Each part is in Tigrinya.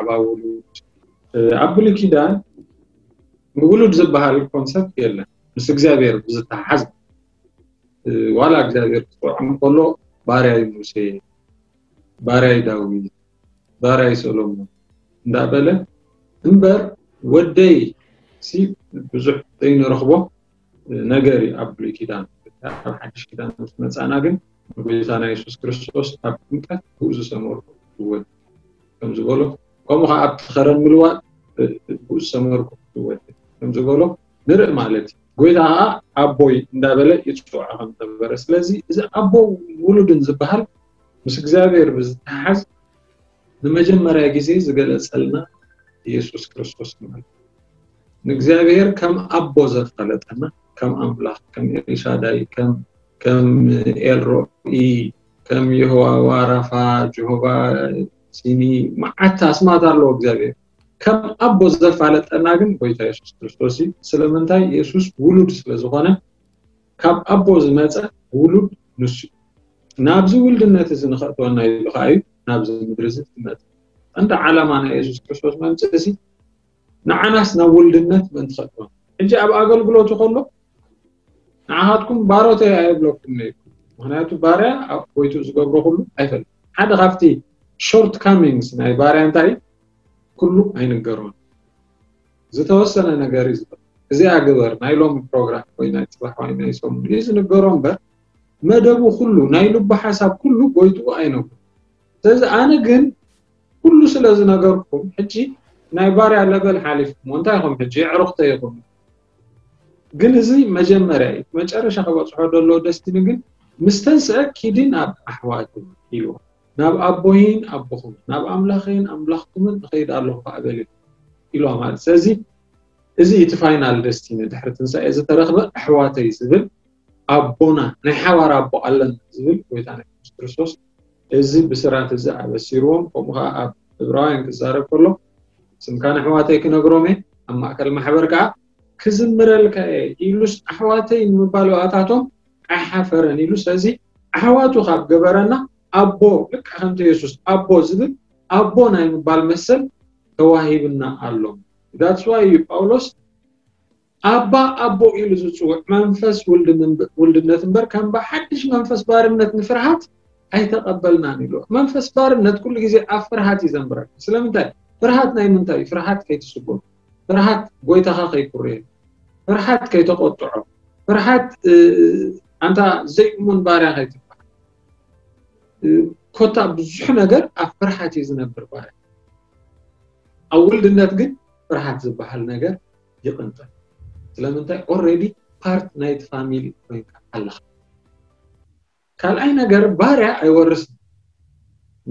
ብዛዕባ ውሉድ ኣብ ብሉይ ኪዳን ውሉድ ዝበሃል ኮንሰፕት የለን። ምስ እግዚኣብሔር ብዝተሓሓዝ ዋላ እግዚኣብሔር ክፅውዖም ከሎ ባርያይ ሙሴ፣ ባርያይ ዳዊት፣ ባርያይ ሰሎሞን እንዳበለ እምበር ወደይ ሲ ብዙሕ ዘይንረኽቦ ነገር እዩ ኣብ ብሉይ ኪዳን። ኣብ ሓድሽ ኪዳን ምስ መፃና ግን ንጎይታና የሱስ ክርስቶስ ኣብ ጥምቀት ብኡ ዝሰመርኩ ወዲ ከም ዝበሎ ከምኡ ከዓ ኣብቲ ከረን ምልዋጥ ብኡ ዝሰመርኩ ወዲ ከም ዝበሎ ንርኢ ማለት እዩ። ጎይታ ከዓ ኣቦይ እንዳበለ ይፅውዖ ከም ዝነበረ ስለዚ እዚ ኣቦ ውሉድን ዝበሃል ምስ እግዚኣብሔር ብዝተሓዝ ንመጀመርያ ግዜ ዝገለፀልና ኢየሱስ ክርስቶስ ማለት ንእግዚኣብሔር ከም ኣቦ ዘፋለጠና ከም ኣምላኽ ከም ኤልሻዳይ ከም ኤልሮኢ ከም የሆዋ ዋራፋ ጀሆባ ሲኒ መዓት ኣስማት ኣለዎ እግዚኣብሔር ከም ኣቦ ዘፋለጠና ግን ጎይታ የሱስ ክርስቶስ እዩ ስለምንታይ የሱስ ውሉድ ስለዝኾነ ካብ ኣቦ ዝመፀ ውሉድ ንሱ ናብዚ ውልድነት እዚ ንኸእትወና ኢሉ ከዓ እዩ ናብዚ ምድሪ እዚ ዝመፀ እንተ ዓላማ ናይ የሱስ ክርስቶስ መምፅእ ንዓናስ ናብ ውልድነት ምእንቲ ከእትወና ሕጂ ኣብ ኣገልግሎቱ ከሎ ንዓኻትኩም ባሮተይ ኣይብለኩም ነይሩ ምክንያቱ ባርያ ኣብ ጎይቱ ዝገብሮ ኩሉ ኣይፈልጥ ሓደ ካብቲ ሾርት ካሚንግስ ናይ ባርያ እንታይ ኩሉ ኣይንገሮን ዝተወሰነ ነገር እዩ ዝበል እዚኣ ግበር ናይ ሎሚ ፕሮግራም ወይ ናይ ፅባሕ ወይ ናይ ሰሙን እዩ ዝንገሮ እምበር መደቡ ኩሉ ናይ ልቡ ሓሳብ ኩሉ ጎይትኡ ኣይነግሩ ስለዚ ኣነ ግን ኩሉ ስለ ዝነገርኩም ሕጂ ናይ ባርያ ለበል ሓሊፍኩም እንታይ ኢኹም ሕጂ የዕሩኽተ ይኹም ግን እዚ መጀመርያ እዩ መጨረሻ ክበፅሖ ደሎ ደስቲኒ ግን ምስ ተንስአ ኪዲ ናብ ኣሕዋት ኢልዎ ናብ ኣቦይን ኣቦኹም ናብ ኣምላኽን ኣምላኽኩምን እኸይድ ኣለኹ ከዓ በል ኢልዋ ማለት ስለዚ እዚ እቲ ፋይናል ደስቲኒ ድሕሪ ትንሳኤ ዝተረኽበ ኣሕዋተይ ዝብል ኣቦና ናይ ሓባር ኣቦ ኣለና ዝብል ጎይታና የሱስ ክርስቶስ እዚ ብስራት እዚ ኣበሲርዎም ከምኡ ከዓ ኣብ ዕብራውያን ክዛረብ ከሎ ስምካ ንኣሕዋተይ ክነግሮም እየ ኣብ ማእከል ማሕበር ከዓ ክዝምረልካ እየ ኢሉስ ኣሕዋተይ ንምባል ብኣታቶም ኣይሓፈረን ኢሉ ስለዚ ኣሕዋቱ ካብ ገበረና ኣቦ ልክዕ ከምቲ የሱስ ኣቦ ዝብል ኣቦ ናይ ምባል መሰል ተዋሂብና ኣሎ that's why እዩ ጳውሎስ ኣባ ኣቦ ኢሉ ዝፅውዕ መንፈስ ውልድነት እምበር ከም ብሓድሽ መንፈስ ባርነት ንፍርሃት ኣይተቐበልናን ኢሉ መንፈስ ባርነት ኩሉ ግዜ ኣብ ፍርሃት እዩ ዘንብረካ ስለምንታይ ፍርሃት ናይ ምንታይ እዩ ፍርሃት ከይትስጎም ፍርሃት ጎይታኻ ከይኩርየ ፍርሃት ከይተቆጥዖ ፍርሃት ኣንታ ዘይእሙን ባርያ ከይትበሃል ኮታ ብዙሕ ነገር ኣብ ፍርሃት እዩ ዝነብር ባርያ ኣብ ውልድነት ግን ፍርሃት ዝበሃል ነገር ይቕንጠል ስለምንታይ already part ናይቲ ፋሚሊ ኮይንካ ኣለኻ ካልኣይ ነገር ባርያ ኣይወርስን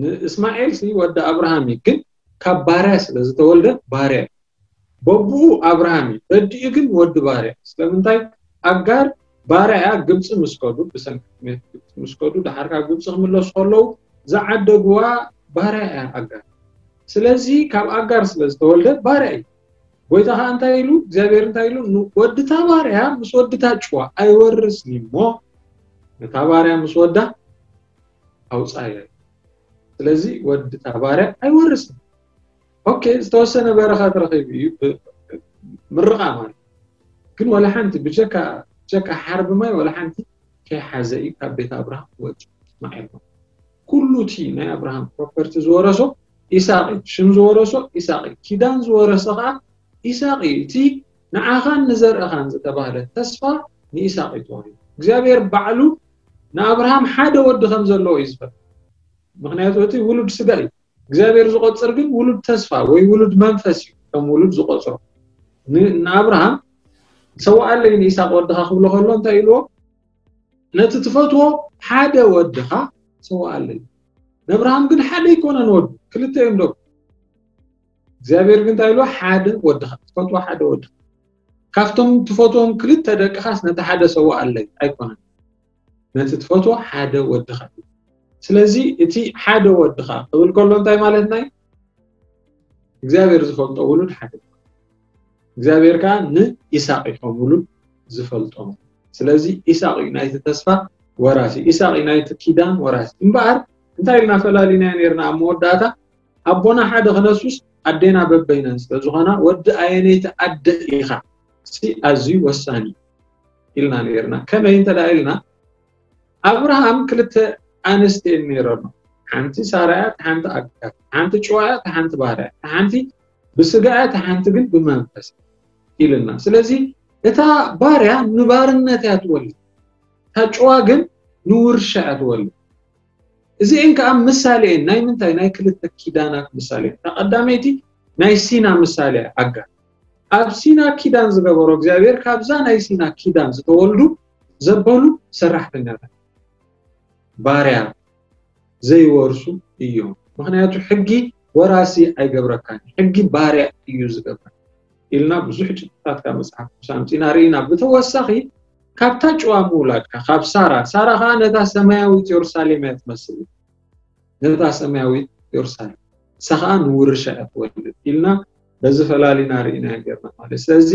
ንእስማኤል ሲ ወዲ ኣብርሃም እዩ ግን ካብ ባርያ ስለ ዝተወልደ ባርያ እዩ በብኡ ኣብርሃም እዩ በዲኡ ግን ወዲ ባርያ ስለምንታይ ኣጋር ባርያ እያ ግብፂ ምስ ከዱ ብሰንኪ ግብፂ ምስ ከዱ ድሓር ካብ ግብፂ ክምለሱ ከለዉ ዝዓደግዋ ባርያ እያ ኣጋር ስለዚ ካብ ኣጋር ስለ ዝተወልደ ባርያ እዩ ጎይታ ከዓ እንታይ ኢሉ እግዚኣብሔር እንታይ ኢሉ ወድታ ባርያ ምስ ወድታ ጭዋ ኣይወርስን እሞ ነታ ባርያ ምስ ወዳ ኣውፃያ ስለዚ ወድታ ባርያ ኣይወርስን ኦኬ ዝተወሰነ በረኸት ረኺቡ እዩ ምርቓ ማለት ግን ወላ ሓንቲ ብጀካ ጀካ ሓርቢ ማይ ወላ ሓንቲ ከይሓዘ እዩ ካብ ቤት ኣብርሃም ወፂ እስማኤል ኩሉ እቲ ናይ ኣብርሃም ፕሮፐርቲ ዝወረሶ ኢሳቅ እዩ ሽም ዝወረሶ ኢሳቅ እዩ ኪዳን ዝወረሰ ከዓ ኢሳቅ እዩ እቲ ንዓኻን ንዘርእኻን ዝተባህለ ተስፋ ንኢሳቅ እዩ ተዋሂቡ እግዚኣብሔር ባዕሉ ንኣብርሃም ሓደ ወዲ ከም ዘለዎ እዩ ዝፈልጥ ምክንያቱ እቲ ውሉድ ስጋ እዩ እግዚኣብሔር ዝቆፅር ግን ውሉድ ተስፋ ወይ ውሉድ መንፈስ እዩ ከም ውሉድ ዝቆፅሮ ንኣብርሃም ሰዋኣለይ ንኢሳቅ ወድኻ ክብሎ ከሎ እንታይ ኢልዎ ነቲ ትፈትዎ ሓደ ወድኻ ሰዋኣለይ ነብርሃም ግን ሓደ ኣይኮነን ወዱ ክልተ እዮም ደቁ እግዚኣብሔር ግን እንታይ ኢልዎ ሓደ ወድኻ ትፈትዎ ሓደ ወድኻ ካብቶም ትፈትዎም ክልተ ደቅኻስ ነቲ ሓደ ሰዋኣለይ ኣይኮነን ነቲ ትፈትዎ ሓደ ወድኻ እዩ ስለዚ እቲ ሓደ ወድኻ ክብል ከሎ እንታይ ማለትና እዩ እግዚኣብሔር ዝፈልጦ ውሉድ ሓደ እግዚኣብሔር ከዓ ንኢሳቅ እዩ ከም ውሉድ ዝፈልጦ ስለዚ ኢሳቅ እዩ ናይቲ ተስፋ ወራሲ ኢሳቅ እዩ ናይቲ ኪዳን ወራሲ እምበኣር እንታይ ኢልና ፈላሊናዮ ነርና ኣብ መወዳእታ ኣቦና ሓደ ክነሱስ ኣዴና በበይነን ስለ ዝኾና፣ ወዲ ኣየነይቲ ኣደ ኢኻ ሲ ኣዝዩ ወሳኒ ኢልና ነርና። ከመይ እንተ ኢልና፣ ኣብርሃም ክልተ ኣንስቲ ነይረኖ። ሓንቲ ሳራያ፣ ሓንቲ ኣጋር፣ ሓንቲ ጭዋያ፣ ሓንቲ ባርያ፣ ሓንቲ ብስጋያ፣ ሓንቲ ግን ብመንፈስ ኢልና። ስለዚ እታ ባርያ ንባርነት እያ ትወልድ፣ እታ ጭዋ ግን ንውርሻ እያ ትወልድ። እዚኤን ከዓ ምሳሌ እየን። ናይ ምንታይ? ናይ ክልተ ኪዳናት ምሳሌ። እታ ቀዳመይቲ ናይ ሲና ምሳሌ ኣጋር። ኣብ ሲና ኪዳን ዝገበሮ እግዚኣብሔር፣ ካብዛ ናይ ሲና ኪዳን ዝተወልዱ ዘበሉ ሰራሕተኛታት፣ ባርያ ዘይወርሱ እዮም። ምክንያቱ ሕጊ ወራሲ ኣይገብረካን፣ ሕጊ ባርያ እዩ ዝገብረካ ኢልና ብዙሕ ጭብጥታት ካብ መጽሓፍ ቅዱስ ኣምጺና ርኢና። ብተወሳኺ ካብታ ጭዋ ምውላድካ፣ ካብ ሳራ፣ ሳራ ከዓ ነታ ሰማያዊት የሩሳሌም እያ ትመስል። ነታ ሰማያዊት የሩሳሌም፣ ንሳ ኸዓ ንውርሻ እያ ትወልድ ኢልና በዚ ፈላሊና ርኢና ጌርና ማለት። ስለዚ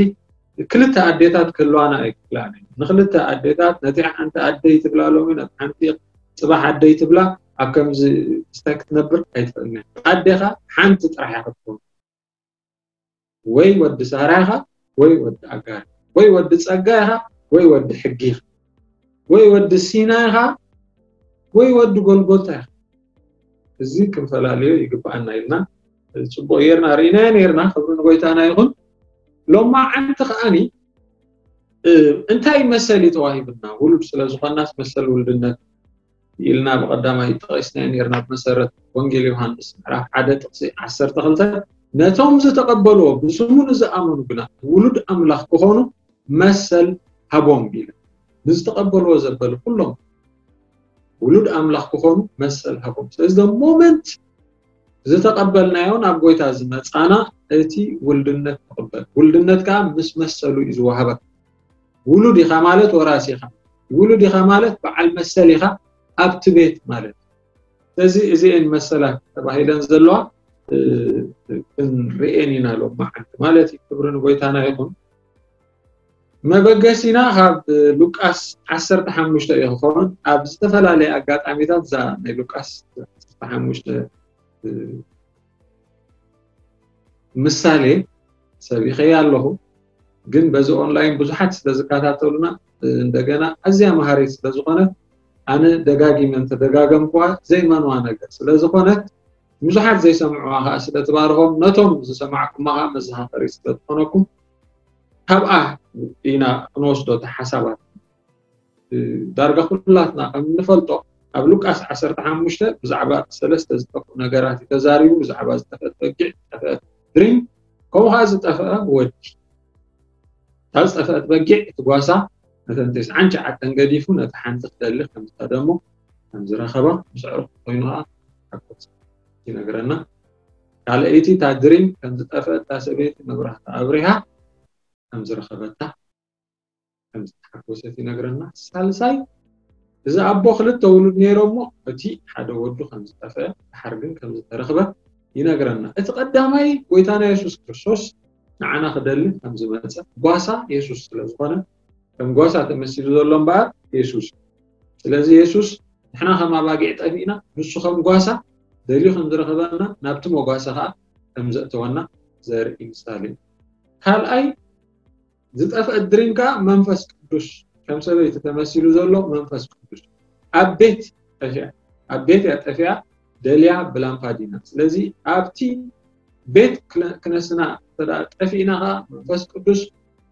ክልተ ኣዴታት ክህልዋና ኣይክእላን እየን። ንክልተ ኣዴታት፣ ነቲ ሓንቲ ኣደይ ትብላ ሎሚ፣ ነቲ ሓንቲ ጽባሕ ኣደይ ትብላ፣ ኣብ ከምዚ ስታይ ክትነብር ኣይትኽእልን እያ። ኣዴኻ ሓንቲ ጥራሕ እያ ክትከውን። ወይ ወዲ ሳራ ኢኻ፣ ወይ ወዲ ኣጋር፣ ወይ ወዲ ጸጋ ኢኻ፣ ወይ ወዲ ሕጊ ኢኻ፣ ወይ ወዲ ሲና ኢኻ፣ ወይ ወዲ ጎልጎታ ኢኻ። እዚ ክንፈላለዮ ይግብኣና ኢልና ጽቡቕ ጌርና ርኢናዮ ኔርና። ክብሪ ንጎይታና ይኹን። ሎማዓንቲ ከኣኒ፣ እ፣ እንታይ መሰል እዩ ተዋሂብና? ውሉድ ስለ ዝኾናስ መሰል ውልድነት ኢልና ብቐዳማይ ጠቒስናዮ ኔርና። ብመሰረት ወንጌል ዮሃንስ ምዕራፍ ሓደ ጥቕሲ ዓሰርተ ክልተ፣ ነቶም ዝተቐበልዎ ብስሙ ንዝኣመኑ ግና ውሉድ ኣምላኽ ክኾኑ መሰል ሃቦም ኢሉ። ንዝተቐበልዎ ዘበሉ ኩሎም ውሉድ ኣምላኽ ክኾኑ መሰል ሃቦም። ስለዚ ሞመንት ዝተቐበልናዮ ናብ ጎይታ ዝመጻና እቲ ውልድነት ንቕበል። ውልድነት ከዓ ምስ መሰሉ እዩ ዝወሃበካ። ውሉድ ኢኻ ማለት ወራሲ ኢኻ። ውሉድ ኢኻ ማለት በዓል መሰል ኢኻ ኣብቲ ቤት ማለት እዩ። ስለዚ እዚኤን መሰላት ተባሂለን ዘለዋ፣ እ፣ ክንርእየን ኢና ሎማዓንቲ ማለት እዩ። ክብሪ ንጎይታና ይኹን። መበገሲና ካብ ሉቃስ ዓሰርተ ሓሙሽተ እዩ ክኸውን። ኣብ ዝተፈላለየ ኣጋጣሚታት እዛ ናይ ሉቃስ ዓሰርተ ሓሙሽተ፣ እ፣ ምሳሌ ሰቢኸያ ኣለኹ፣ ግን በዚ ኦንላይን ብዙሓት ስለ ዝከታተሉና፣ እ፣ እንደገና ኣዝያ መሃሪት ስለ ዝኾነት፣ ኣነ ደጋጊመ እንተደጋገምኩዋ ዘይመንዋ ነገር ስለ ዝኾነት፣ ብዙሓት ዘይሰምዑዋ ኸዓ ስለ ትባርኾም፣ ነቶም ዝሰማዕኩማ ኸዓ መዘኻኸሪ ስለ ዝኾነኩም፣ ካብኣ ኢና ክንወስዶ እቲ ሓሳባት። እ፣ ዳርጋ ኩላትና ከም እንፈልጦ፣ ኣብ ሉቃስ ዓሰርተ ሓሙሽተ ብዛዕባ ሰለስተ ዝጠፍኡ ነገራት እዩ ተዛሪቡ። ብዛዕባ ዝጠፍአት በጊዕ፣ ዝጠፍአት ድሪም፣ ከምኡ ኸዓ ዝጠፍአ ወዲ። እታ ዝጠፍአት በጊዕ፣ እቲ ጓሳ ነተን ተስዓን ትሽዓተን ገዲፉ ነታ ሓንቲ ክደሊ ከም ዝኸደ እሞ ከም ዝረኸባ፣ ምስ ኣዕሩኹ ኮይኑ ኸዓ ሓጎስ ይነግረና። ካልኣይቲ፣ እታ ድሪም ከም ዝጠፍአት እታ ሰበይቲ መብራህቲ ኣብሪሃ ከም ዝረኸበታ፣ ከም ዝተሓጎሰት ይነግረና። ሳልሳይ፣ እዚ ኣቦ ክልተ ውሉድ ነይሮሞ፣ እቲ ሓደ ወዱ ከም ዝጠፍአ፣ ድሓር ግን ከም ዝተረኽበ ይነግረና። እቲ ቀዳማይ፣ ጎይታና የሱስ ክርስቶስ ንዓና ክደሊ ከም ዝመጸ፣ ጓሳ የሱስ ስለ ዝኾነ፣ ከም ጓሳ ተመሲሉ ዘሎ እምበኣር የሱስ። ስለዚ የሱስ ንሕና ከም ኣባጊዕ ጠፊእና፣ ንሱ ከም ጓሳ ደልዩ ከም ዝረኸበና፣ ናብቲ መጓሰ ኸዓ ከም ዘእተወና ዘርኢ ምሳሌ እዩ። ካልኣይ፣ ዝጠፍአ ድሪም ከዓ መንፈስ ቅዱስ፣ ከም ሰበይቲ ተመሲሉ ዘሎ መንፈስ ቅዱስ። ኣብ ቤት ጠፊኣ፣ ኣብ ቤት እያ ጠፊኣ፣ ደልያ ብላምፓዲና። ስለዚ ኣብቲ ቤት ክነ-፣ ክነስና እንተ ደኣ ጠፊእና ከዓ መንፈስ ቅዱስ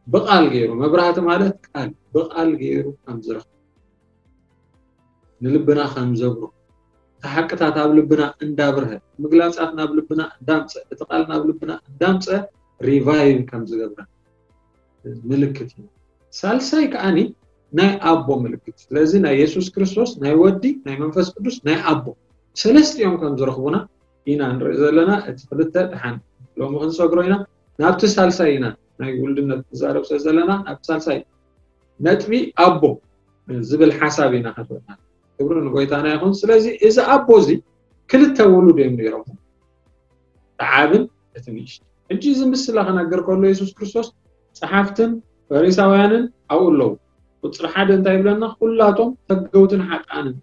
ብቓል ገይሩ፣ መብራህቲ ማለት ቃል፣ ብቓል ገይሩ ከም ዝረኽብ፣ ንልብና ከም ዘብርሆ፣ እቲ ሓቅታት ኣብ ልብና እንዳብርሀ፣ ምግላጻት ናብ ልብና እንዳምጸ፣ እቲ ቃል ናብ ልብና እንዳምጸ ሪቫይቭ ከም ዝገብረን ምልክት እዩ። ሳልሳይ ከዓኒ ናይ ኣቦ ምልክት። ስለዚ ናይ የሱስ ክርስቶስ፣ ናይ ወዲ፣ ናይ መንፈስ ቅዱስ፣ ናይ ኣቦ፣ ሰለስቲኦም ከም ዝረኽቡና ኢና ንርኢ ዘለና። እቲ ክልተ ደሓን ሎሚ ክንሰግሮ ኢና። ናብቲ ሳልሳይ ኢና ናይ ውልድነት ንዛረብ ስለ ዘለና፣ ናብቲ ሳልሳይ ነጥቢ ኣቦ ዝብል ሓሳብ ኢና ክንርኢ። ክብሪ ንጎይታና ይኹን። ስለዚ እዚ ኣቦ እዚ ክልተ ውሉድ እዮም ነይሮም፣ እቲ ዓብን እቲ ንእሽቶ። ሕጂ እዚ ምስላ ክነግር ከሎ የሱስ ክርስቶስ ጸሓፍትን ፈሪሳውያንን ኣብኡ ኣለዉ። ቁጽሪ ሓደ እንታይ ይብለና? ኩላቶም ተገውትን ሓጥኣንን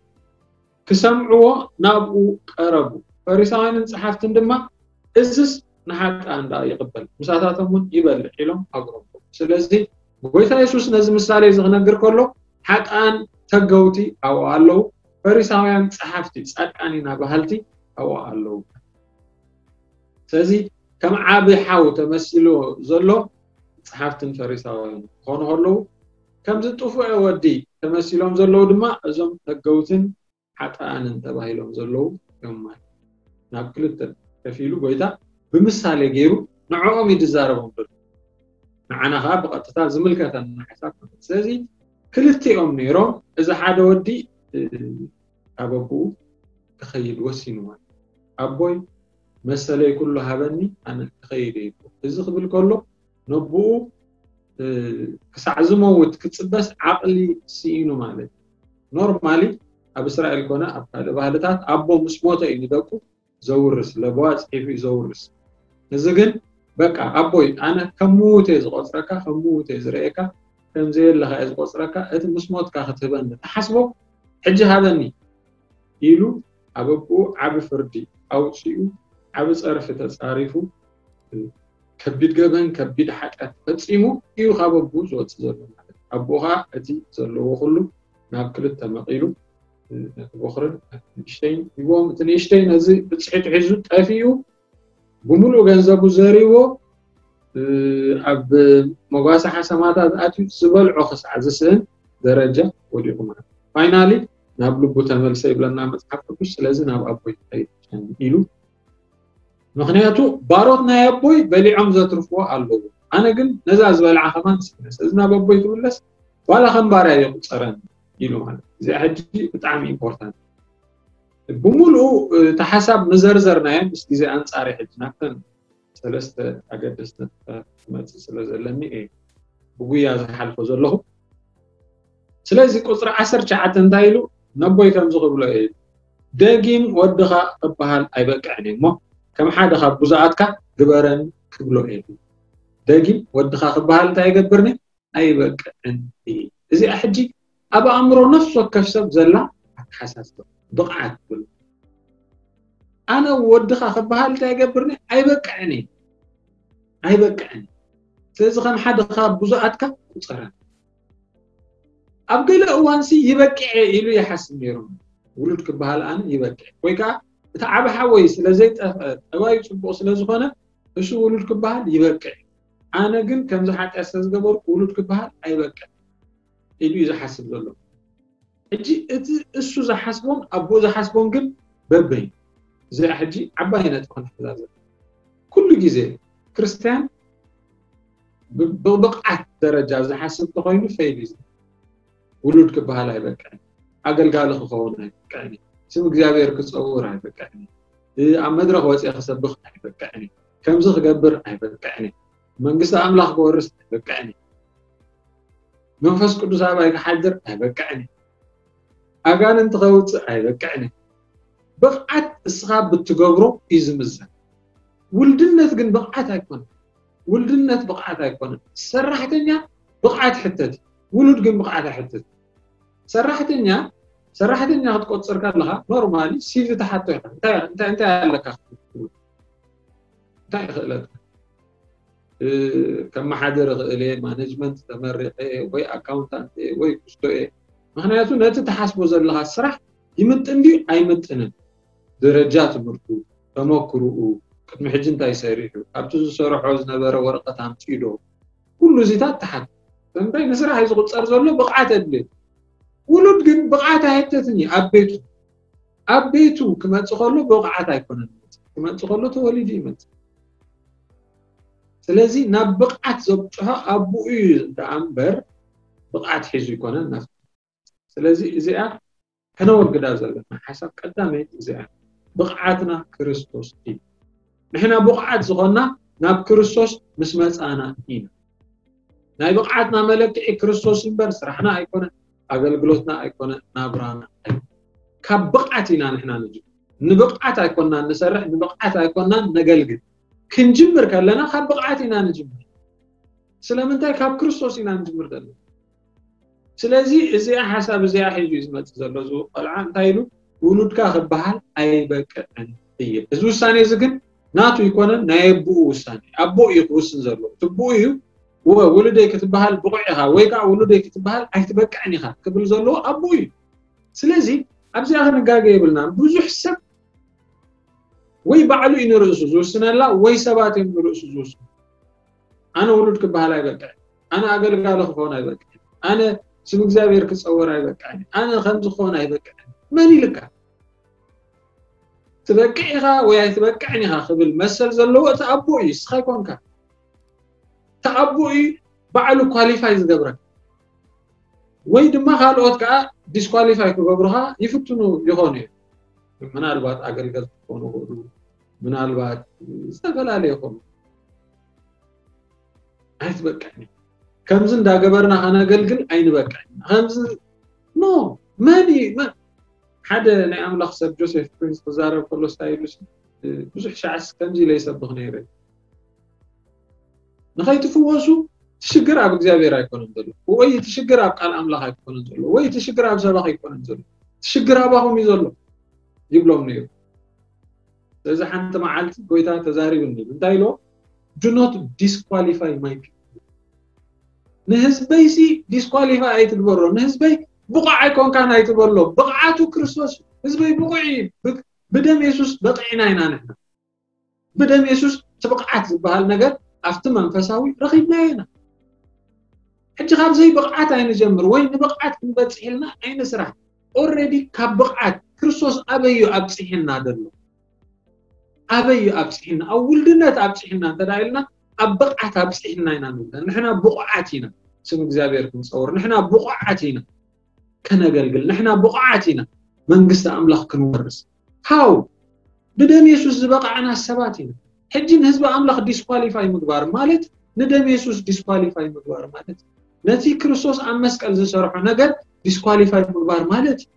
ክሰምዕዎ ናብኡ ቀረቡ። ፈሪሳውያንን ጸሓፍትን ድማ እዝስ ንሓጣን ደኣ ይቕበል፣ ምሳታቶም እውን ይበልዕ ኢሎም ኣቕረቡ። ስለዚ ጎይታ የሱስ ነዚ ምሳሌ እዚ ክነግር ከሎ ሓጣን ተገውቲ ኣብኡ ኣለዉ፣ ፈሪሳውያን ጸሓፍቲ፣ ጻድቃን ኢና በሃልቲ ኣብኡ ኣለዉ። ስለዚ ከም ዓቢ ሓው ተመሲሉ ዘሎ ጸሓፍትን ፈሪሳውያን ክኾኑ ከለዉ፣ ከምዚ ጥፉዕ ወዲ ተመሲሎም ዘለዉ ድማ እዞም ተገውትን ሓጥኣንን ተባሂሎም ዘለዉ እዮም ማለት እዩ። ናብ ክልተ ከፊሉ ጎይታ ብምሳሌ ገይሩ ንዕኦም እዩ ዝዛረቦም ዘሎ። ንዓና ከዓ ብቐጥታ ዝምልከተና ሓሳብ ማለት እዩ። ስለዚ ክልቲኦም ነይሮም፣ እዚ ሓደ ወዲ ኣብ ኣቦኡ ክኸይድ ወሲኑ ማለት እዩ። ኣቦይ መሰለይ ኩሉ ሃበኒ ኣነ ክኸይድ እየ። እዚ ክብል ከሎ ነቦኡ ክሳዕ ዝመውት ክፅበስ ዓቕሊ ስኢኑ ማለት እዩ። ኖርማሊ ኣብ እስራኤል ኮነ ኣብ ካልእ ባህልታት ኣቦ ምስ ሞተ እዩ ንደቁ ዘውርስ፣ ለበዋ ፅሒፉ እዩ ዘውርስ። እዚ ግን በቃ ኣቦይ ኣነ ከም ምውት እየ ዝቆፅረካ፣ ከም ምውት እየ ዝርእየካ፣ ከም ዘየለካ እየ ዝቆፅረካ፣ እቲ ምስ ሞትካ ክትህበኒ ትሓስቦ ሕጂ ሃበኒ ኢሉ ኣብ ኣቦኡ ዓቢ ፍርዲ ኣውፂኡ፣ ዓቢ ፀርፊ ተፃሪፉ፣ ከቢድ ገበን ከቢድ ሓጢኣት ፈፂሙ እዩ ካብ ኣቦኡ ዝወፅእ ዘሎ ማለት እዩ። ኣቦኡ ከዓ እቲ ዘለዎ ኩሉ ናብ ክልተ መቒሉ ነቲ ቦኽርን ነቲ ንእሽተይን ሂቦም፣ እቲ ንእሽተይ ነዚ ብፅሒቱ ሒዙ ጠፊኡ ብምሉእ ገንዘቡ ዘሪዎ ኣብ መጓሰ ሓሰማታት ኣትዩ ዝበልዖ ክሳዕ ዝስእን ደረጃ ወዲቑ ማለት። ፋይናሊ ናብ ልቡ ተመልሰ ይብለና መፅሓፍ ቅዱስ። ስለዚ ናብ ኣቦይ ክኸይድ ኢሉ፣ ምኽንያቱ ባሮት ናይ ኣቦይ በሊዖም ዘትርፍዎ ኣለዎ፣ ኣነ ግን ነዛ ዝበልዓ ከማን ስእነ። ስለዚ ናብ ኣቦይ ክምለስ ዋላ ከም ባርያ ይቁፀረን ኢሉ ማለት። እዚኣ ሕጂ ብጣዕሚ ኢምፖርታንት። ብምሉኡ እቲ ሓሳብ ምዘርዘርናዮ ምስ ግዜ ኣንፃር ሕጂ ናብተን ሰለስተ ኣገደስቲ ነጥብታት ክመፅእ ስለ ዘለኒ እየ ብጉያ ዝሓልፎ ዘለኹ። ስለዚ ቁፅሪ ዓሰርተ ትሽዓተ እንታይ ኢሉ? ነቦይ ከምዚ ክብሎ እየ፣ ደጊም ወድኻ ክበሃል ኣይበቅዕን እየ እሞ ከም ሓደ ካብ ብዙኣትካ ግበረኒ ክብሎ እየ። ደጊም ወድኻ ክበሃል እንታይ ይገብርኒ? ኣይበቅዕን እየ። እዚኣ ሕጂ ኣብ ኣእምሮ ነፍሲ ወከፍ ሰብ ዘላ ኣተሓሳስባ ብቕዓት ትብል። ኣነ ወድኻ ክበሃል እንታይ ይገብርኒ? ኣይበቅዕን እየ። ኣይበቅዕን። ስለዚ ከም ሓደ ካብ ብዙኣትካ ቁፀረኒ። ኣብ ገለ እዋንሲ ይበቅዕ ኢሉ ይሓስብ ነይሩ። ውሉድ ክበሃል ኣነ ይበቅዕ፣ ወይ ከዓ እቲ ዓቢ ሓወይ ስለ ዘይጠፍአ ጠባዩ ፅቡቕ ስለ ዝኾነ እሱ ውሉድ ክበሃል ይበቅዕ፣ ኣነ ግን ከምዚ ሓጢኣት ስለ ዝገበርኩ ውሉድ ክበሃል ኣይበቅዕ ኢሉ እዩ ዝሓስብ ዘሎ። ሕጂ እቲ እሱ ዝሓስቦን ኣቦኡ ዝሓስቦን ግን በበይ? እዚኣ ሕጂ ዓባይ ነጥቢ ክንሕዛ ዘለና። ኩሉ ግዜ ክርስትያን ብ- ብብቕዓት ደረጃ ዝሓስብ ተኾይኑ ፌል እዩ። ውሉድ ክበሃል ኣይበቅዕን፣ ኣገልጋሊ ክኸውን ኣይበቅዕን፣ ስም እግዚኣብሔር ክፀውር ኣይበቅዕን፣ እ- ኣብ መድረኽ ወፅአ ክሰብኽ ኣይበቅዕን፣ ከምዚ ክገብር ኣይበቅዕን፣ መንግስቲ ኣምላኽ ክወርስ ኣይበቅዕን፣ መንፈስ ቅዱስ ኣባይ ክሓድር ኣይበቅዕን፣ ኣጋንንቲ ከውፅእ ኣይበቅዕን። ብቕዓት እስኻ ብትገብሮ እዩ ዝምዘን። ውልድነት ግን ብቕዓት ኣይኮነን። ውልድነት ብቕዓት ኣይኮነን። ሰራሕተኛ ብቕዓት ሕተት፣ ውሉድ ግን ብቕዓት ኣይሕተት። ሰራሕተኛ ሰራሕተኛ ክትቆፅር ከለኻ ኖርማሊ ሲቪ ትሓቶ ኢኻ። እንታይ እንታይ እንታይ ኣለካ ክትብል? እንታይ ክእለት ከመሓድር እኽእል እየ፣ ማኔጅመንት ተመሪቐ እየ ወይ ኣካውንታንት እየ ወይ ክስቶ እየ። ምክንያቱ ነቲ ትሓስቦ ዘለኻ ስራሕ ይምጥን ድዩ ኣይምጥንን፣ ደረጃ ትምህርቱ፣ ተመክርኡ፣ ቅድሚ ሕጂ እንታይ ሰሪሑ፣ ኣብቲ ዝሰርሖ ዝነበረ ወረቐት ኣምፅኡ ዶ፣ ኩሉ እዚታት ትሓት። እንታይ ንስራሕ እዩ ዝቁፀር ዘሎ? ብቕዓት ኣድልየት። ውሉድ ግን ብቕዓት ኣይሕተትን እዩ ኣብ ቤቱ። ኣብ ቤቱ ክመፅእ ከሎ ብቕዓት ኣይኮነን ዝመፅእ። ክመፅእ ከሎ ተወሊዱ ይመፅእ። ስለዚ ናብ ብቕዓት ዘብፅሖ ኣቦኡ እዩ ደኣ እምበር ብቕዓት ሒዙ ኣይኮነን ናብቲ። ስለዚ እዚኣ ከነወግዳ ዘለና ሓሳብ ቀዳመይቲ እዚኣ፣ ብቕዓትና ክርስቶስ እዩ። ንሕና ብቕዓት ዝኾንና ናብ ክርስቶስ ምስ መፃና ኢና። ናይ ብቕዓትና መለክዒ ክርስቶስ እምበር ስራሕና ኣይኮነን፣ ኣገልግሎትና ኣይኮነን፣ ናብራና ኣይኮነን። ካብ ብቕዓት ኢና ንሕና ንጅምር። ንብቕዓት ኣይኮንናን ንሰርሕ፣ ንብቕዓት ኣይኮንናን ነገልግል። ክንጅምር ከለና ካብ ብቕዓት ኢና ንጅምር። ስለምንታይ? ካብ ክርስቶስ ኢና ንጅምር ዘለና። ስለዚ እዚኣ ሓሳብ እዚኣ ሒዙ እዩ ዝመፅእ ዘሎ እዚ ቆልዓ። እንታይ ኢሉ? ውሉድካ ክበሃል ኣይበቅዕን እየ። እዚ ውሳኔ እዚ ግን ናቱ ኣይኮነን፣ ናይ ኣቦኡ ውሳኔ። ኣቦ እዩ ክውስን ዘለዎ። እቲ ኣቦኡ እዩ፣ "እወ፣ ውሉደይ ክትበሃል ብቑዕ ኢኻ" ወይ ከዓ "ውሉደይ ክትበሃል ኣይትበቅዕን ኢኻ" ክብል ዘለዎ ኣቦኡ እዩ። ስለዚ ኣብዚኣ ክንጋገ የብልናን። ብዙሕ ሰብ ወይ ባዕሉ እዩ ንርእሱ ዝውስነላ ወይ ሰባት እዮም ንርእሱ ዝውስኑ። "ኣነ ውሉድ ክበሃል ኣይበቅዕን፣ ኣነ ኣገልጋሊ ክኸውን ኣይበቅዕን፣ ኣነ ስም እግዚኣብሔር ክጸወር ኣይበቅዕን፣ ኣነ ከምዚ ክኸውን ኣይበቅዕን" መን ኢልካ? "ትበቅዕ ኢኻ ወይ ኣይትበቅዕን ኢኻ" ክብል መሰል ዘለዎ እቲ ኣቦ እዩ፣ እስኻ ኣይኮንካ። እቲ ኣቦ እዩ ባዕሉ ኳሊፋይ ዝገብረካ። ወይ ድማ ካልኦት ከዓ ዲስኳሊፋይ ክገብሩኻ ይፍትኑ ይኾኑ እዮም። ምናልባት ኣገልገልቲ ክኾኑ ይኽእሉ፣ ምናልባት ዝተፈላለየ ይኾኑ። "ኣይትበቅዕን፣ ከምዚ እንዳገበርና ከነገልግል ኣይንበቅዕን፣ ከምዚ" ኖ፣ መን እዩ መን? ሓደ ናይ ኣምላኽ ሰብ ጆሴፍ ፕሪንስ ክዛረብ ከሎ ስታይሉ ብዙሕ ሻዕስ ከምዚ ኢለ ይሰብኽ ነይረ። ንኸይትፍወሱ እቲ ሽግር ኣብ እግዚኣብሔር ኣይኮነን ዘሎ፣ ወይ እቲ ሽግር ኣብ ቃል ኣምላኽ ኣይኮነን ዘሎ፣ ወይ እቲ ሽግር ኣብ ሰባት ኣይኮነን ዘሎ፣ እቲ ሽግር ኣባኹም እዩ ዘሎ ይብሎም ነይሩ። ስለዚ ሓንቲ መዓልቲ ጎይታ ተዛሪብኒ፣ እንታይ ኢሎ? "Do not disqualify my people." ንህዝበይሲ ዲስኳሊፋይ ኣይትግበሮ፣ ንህዝበይ ብቑዕ ኣይኮንካን ኣይትበሎ። ብቕዓቱ ክርስቶስ እዩ። ህዝበይ ብቑዕ እዩ። ብ-፣ ብደም የሱስ በቒዕና ኢና ንሕና። ብደም የሱስ እቲ ብቕዓት ዝበሃል ነገር ኣብቲ መንፈሳዊ ረኺብናዮ ኢና። ሕጂ ካብ ዘይብቕዓት ኣይንጀምር ወይ ንብቕዓት ክንበጽሕ ኢልና ኣይንስራሕ። ኦልሬዲ ካብ ብቕዓት ክርስቶስ ኣበይ እዩ ኣብጽሕና ዘሎ? ኣበይ እዩ ኣብጽሕና? ኣብ ውልድነት ኣብጽሕና እንተ ደኣ ኢልና ኣብ ብቕዓት ኣብጽሕና ኢና ንብሎ። ንሕና ብቑዓት ኢና ስም እግዚኣብሔር ክንጸውር። ንሕና ብቑዓት ኢና ከነገልግል። ንሕና ብቑዓት ኢና መንግስቲ ኣምላኽ ክንወርስ። ሃው ብደም የሱስ ዝበቓዕና ሰባት ኢና። ሕጂ ንህዝቢ ኣምላኽ ዲስኳሊፋይ ምግባር ማለት ንደም የሱስ ዲስኳሊፋይ ምግባር ማለት እዩ። ነቲ ክርስቶስ ኣብ መስቀል ዝሰርሖ ነገር ዲስኳሊፋይ ምግባር ማለት እዩ።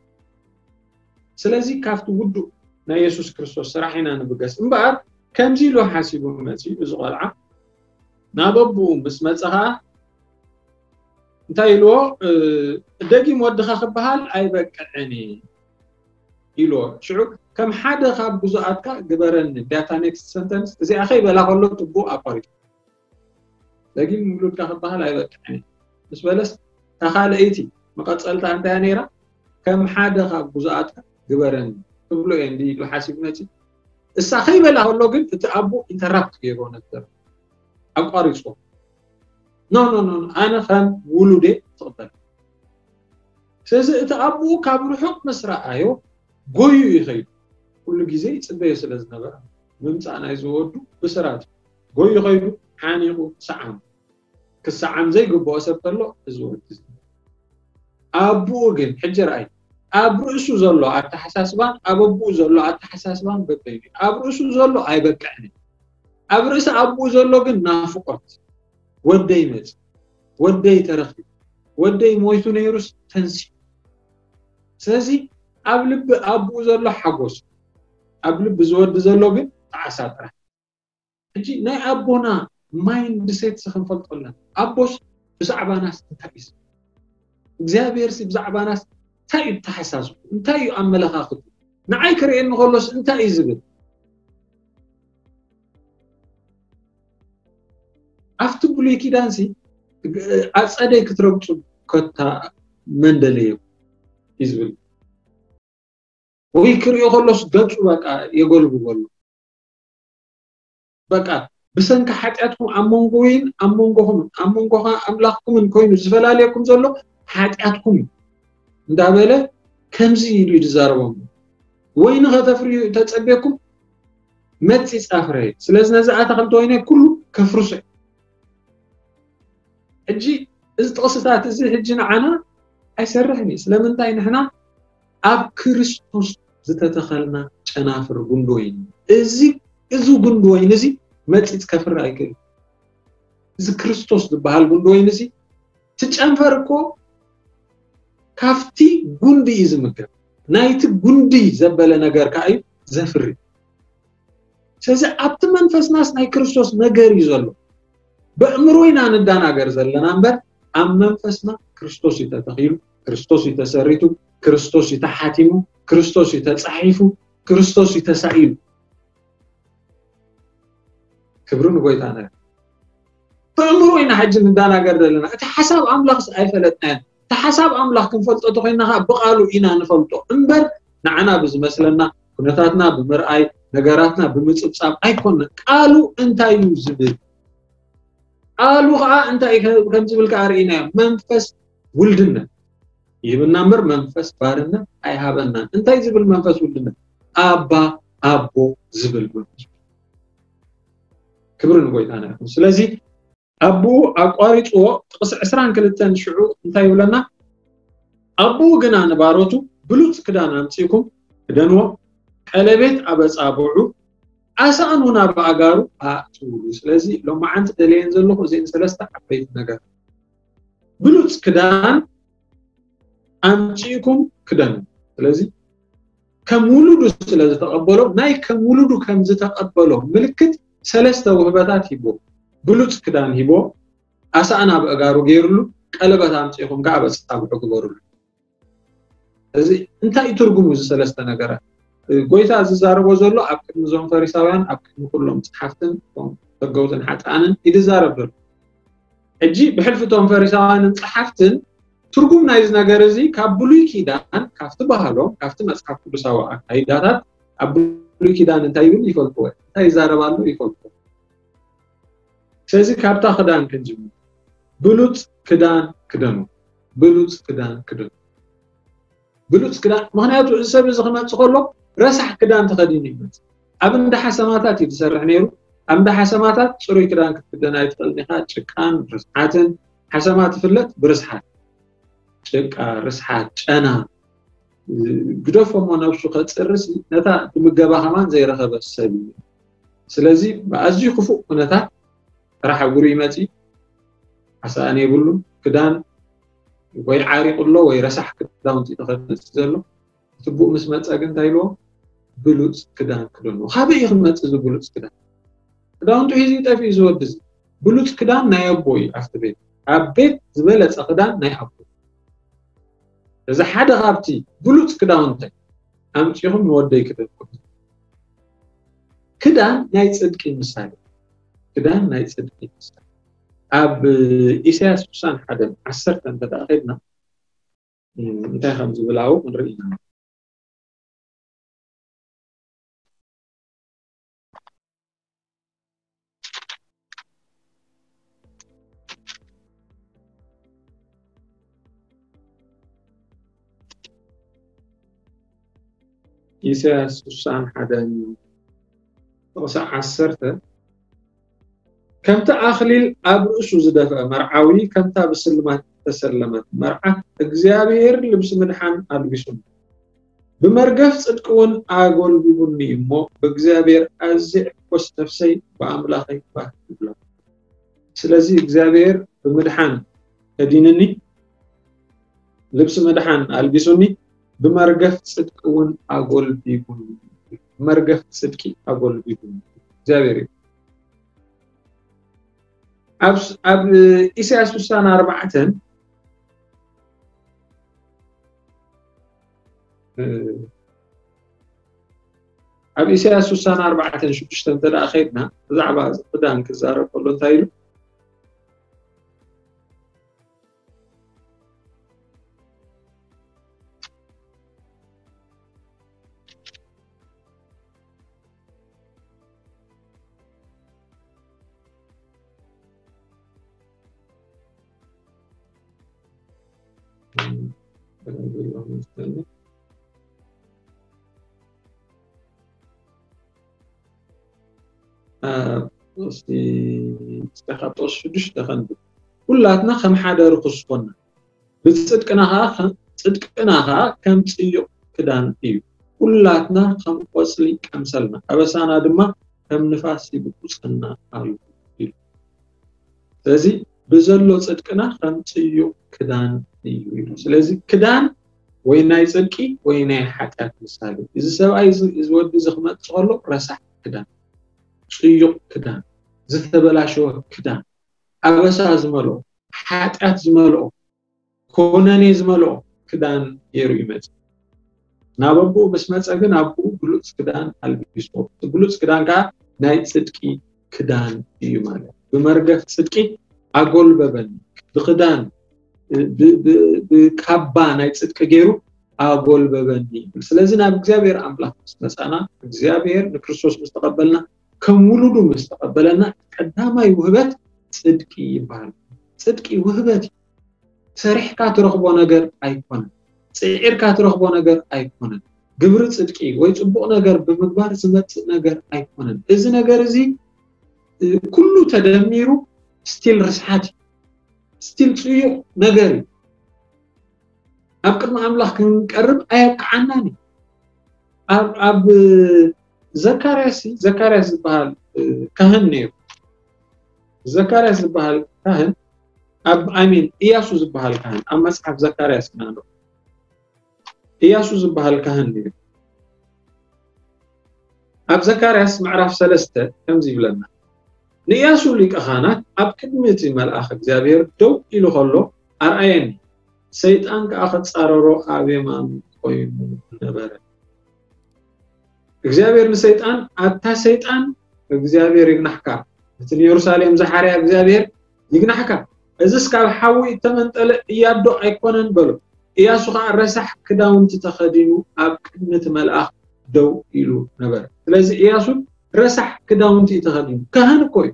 ስለዚ ካብቲ ውዱእ ናይ የሱስ ክርስቶስ ስራሕ ኢና ንብገስ። እምበኣር ከምዚ ኢሉ ሓሲቡ መጺኡ እዚ ቆልዓ ናብ ኣቦኡ ምስ መጸ ኸኣ እንታይ ኢልዎ? እ፣ "ደጊም ወድኻ ክበሃል ኣይበቅዕን እዩ" ኢልዎ። ሽዑ "ከም ሓደ ካብ ግዙኣትካ ግበረኒ" ዳታ ኔክስት ሰንተንስ እዚኣ ከይበላ ከሎ ጥቡቕ ኣቋሪጡ። "ደጊም ውሉድካ ክበሃል ኣይበቅዕን" ምስ በለስ፣ እታ ካልኣይቲ መቐጸልታ እንታይ እያ ነይራ? "ከም ሓደ ካብ ግዙኣትካ ግበረኒ" ትብሎ እየ እንዲ ኢሉ ሓሲቡ መጺ። እሳ ከይበላ ከሎ ግን እቲ ኣቦ ኢንተራፕት ገይርዎ ነበር፣ ኣቋሪጽዎ። "ኖ፣ ኖ፣ ኖ፣ ኖ፣ ኣነ ከም ውሉዴ ትቕበል." ስለዚ እቲ ኣቦኡ ካብ ርሑቕ ምስ ረኣዮ ጎዩ እዩ ከይዱ። ኩሉ ግዜ ይጽበዮ ስለ ዝነበረ ምምጻእ ናይዚ ወዱ ብስራት እዩ። ጎዩ ከይዱ ሓኒቑ ሰዓሙ። ክሰዓም ዘይግብኦ ሰብ ከሎ እዚ ወዲ እዚ። ኣቦኡ ግን ሕጂ ረኣይ፣ ኣብ ርእሱ ዘሎ ኣተሓሳስባን ኣብ ኣቦኡ ዘሎ ኣተሓሳስባን በበይኑ እዩ። ኣብ ርእሱ ዘሎ ኣይበቅዕን እዩ። ኣብ ርእሲ ኣቦኡ ዘሎ ግን ናፍቆት፣ "ወደይ መጽ፣ ወደይ ተረኺቡ፣ ወደይ ሞይቱ ነይሩስ ተንሲኡ." ስለዚ ኣብ ልቢ ኣቦኡ ዘሎ ሓጎስ፣ ኣብ ልቢ ዝወዲ ዘሎ ግን ጣዕሳ ጥራሕ። ሕጂ ናይ ኣቦና ማይንድ ሴት ክንፈልጦ ኣለና። ኣቦስ ብዛዕባናስ እንታይ እዩ ዝብል? እግዚኣብሔርሲ ብዛዕባናስ እንታይ እዩ ተሓሳስቡ? እንታይ እዩ ኣመለኻኽቱ? ንዓይ ክርእየኒ ከሎስ እንታይ እዩ ዝብል? ኣብቲ ብሉይ ኪዳንሲ ኣጸደይ ክትረግጹ ከታ መን ደለየኩም እዩ ዝብል። ወይ ክርእዮ ከሎስ ገጹ በቃ የጎልብበሉ። በቃ ብሰንኪ ሓጢኣትኩም ኣብ መንጎይን ኣብ መንጎኹምን ኣብ መንጎኻ ኣምላኽኩምን ኮይኑ ዝፈላለየኩም ዘሎ ሓጢኣትኩም እዩ እንዳበለ ከምዚ ኢሉ እዩ ዝዛረቦም። "ወይኒ ከተፍርዩ ተጸቤኩም መጺ ጻፍረየ፣ ስለዚ ነዚ ኣታኽልቲ ወይነይ ኩሉ ከፍርሶ እዩ." ሕጂ እዚ ጥቕስታት እዚ ሕጂ ንዓና ኣይሰርሕን እዩ። ስለምንታይ? ንሕና ኣብ ክርስቶስ ዝተተኸልና ጨናፍር ጉንዲ ወይኒ። እዚ፣ እዚ ጉንዲ ወይኒ እዚ መጺጽ ከፍሪ ኣይክእል። እዚ ክርስቶስ ዝበሃል ጉንዲ ወይኒ እዚ ትጨንፈር እኮ ካብቲ ጉንዲ እዩ ዝምገብ። ናይቲ ጉንዲ ዘበለ ነገር ከኣ እዩ ዘፍሪ። ስለዚ ኣብቲ መንፈስናስ ናይ ክርስቶስ ነገር እዩ ዘሎ። በእምሮ ኢና ንዳናገር ዘለና እምበር ኣብ መንፈስና ክርስቶስ እዩ ተተኺሉ፣ ክርስቶስ እዩ ተሰሪቱ፣ ክርስቶስ እዩ ተሓቲሙ፣ ክርስቶስ እዩ ተጻሒፉ፣ ክርስቶስ እዩ ተሳኢሉ። ክብሪ ንጎይታና ይኹን። ብኣእምሮ ኢና ሕጂ ንዳናገር ዘለና። እቲ ሓሳብ ኣምላኽስ ኣይፈለጥናዮን። እቲ ሓሳብ ኣምላኽ ክንፈልጦ ተኾይና ኸዓ ብቓሉ ኢና ንፈልጦ እምበር፣ ንዓና ብዝመስለና፣ ኩነታትና ብምርኣይ፣ ነገራትና ብምጽብጻብ ኣይኮነን። ቃሉ እንታይ እዩ ዝብል? ቃሉ ኸዓ እንታይ እዩ ከም ዝብል ከኣ ርኢናዮ። መንፈስ ውልድነት ይህብና እምበር መንፈስ ባርነት ኣይሃበናን። እንታይ ዝብል መንፈስ ውልድነት? ኣባ፣ ኣቦ ዝብል መንፈስ። ክብሪ ንጎይታና ይኹን። ስለዚ ኣቦኡ ኣቋሪጽዎ። ጥቕሲ ዕስራን ክልተን ሽዑ እንታይ ይብለና? ኣቦኡ ግና ንባሮቱ ብሉጽ ክዳን ኣምጺእኩም ክደንዎ፣ ቀለቤት ኣብ ኣጻብዑ፣ ኣሳእኑ ናብ ኣእጋሩ ኣእትውሉ። ስለዚ ሎማዓንቲ ደልየን ዘለኹ እዚአን ሰለስተ ዓበይቲ ነገር። ብሉጽ ክዳን ኣምጺእኩም ክደኑ። ስለዚ ከም ውሉዱ ስለ ዝተቐበሎ፣ ናይ ከም ውሉዱ ከም ዝተቐበሎ ምልክት ሰለስተ ውህበታት ሂቦ። ብሉጽ ክዳን ሂቦ፣ ኣሳእና ኣብ ኣእጋሩ ገይሩሉ፣ ቀለበት ኣምጺእኩም ከኣ ኣብ ኣጻብዑ ግበሩሉ። እዚ እንታይ እዩ ትርጉሙ? እዚ ሰለስተ ነገራት ጎይታ ዝዛረቦ ዘሎ ኣብ ቅድሚ እዞም ፈሪሳውያን፣ ኣብ ቅድሚ ኩሎም ጸሓፍትን እቶም ተገውትን ሓጥኣንን እዩ ዝዛረብ ዘሎ። ሕጂ ብሕልፊ እቶም ፈሪሳውያንን ጸሓፍትን ትርጉም ናይዚ ነገር እዚ ካብ ብሉይ ኪዳን፣ ካብቲ ባህሎም፣ ካብቲ መጽሓፍ ቅዱሳዊ ኣካይዳታት ኣብ ብሉይ ኪዳን እንታይ ይብል ይፈልጥዎ፣ እንታይ ይዛረብ ኣሎ ይፈልጥዎ። ስለዚ ካብታ ክዳን ክንጅምር። ብሉጽ ክዳን ክደኑ። ብሉጽ ክዳን ክደኑ። ብሉጽ ክዳን፣ ምኽንያቱ እዚ ሰብ እዚ ክመጽእ ከሎ ረሳሕ ክዳን ተኸዲኑ ይመጽእ። ኣብ እንዳ ሓሰማታት እዩ ዝሰርሕ ነይሩ። ኣብ እንዳ ሓሰማታት ጽሩይ ክዳን ክትክደን ኣይትኽእልን ኢኻ። ጭቃን ርስሓትን፣ ሓሰማ ትፍለጥ ብርስሓት። ጭቃ፣ ርስሓት፣ ጨና፣ ግደፎ እሞ ነብሱ ከጽርስ ነታ ትምገባ ከማን ዘይረኸበ ሰብ እዩ። ስለዚ ብኣዝዩ ክፉእ ኩነታት ጥራሕ እግሩ ይመጽእ፣ ኣሳእን የብሉን። ክዳን ወይ ዓሪቑ ኣሎ ወይ ረሳሕ ክዳውንቲ እዩ ተኸዲኑ ዘሎ። እቲ ብኡ ምስ መጸ ግን እንታይ ኢልዎ? ብሉጽ ክዳን ክደንዎ። ካበይ እዩ ክመጽእ እዚ ብሉጽ ክዳን? ክዳውንቱ ሒዙ ጠፊኡ እዚ ወዲ እዚ። ብሉጽ ክዳን ናይ ኣቦ እዩ ኣብቲ ቤት። ኣብ ቤት ዝበለጸ ክዳን ናይ ኣቦ። እዚ ሓደ ካብቲ ብሉጽ ክዳውንተይ ኣምጺኹም ንወደይ ክደንኩም። ክዳን ናይ ጽድቂ ምሳሌ። ክዳን ናይ ጽድቂ ምሳሌ። ኣብ ኢሳያስ ስሳን ሓደን ዓሰርተ እንተ ደኣ ኸድና፣ እም፣ እንታይ ከም ዝብል ኣብኡ ክንርኢ ኢና። ኢሳያስ ስሳን ሓደን ጥቕሲ ዓሰርተ፣ ከምቲ ኣኽሊል ኣብ ርእሱ ዝደፍአ መርዓዊ፣ ከምታ ብስልማት እተሰለመት መርዓት፣ እግዚኣብሔር ልብሲ ምድሓን ኣልቢሱኒ። ብመርገፍ ጽድቂ እውን ኣጎልቢቡኒ እሞ፣ ብእግዚኣብሔር ኣዝየ እሕጎስ፣ ነፍሰይ ብኣምላኸይ ባህ ትብሎ። ስለዚ እግዚኣብሔር ብምድሓን ከዲንኒ፣ ልብሲ ምድሓን ኣልቢሱኒ፣ ብመርገፍ ጽድቂ እውን ኣጎልቢቡኒ። ብመርገፍ ጽድቂ ኣጎልቢቡኒ። እግዚኣብሔር እዩ። ኣብ ስ-፣ ኣብ ኢሳያስ ስሳን ኣርባዕተን፣ እ፣ ኣብ ኢሳያስ ስሳን ኣርባዕተን ሽዱሽተ እንተ ደኣ ኸይድና፣ ብዛዕባ እዚ ክዳን ክዛረብ ከሎ እንታይ ኢሉ? እ፣ እስቲ፣ እስቲ ካብ ጥቕሲ ሽዱሽተ ከንብብ። ኩላትና ከም ሓደ ርኹስ ኮና፣ ብጽድቅና ኸኣ ከ-፣ ጽድቅና ኸኣ ከም ጽዩቕ ክዳን እዩ። ኩላትና ከም ቆጽሊ ቀምሰልና፣ ኣበሳና ድማ ከም ንፋስ ይብቁጸና ኣሎ ኢሉ። ስለዚ ብዘሎ ጽድቅና ከም ጽዩቕ ክዳን እዩ ኢሉ። ስለዚ ክዳን ወይ ናይ ጽድቂ ወይ ናይ ሓጢኣት ምሳሌ። እዚ ሰብኣይ እዚ፣ እዚ ወዲ እዚ ክመጽእ ከሎ ረሳሕ ክዳን፣ ጽዩቕ ክዳን፣ ዝተበላሸወ ክዳን፣ ኣበሳ ዝመልኦ፣ ሓጢኣት ዝመልኦ፣ ኮነኔ ዝመልኦ ክዳን ገይሩ ይመጽእ። ናብ ኣቦኡ ምስ መጸ ግን ኣቦኡ ብሉጽ ክዳን ኣልቢስዎ። እቲ ብሉጽ ክዳን ከኣ ናይ ጽድቂ ክዳን እዩ ማለት። ብመርገፍ ጽድቂ ኣጎልበበኒ፣ ብክዳን፣ ብ-፣ ብ-፣ ብካባ ናይ ጽድቂ ገይሩ ኣጎልበበኒ። ስለዚ ናብ እግዚኣብሔር ኣምላኽ ምስ መጻና፣ እግዚኣብሔር ንክርስቶስ ምስ ተቐበልና፣ ከም ውሉዱ ምስ ተቐበለና፣ ቀዳማይ ውህበት ጽድቂ ይበሃል። ጽድቂ ውህበት እዩ። ሰሪሕካ ትረኽቦ ነገር ኣይኮነን። ጽዒርካ ትረኽቦ ነገር ኣይኮነን። ግብሪ ጽድቂ ወይ ጽቡቕ ነገር ብምግባር ዝመጽእ ነገር ኣይኮነን። እዚ ነገር እዚ፣ እ፣ ኩሉ ተደሚሩ ስቲል ርስሓት እዩ። ስቲል ጽዩቕ ነገር እዩ። ኣብ ቅድሚ ኣምላኽ ክንቀርብ ኣየብቅዓናን እዩ። ኣብ፣ ኣብ ዘካርያስ፣ ዘካርያስ ዝበሃል፣ እ፣ ካህን ነይሩ። ዘካርያስ ዝበሃል ካህን ኣብ፣ ኣይ ሚን፣ ኢያሱ ዝበሃል ካህን ኣብ መጽሓፍ ዘካርያስ ኢና ንረኽቦ። ኢያሱ ዝበሃል ካህን ነይሩ። ኣብ ዘካርያስ ምዕራፍ ሰለስተ ከምዚ ይብለና፣ ንኢያሱ ሊቀ ካህናት ኣብ ቅድሚ እቲ መልኣኽ እግዚኣብሔር ደው ኢሉ ኸሎ ኣርኣየኒ፣ ሰይጣን ከኣ ክጻረሮ ኣብ የማኑ ቈይሙ ነበረ። እግዚኣብሔር ንሰይጣን፣ ኣታ ሰይጣን፣ እግዚኣብሔር ይግናሕካ፣ እቲ ንየሩሳሌም ዝሓርያ እግዚኣብሔር ይግናሕካ፣ እዝስ ካብ ሓዊ እተመንጠለ እያዶ ኣይኮነን በሎ። ኢያሱ ኸኣ ረሳሕ ክዳውንቲ ተኸዲኑ ኣብ ቅድሚ እቲ መልኣኽ ደው ኢሉ ነበረ። ስለዚ ኢያሱ ረሳሕ ክዳውንቲ እዩ ተኸዲኑ። ካህን እኮ እዩ፣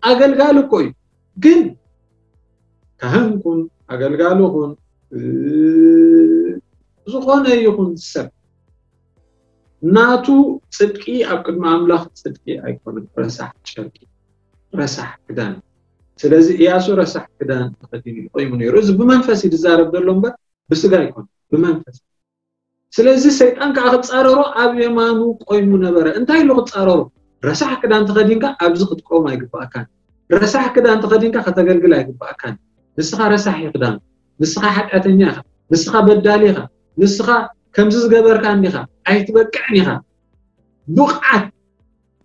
ኣገልጋሊ እኮ እዩ። ግን ካህን ኩን፣ ኣገልጋሊ ኩን፣ እ፣ ዝኾነ ይኹን ሰብ ናቱ ጽድቂ ኣብ ቅድሚ ኣምላኽ ጽድቂ ኣይኮነን። ረሳሕ ጨርቂ፣ ረሳሕ ክዳን። ስለዚ ኢያሱ ረሳሕ ክዳን ተኸዲኑ እዩ ቆይሙ ነይሩ። እዚ ብመንፈስ እዩ ዝዛረብ ዘሎ እምበር ብስጋ ኣይኮነን፣ ብመንፈስ። ስለዚ ሰይጣን ከኣ ክጻረሮ ኣብ የማኑ ቆይሙ ነበረ። እንታይ ኢሉ ክጻረሮ? ረሳሕ ክዳን ተኸዲንካ ኣብዚ ክትቆም ኣይግባኣካን። ረሳሕ ክዳን ተኸዲንካ ከተገልግል ኣይግባኣካን። ንስኻ ረሳሕ እዩ ክዳን። ንስኻ ሓጢኣተኛ ኢኻ። ንስኻ በዳሊ ኢኻ። ንስኻ ከምዚ ዝገበርካ እንዲኻ። ኣይትበቅዕን ኢኻ። ብቕዓት፣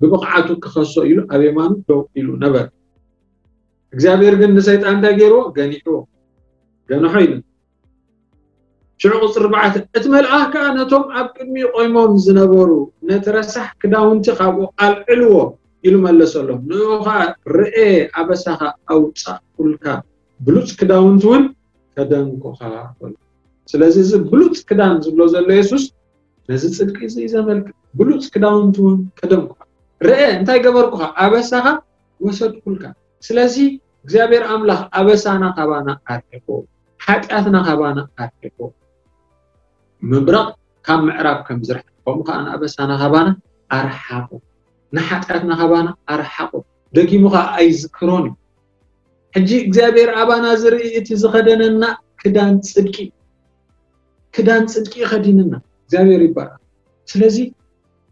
ብብቕዓቱ ክኸሶ ኢሉ ኣብ የማኑ ደው ኢሉ ነበረ። እግዚኣብሔር ግን ንሰይጣን እንታይ ገይርዎ? ገኒሕዎ። ገንሖ ኢሉ። ሽዑ ቁጽሪ ኣርባዕተ፣ እቲ መልኣኽ ከኣ ነቶም ኣብ ቅድሚኡ ቆይሞም ዝነበሩ፣ "ነቲ ረሳሕ ክዳውንቲ ካብኡ ኣልዕልዎ" ኢሉ መለሰሎም። ንእኡ ኸኣ፣ "ርኤ፣ ኣበሳኻ ኣውጻእኩልካ፣ ብሉጽ ክዳውንቲ እውን ከደንኩኻ" በሎ። ስለዚ እዚ ብሉጽ ክዳን ዝብሎ ዘሎ የሱስ፣ ነዚ ጽድቂ እዚ እዩ ዘመልክት። "ብሉጽ ክዳውንቲ እውን ከደንኩኻ፣ ርኤ፣ እንታይ ገበርኩኻ? ኣበሳኻ ወሰድኩልካ።" ስለዚ እግዚኣብሔር ኣምላኽ ኣበሳና ካባና ኣርሒቑ፣ ሓጢኣትና ካባና ኣርሒቑ፣ ምብራቕ ካብ ምዕራብ ከም ዝርሕቕ፣ ከምኡ ከኣ ንኣበሳና ካባና ኣርሓቑ፣ ንሓጢኣትና ካባና ኣርሓቑ፣ ደጊሙ ከኣ ኣይዝክሮን እዩ። ሕጂ እግዚኣብሔር ኣባና ዝርኢ እቲ ዝኸደነና ክዳን ጽድቂ፣ ክዳን ጽድቂ ከዲንና እግዚኣብሔር ይባረክ። ስለዚ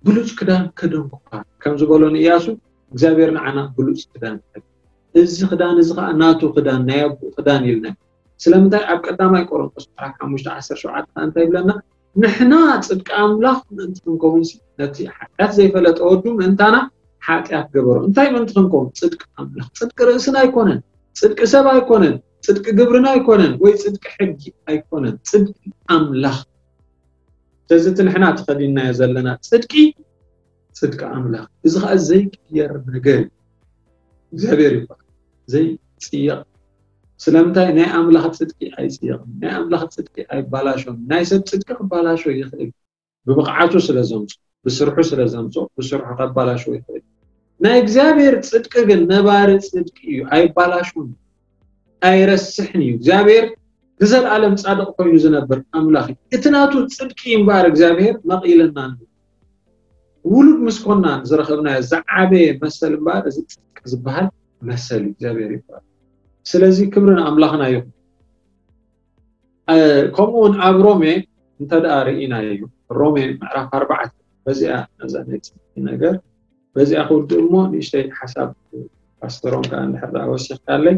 ብሉጽ ክዳን ከደንኩኻ ከም ዝበሎ ንኢያሱ እግዚኣብሔር ንዓና ብሉጽ ክዳን ከደን። እዚ ክዳን እዚ ከኣ ናቱ ክዳን፣ ናይ ኣቦኡ ክዳን ኢልና። ስለምንታይ? ኣብ ቀዳማይ ቆሮንቶስ ምዕራፍ ሓሙሽተ ዓሰርተ ሸውዓተ ከኣ እንታይ ይብለና? ንሕና ጽድቂ ኣምላኽ ምእንቲ ክንከውንሲ ነቲ ሓጢኣት ዘይፈለጠ ወዱ ምእንታና ሓጢኣት ገበሮ። እንታይ ምእንቲ ክንከውን? ጽድቂ ኣምላኽ። ጽድቂ ርእስና ኣይኮነን፣ ጽድቂ ሰብ ኣይኮነን፣ ጽድቂ ግብርና ኣይኮነን፣ ወይ ጽድቂ ሕጊ ኣይኮነን፣ ጽድቂ ኣምላኽ። ስለዚ እቲ ንሕና ተኸዲንናዮ ዘለና ጽድቂ፣ ጽድቂ ኣምላኽ። እዚ ኸኣ ዘይቅየር ነገር እዩ። እግዚኣብሔር ይባረክ። ዘይጽየቕ። ስለምንታይ? ናይ ኣምላኽ ጽድቂ ኣይጽየቕን። ናይ ኣምላኽ ጽድቂ ኣይባላሾን። ናይ ሰብ ጽድቂ ክባላሾ ይኽእል። ብብቕዓቱ ስለ ዘምጾ፣ ብስርሑ ስለ ዘምጾ፣ ብስርሑ ከባላሽዎ ይኽእል። ናይ እግዚኣብሔር ጽድቂ ግን ነባሪ ጽድቂ እዩ፣ ኣይባላሽውን፣ ኣይረስሕን እዩ። እግዚኣብሔር ንዘለኣለም ጻድቕ ኮይኑ ዝነብር ኣምላኽ እዩ። እቲ ናቱ ጽድቂ እምበኣር እግዚኣብሔር መቕ ኢለና ኣሎ። ውሉድ ምስ ኮና ዝረኸብናዮ ዝዓበየ መሰል እምበኣር እዚ ጽድቂ ዝበሃል መሰል እዩ። እግዚኣብሔር ይባረክ። ስለዚ ክብሪ ንኣምላኽና ይኹን። እ፣ ከምኡ እውን ኣብ ሮሜ እንተ ደኣ ርኢናዮ፣ ሮሜ ምዕራፍ ኣርባዕተ፣ በዚኣ ነዛ ናይ ጽድቂ ነገር፣ በዚኣ ክውድእ እሞ ንእሽተይ ሓሳብ ፓስተሮም ከኣ እንድሕር ደኣ ወሲኽካለይ፣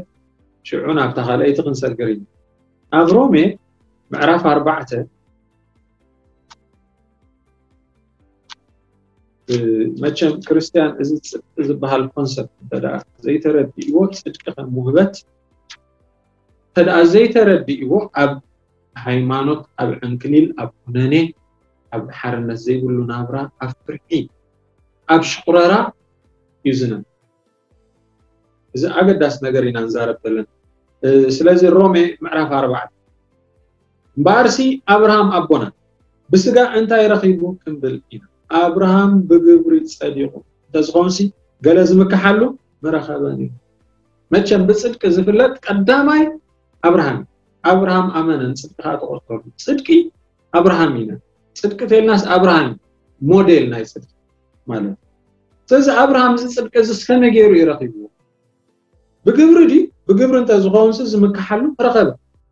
ሽዑ ናብታ ካልኣይቲ ክንሰግር ኢና። ኣብ ሮሜ ምዕራፍ ኣርባዕተ፣ እ፣ መቸም ክርስትያን እዚ ጽድቂ ዝበሃል ኮንሰፕት እንተ ደኣ ዘይተረዲእዎ፣ ጽድቂ ከም ውህበት እንተ ደኣ ዘይተረዲእዎ፣ ኣብ ሃይማኖት፣ ኣብ ዕንክሊል፣ ኣብ ኩነኔ፣ ኣብ ሓርነት ዘይብሉ ናብራ፣ ኣብ ፍርሒ፣ ኣብ ሽቑረራ እዩ ዝነብር። እዚ ኣገዳሲ ነገር ኢና ንዛረብ ዘለና። ስለዚ ሮሜ ምዕራፍ ኣርባዕተ፣ እምበኣርሲ ኣብርሃም ኣቦና ብስጋ እንታይ ረኺቡ ክንብል ኢና? ኣብርሃም ብግብሪ ጸዲቑ እንተዝኾንሲ፣ ገለ ዝምክሓሉ ምረኸበን እዩ። መቸም ብጽድቂ ዝፍለጥ ቀዳማይ ኣብርሃም። ኣብርሃም ኣመነ፣ ንጽድቂ ከዓ ተቆጸረሉ። ጽድቂ ኣብርሃም ኢና። ጽድቂ ተልናስ ኣብርሃም ሞዴል ናይ ጽድቂ ማለት። ስለዚ ኣብርሃም እዚ ጽድቂ እዚ ከመይ ገይሩ እዩ ረኺብዎ? ብግብሪ ድዩ? ብግብሪ እንተዝኸውንሲ ዝምክሓሉ ረኸበ።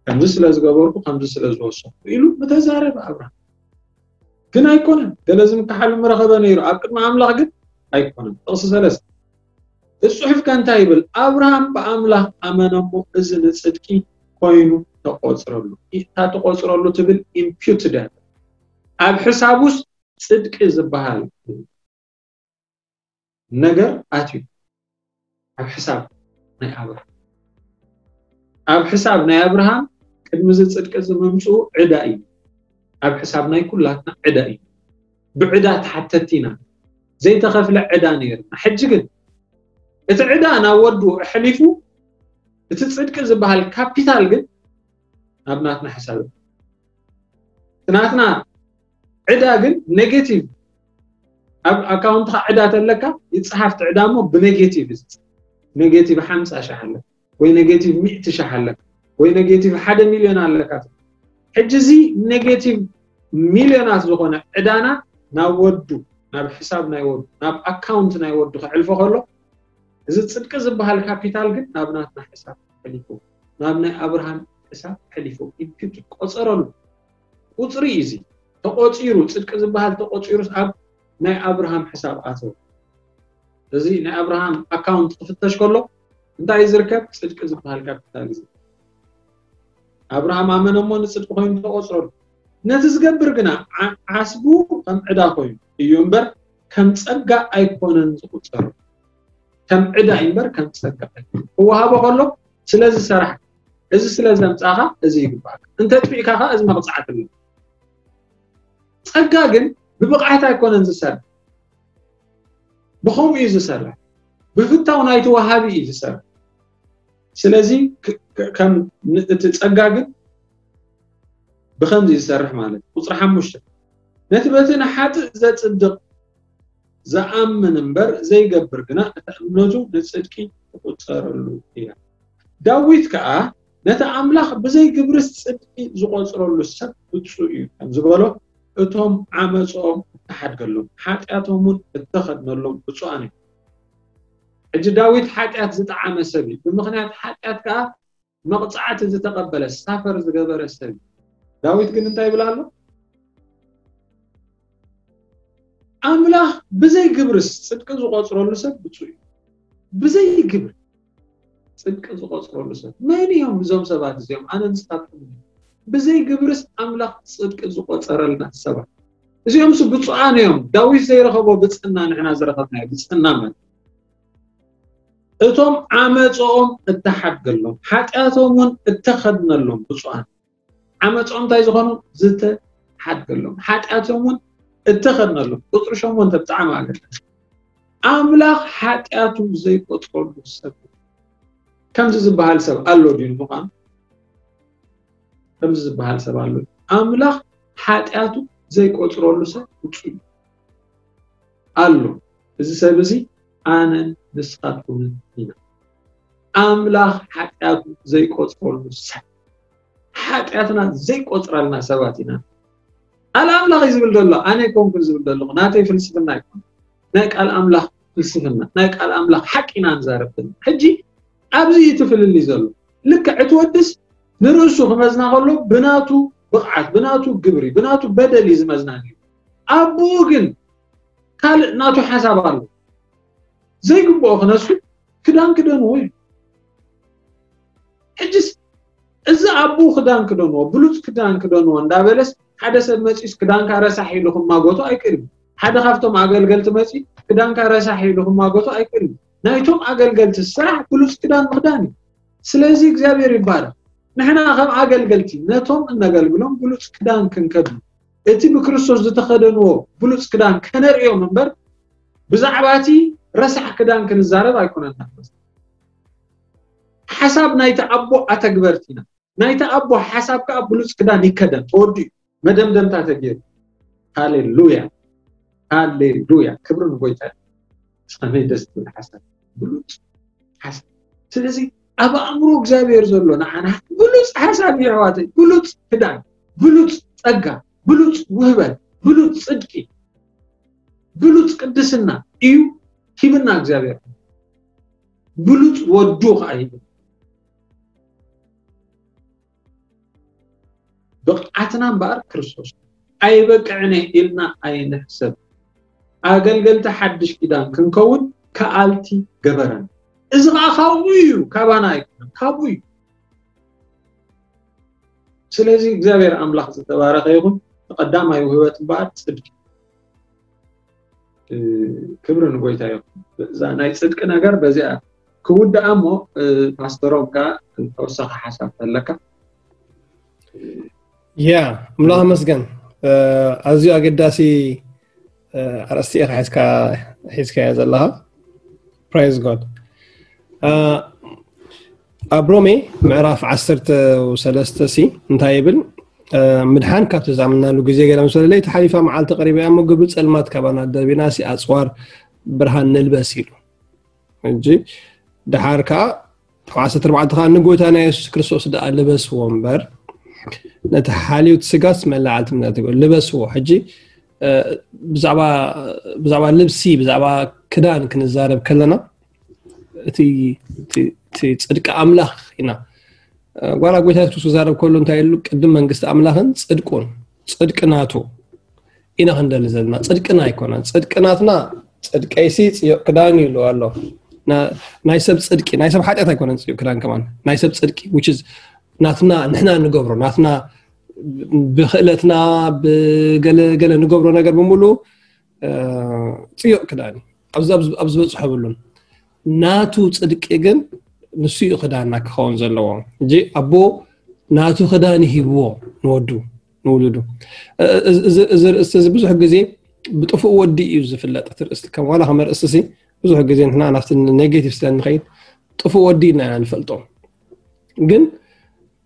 ከምዚ ስለ ዝገበርኩ፣ ከምዚ ስለ ዝወሰኹ ኢሉ ምተዛረበ ኣብርሃም። ግን ኣይኮነን። ገለ ዝምክሓሉ ምረኸበ ነይሩ፣ ኣብ ቅድሚ ኣምላኽ ግን ኣይኮነን። ጥቕሲ ሰለስተ፣ እቲ ጽሑፍ ከ እንታይ ይብል? ኣብርሃም ብኣምላኽ ኣመነ እሞ እዚ ንጽድቂ ኮይኑ ተቆጽረሉ። እታ ተቆጽረሉ ትብል ኢምፒዩትድ እያ። ኣብ ሕሳቡስ ጽድቂ ዝበሃል ነገር ኣትዩ ኣብ ሕሳብ ናይ ኣብርሃም። ኣብ ሕሳብ ናይ ኣብርሃም ቅድሚ እዚ ጽድቂ እዚ ምምጽኡ ዕዳ እዩ። ኣብ ሕሳብ ናይ ኩላትና ዕዳ እዩ። ብዕዳ ተሓተቲ ኢና። ዘይተኸፍለ ዕዳ ነይርና። ሕጂ ግን እቲ ዕዳ ናብ ወዱ ኣሕሊፉ፣ እቲ ጽድቂ ዝበሃል ካፒታል ግን ናብ ናትና ሕሳብ። እቲ ናትና ዕዳ ግን ኔጌቲቭ፣ ኣብ ኣካውንትኻ ዕዳ ተለካ ይጽሓፍ፣ እቲ ዕዳ እሞ ብኔጌቲቭ እዩ። ኔጌቲቭ ሓምሳ ሺሕ ኣለካ ወይ ኔጌቲቭ ሚእቲ ሺሕ ኣለካ ወይ ኔጌቲቭ ሓደ ሚልዮን ኣለካ። ሕጂ እዚ ኔጌቲቭ ሚልዮናት ዝኾነ ዕዳና ናብ ወዱ፣ ናብ ሕሳብ ናይ ወዱ፣ ናብ ኣካውንት ናይ ወዱ ከዕልፎ ከሎ፣ እዚ ጽድቂ ዝበሃል ካፒታል ግን ናብ ናትና ሕሳብ ሕሊፉ፣ ናብ ናይ ኣብርሃም ሕሳብ ሕሊፉ፣ ኢምፒዩትድ ቆጸረሉ። ቁጽሪ እዩ እዚ። ተቆጺሩ፣ ጽድቂ ዝበሃል ተቆጺሩስ ኣብ ናይ ኣብርሃም ሕሳብ ኣተወ። እዚ ናይ ኣብርሃም ኣካውንት ክፍተሽ ከሎ እንታይ እዩ ዝርከብ? ጽድቂ ዝበሃል ካፒታል እዩ። ኣብርሃም ኣመነ እሞ ንጽድቂ ኮይኑ ተቆጽረሉ። ነቲ ዝገብር ግና ዓ-፣ ዓስቡ ከም ዕዳ ኮይኑ እዩ እምበር ከም ጸጋ ኣይኮነን ዝቁጸር። ከም ዕዳ እዩ እምበር ከም ጸጋ ኣይኮነን። ክወሃቦ ከሎ ስለ ዝሰራሕ፣ እዚ ስለ ዘምጻኻ እዚ ይግባእካ። እንተ ጥፊእካ ከኣ እዚ መቕጻዕቲ ኣሎ። ጸጋ ግን ብብቕዓት ኣይኮነን ዝሰርሕ። ብኸምኡ እዩ ዝሰርሕ። ብፍታው ናይቲ ወሃቢ እዩ ዝሰርሕ። ስለዚ ክ-፣ ክ-፣ ከም ን-፣ እቲ ጸጋ ግን ብኸምዚ ዝሰርሕ ማለት እዩ። ቁጽሪ ሓሙሽተ፣ ነቲ በቲ ንሓጥእ ዘጽድቕ ዝኣምን እምበር ዘይገብር ግና እታ እምነቱ ንጽድቂ ትቑጸረሉ እያ። ዳዊት ከኣ ነቲ ኣምላኽ ብዘይ ግብርስ ጽድቂ ዝቖጽረሉ ሰብ ብጹእ እዩ ከም ዝበሎ፣ እቶም ዓመጾኦም እተሓድገሎም፣ ሓጢኣቶም እውን እተኸድነሎም ብጹኣን እዮም። ሕጂ ዳዊት ሓጢኣት ዝጠዓመ ሰብ እዩ። ብምኽንያት ሓጢኣት ከኣ መቕጻዕቲ ዝተቐበለ፣ ሳፈር ዝገበረ ሰብ እዩ። ዳዊት ግን እንታይ ይብል ኣሎ? ኣምላኽ ብዘይ ግብርስ ጽድቂ ዝቖጽረሉ ሰብ ብጹእ እዩ። ብዘይ ግብሪ ጽድቂ ዝቖጽረሉ ሰብ። መን እዮም እዞም ሰባት እዚኦም? ኣነ ንስኻትኩም። ብዘይ ግብርስ ኣምላኽ ጽድቂ ዝቖጸረልና ሰባት። እዚኦምስ ብጹኣን እዮም። ዳዊት ዘይረኸቦ ብጽና ንሕና ዝረኸብናዮ ብጽና ማለት። እቶም ዓመጾኦም እተሓድገሎም፣ ሓጢኣቶም እውን እተኸድነሎም ብጹኣን። ዓመጾም እንታይ ዝኾኑ? ዝተሓድገሎም። ሓጢኣቶም እውን እተኸድነሎም። ቁጽሪ ሸሞንተ ብጣዕሚ ኣገዳሲ። ኣምላኽ ሓጢኣቱ ዘይቆጽረሉ ሰብ። ከምዚ ዝበሃል ሰብ ኣሎ ድዩ ንምዃኑ? ከምዚ ዝበሃል ሰብ ኣሎ ድዩ? ኣምላኽ ሓጢኣቱ ዘይቆጽረሉ ሰብ ውጹእ እዩ። ኣሎ። እዚ ሰብ እዚ ኣነን ንስኻትኩምን ኢና። ኣምላኽ ሓጢኣቱ ዘይቆጽረሉ ሰብ። ሓጢኣትና ዘይቆጽረልና ሰባት ኢና። ቃል ኣምላኽ እዩ ዝብል ዘሎ፣ ኣነ ኣይኮንኩን ዝብል ዘለኹ፣ ናተይ ፍልስፍና ኣይኮን። ናይ ቃል ኣምላኽ ፍልስፍና፣ ናይ ቃል ኣምላኽ ሓቂ ኢና ንዛረብ ዘለና። ሕጂ ኣብዚ እዩ እቲ ፍልልይ ዘሎ። ልክዕ እቲ ወድስ ንርእሱ ክመዝና ከሎ ብናቱ ብቕዓት፣ ብናቱ ግብሪ፣ ብናቱ በደል እዩ ዝመዝና ነይሩ። ኣቦኡ ግን ካልእ ናቱ ሓሳብ ኣሎ። ዘይግብኦ ክነሱ ክዳን ክደንዎ እዩ። ሕጅስ እዚ ኣቦኡ ክዳን ክደንዎ፣ ብሉጽ ክዳን ክደንዎ እንዳበለስ ሓደ ሰብ መጺኡስ ክዳንካ ረሳሕ ኢሉ ክማጎቶ ኣይክእልን። ሓደ ካብቶም ኣገልገልቲ መጺኡ ክዳንካ ረሳሕ ኢሉ ክማጎቶ ኣይክእልን። ናይቶም ኣገልገልቲ ስራሕ ብሉጽ ክዳን ምኽዳን እዩ። ስለዚ እግዚኣብሔር ይባረክ። ንሕና ከም ኣገልገልቲ ነቶም እነገልግሎም ብሉጽ ክዳን ክንከድኑ፣ እቲ ብክርስቶስ ዝተኸደንዎ ብሉጽ ክዳን ከነርእዮም እምበር ብዛዕባ እቲ ረሳሕ ክዳን ክንዛረብ ኣይኮነን። ሓሳብ ናይቲ ኣቦ ኣተግበርቲ ኢና። ናይቲ ኣቦ ሓሳብ ከዓ ብሉፅ ክዳን ይከደን፣ ተወዲኡ፣ መደምደምታ ተገይሩ። ሃሌሉያ፣ ሃሌሉያ፣ ክብሪ ንጎይታ። ከመይ ደስ ትብል ሓሳብ፣ ብሉፅ ሓሳብ። ስለዚ ኣብ ኣእምሮ እግዚኣብሔር ዘሎ ንዓና ብሉፅ ሓሳብ እዩ ኣሕዋተይ። ብሉፅ ክዳን፣ ብሉፅ ፀጋ፣ ብሉፅ ውህበት፣ ብሉፅ ፅድቂ፣ ብሉፅ ቅድስና እዩ ሂብና እግዚኣብሔር። ብሉፅ ወዱ ከዓ ሂብና። ብቕዓትና እምበኣር ክርስቶስ ኣይበቅዕን እየ ኢልና ኣይንሕሰብ። ኣገልገልቲ ሓድሽ ኪዳን ክንከውን ከኣልቲ ገበረና። እዚ ከዓ ካብኡ እዩ፣ ካባና ኣይኮነን፣ ካብኡ እዩ። ስለዚ እግዚኣብሔር ኣምላኽ ዝተባረኸ ይኹን። ቀዳማይ ውህበት እምበኣር ፅድቂ። ክብሪ ንጎይታ ይኹን። እዛ ናይ ፅድቂ ነገር በዚኣ ክውድኣ እሞ፣ ፓስተሮም ከ ተወሳኺ ሓሳብ ኣለካ? ያ፣ ኣምላኽ መስገን። ኣዝዩ ኣገዳሲ ኣርእስቲ ኢኻ ሒዝካዮ ዘለኻ። Praise God። ኣብ ሮሜ ምዕራፍ ዓሰርተ ሰለስተ ሲ እንታይ ይብል? ምድሓን ካብቲ ዝኣመንናሉ ግዜ ገለ ምስ በለ፣ ለይቲ ሓሊፋ መዓልቲ ቀሪባ እያ እሞ፣ ግብሪ ጸልማት ካባና ደርቢና ሲ ኣጽዋር ብርሃን ንልበስ ኢሉ። ሕጂ ድሓር ከኣ ዓሰርተ ኣርባዕተ ከኣ ንጎይታና የሱስ ክርስቶስ ደኣ ልበስዎ እምበር፣ ነቲ ሓልዮት ስጋስ መላዕልቲ እምነት ይበል። ልበስዎ። ሕጂ ብዛዕባ ልብሲ፣ ብዛዕባ ክዳን ክንዛረብ ከለና እቲ ጽድቂ ኣምላኽ ኢና። ጓላ ጎይታ የሱስ ክዛረብ ከሎ እንታይ ኢሉ? ቅድም መንግስቲ ኣምላኽን ጽድቁን፣ ጽድቂ ናቱ ኢና ክንደሊ ዘለና። ጽድቅና ኣይኮነን። ጽድቂ ናትና፣ ጽድቀይሲ ጽዮቕ ክዳን እዩ ኢሉ ኣሎ። ናይ ሰብ ጽድቂ፣ ናይ ሰብ ሓጢኣት ኣይኮነን ጽዮቕ ክዳን ከማን። ናይ ሰብ ጽድቂ፣ which is ናትና፣ ንሕና ንገብሮ፣ ናትና ብክእለትና ብገለ ገለ ንገብሮ ነገር ብምሉ ጽዮቕ ክዳን እዩ። ኣብ ዝበጽሖ ብሉን ናቱ ጽድቂ ግን ንሱ እዩ ክዳንና ክኸውን ዘለዎ። እጂ ኣቦ ናቱ ክዳን ይሂብዎ ንወዱ ንውሉዱ። እዚ ርእስቲ እዚ ብዙሕ ግዜ ብጥፉእ ወዲ እዩ ዝፍለጥ። እቲ ርእስቲ ከም ዋላ ከም ርእስቲ ብዙሕ ግዜ ንሕና ናብቲ ኔጌቲቭ ስለ ንኸይድ ጥፉእ ወዲ ኢና ንፈልጦ። ግን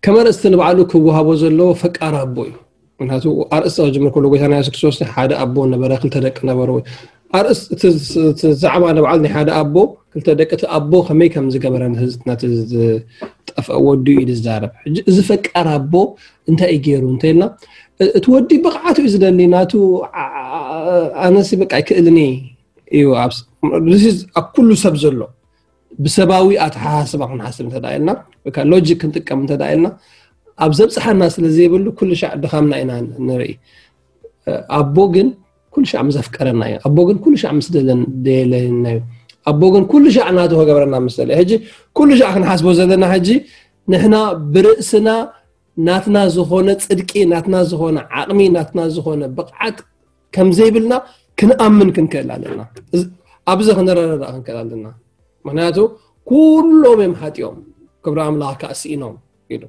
ከም ኣርእስቲ ንባዕሉ ክወሃቦ ዘለዎ ፈቃር ኣቦ እዩ። ምክንያቱ ኣርእስቲ ክጅምር ከሎ ጎይታና የሱስ ክርስቶስ ሓደ ኣቦ ነበረ፣ ክልተ ደቂ ነበሩ። ኣርእስቲ እቲ ዛዕባ ንባዕሉ ናይ ሓደ ኣቦ ክልተ ደቂ፣ እቲ ኣቦ ከመይ ከም ዝገበረ ነቲ ዝጠፍአ ወዱ እዩ ዝዛረብ። ሕጂ እዚ ፈቃር ኣቦ እንታይ እዩ ገይሩ እንተኢልና፣ እቲ ወዲ ብቕዓቱ እዩ ዝደሊ። ናቱ ኣነሲ በቃ ኣይክእልን እዩ ኣብ ኩሉ ሰብ ዘሎ ብሰባዊ ኣተሓሳስባ ክንሓስብ እንተ ኢልና፣ ሎጂክ ክንጥቀም እንተ ኢልና፣ ኣብ ዘብፅሓና ስለ ዘይብሉ ኩሉ ሻዕ ድኻምና ኢና ንርኢ። ኣቦ ግን ኩሉ ሻዕ ምስ ኣፍቀረና እዩ። ኣቦ ግን ኩሉ ሻዕ ምስ ደለየና እዩ። ኣቦ ግን ኩሉ ሻዕ ናቱ ክገብረና ምስ ደለየ። ሕጂ ኩሉ ሻዕ ክንሓስቦ ዘለና ሕጂ ንሕና ብርእስና ናትና ዝኾነ ጽድቂ፣ ናትና ዝኾነ ዓቕሚ፣ ናትና ዝኾነ ብቕዓት ከም ዘይብልና ክንኣምን ክንክእል ኣለና። ኣብዚ ክንረዳዳእ ክንክእል ኣለና። ምክንያቱ ኩሎም እዮም ሓጢኦም፣ ክብሪ ኣምላኽ ከዓ ስኢኖም ኢሉ።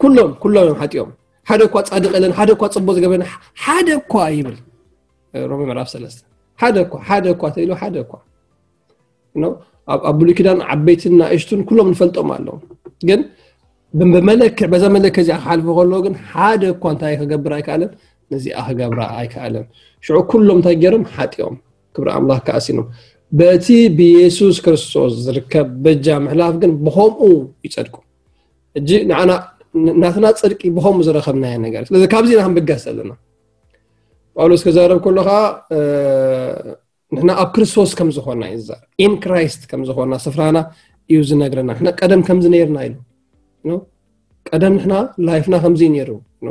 ኩሎም ኩሎም እዮም ሓጢኦም። ሓደ እኳ ጻድቕ የለን፣ ሓደ እኳ ጽቡቕ ዝገበረ ሓደ እኳ ይብል ሮሜ ምዕራፍ ሰለስተ። ሓደ እኳ ሓደ እኳ ተኢሉ ሓደ እኳ ኣብ ብሉይ ኪዳን ዓበይትን ናእሽቱን ኩሎም ንፈልጦም ኣለዉ። ግን ብመለክዕ በዛ መለክዕ እዚኣ ክሓልፉ ከለዉ ግን ሓደ እኳ እንታይ ክገብር ኣይከኣለን፣ ነዚኣ ክገብራ ኣይከኣለን። ሽዑ ኩሎም እንታይ ገይሮም? ሓጢኦም፣ ክብሪ ኣምላኽ ከኣሲኖም። በቲ ብየሱስ ክርስቶስ ዝርከብ በጃ ምሕላፍ ግን ብኸምኡ ይጸድቁ። እጂ ንዓና ናትና ጽድቂ ብኸምኡ ዝረኸብናዮ ነገር። ስለዚ ካብዚ ኢና ክንብገስ ዘለና። ጳውሎስ ክዛረብ ከሎ ከዓ ንሕና ኣብ ክርስቶስ ከም ዝኾንና እዩ ዝዛረብ። ኢን ክራይስት ከም ዝኾንና ስፍራና እዩ ዝነግረና። ንሕና ቀደም ከምዚ ነይርና ኢሉ። ቀደም ንሕና ላይፍና ከምዚ ነይሩ።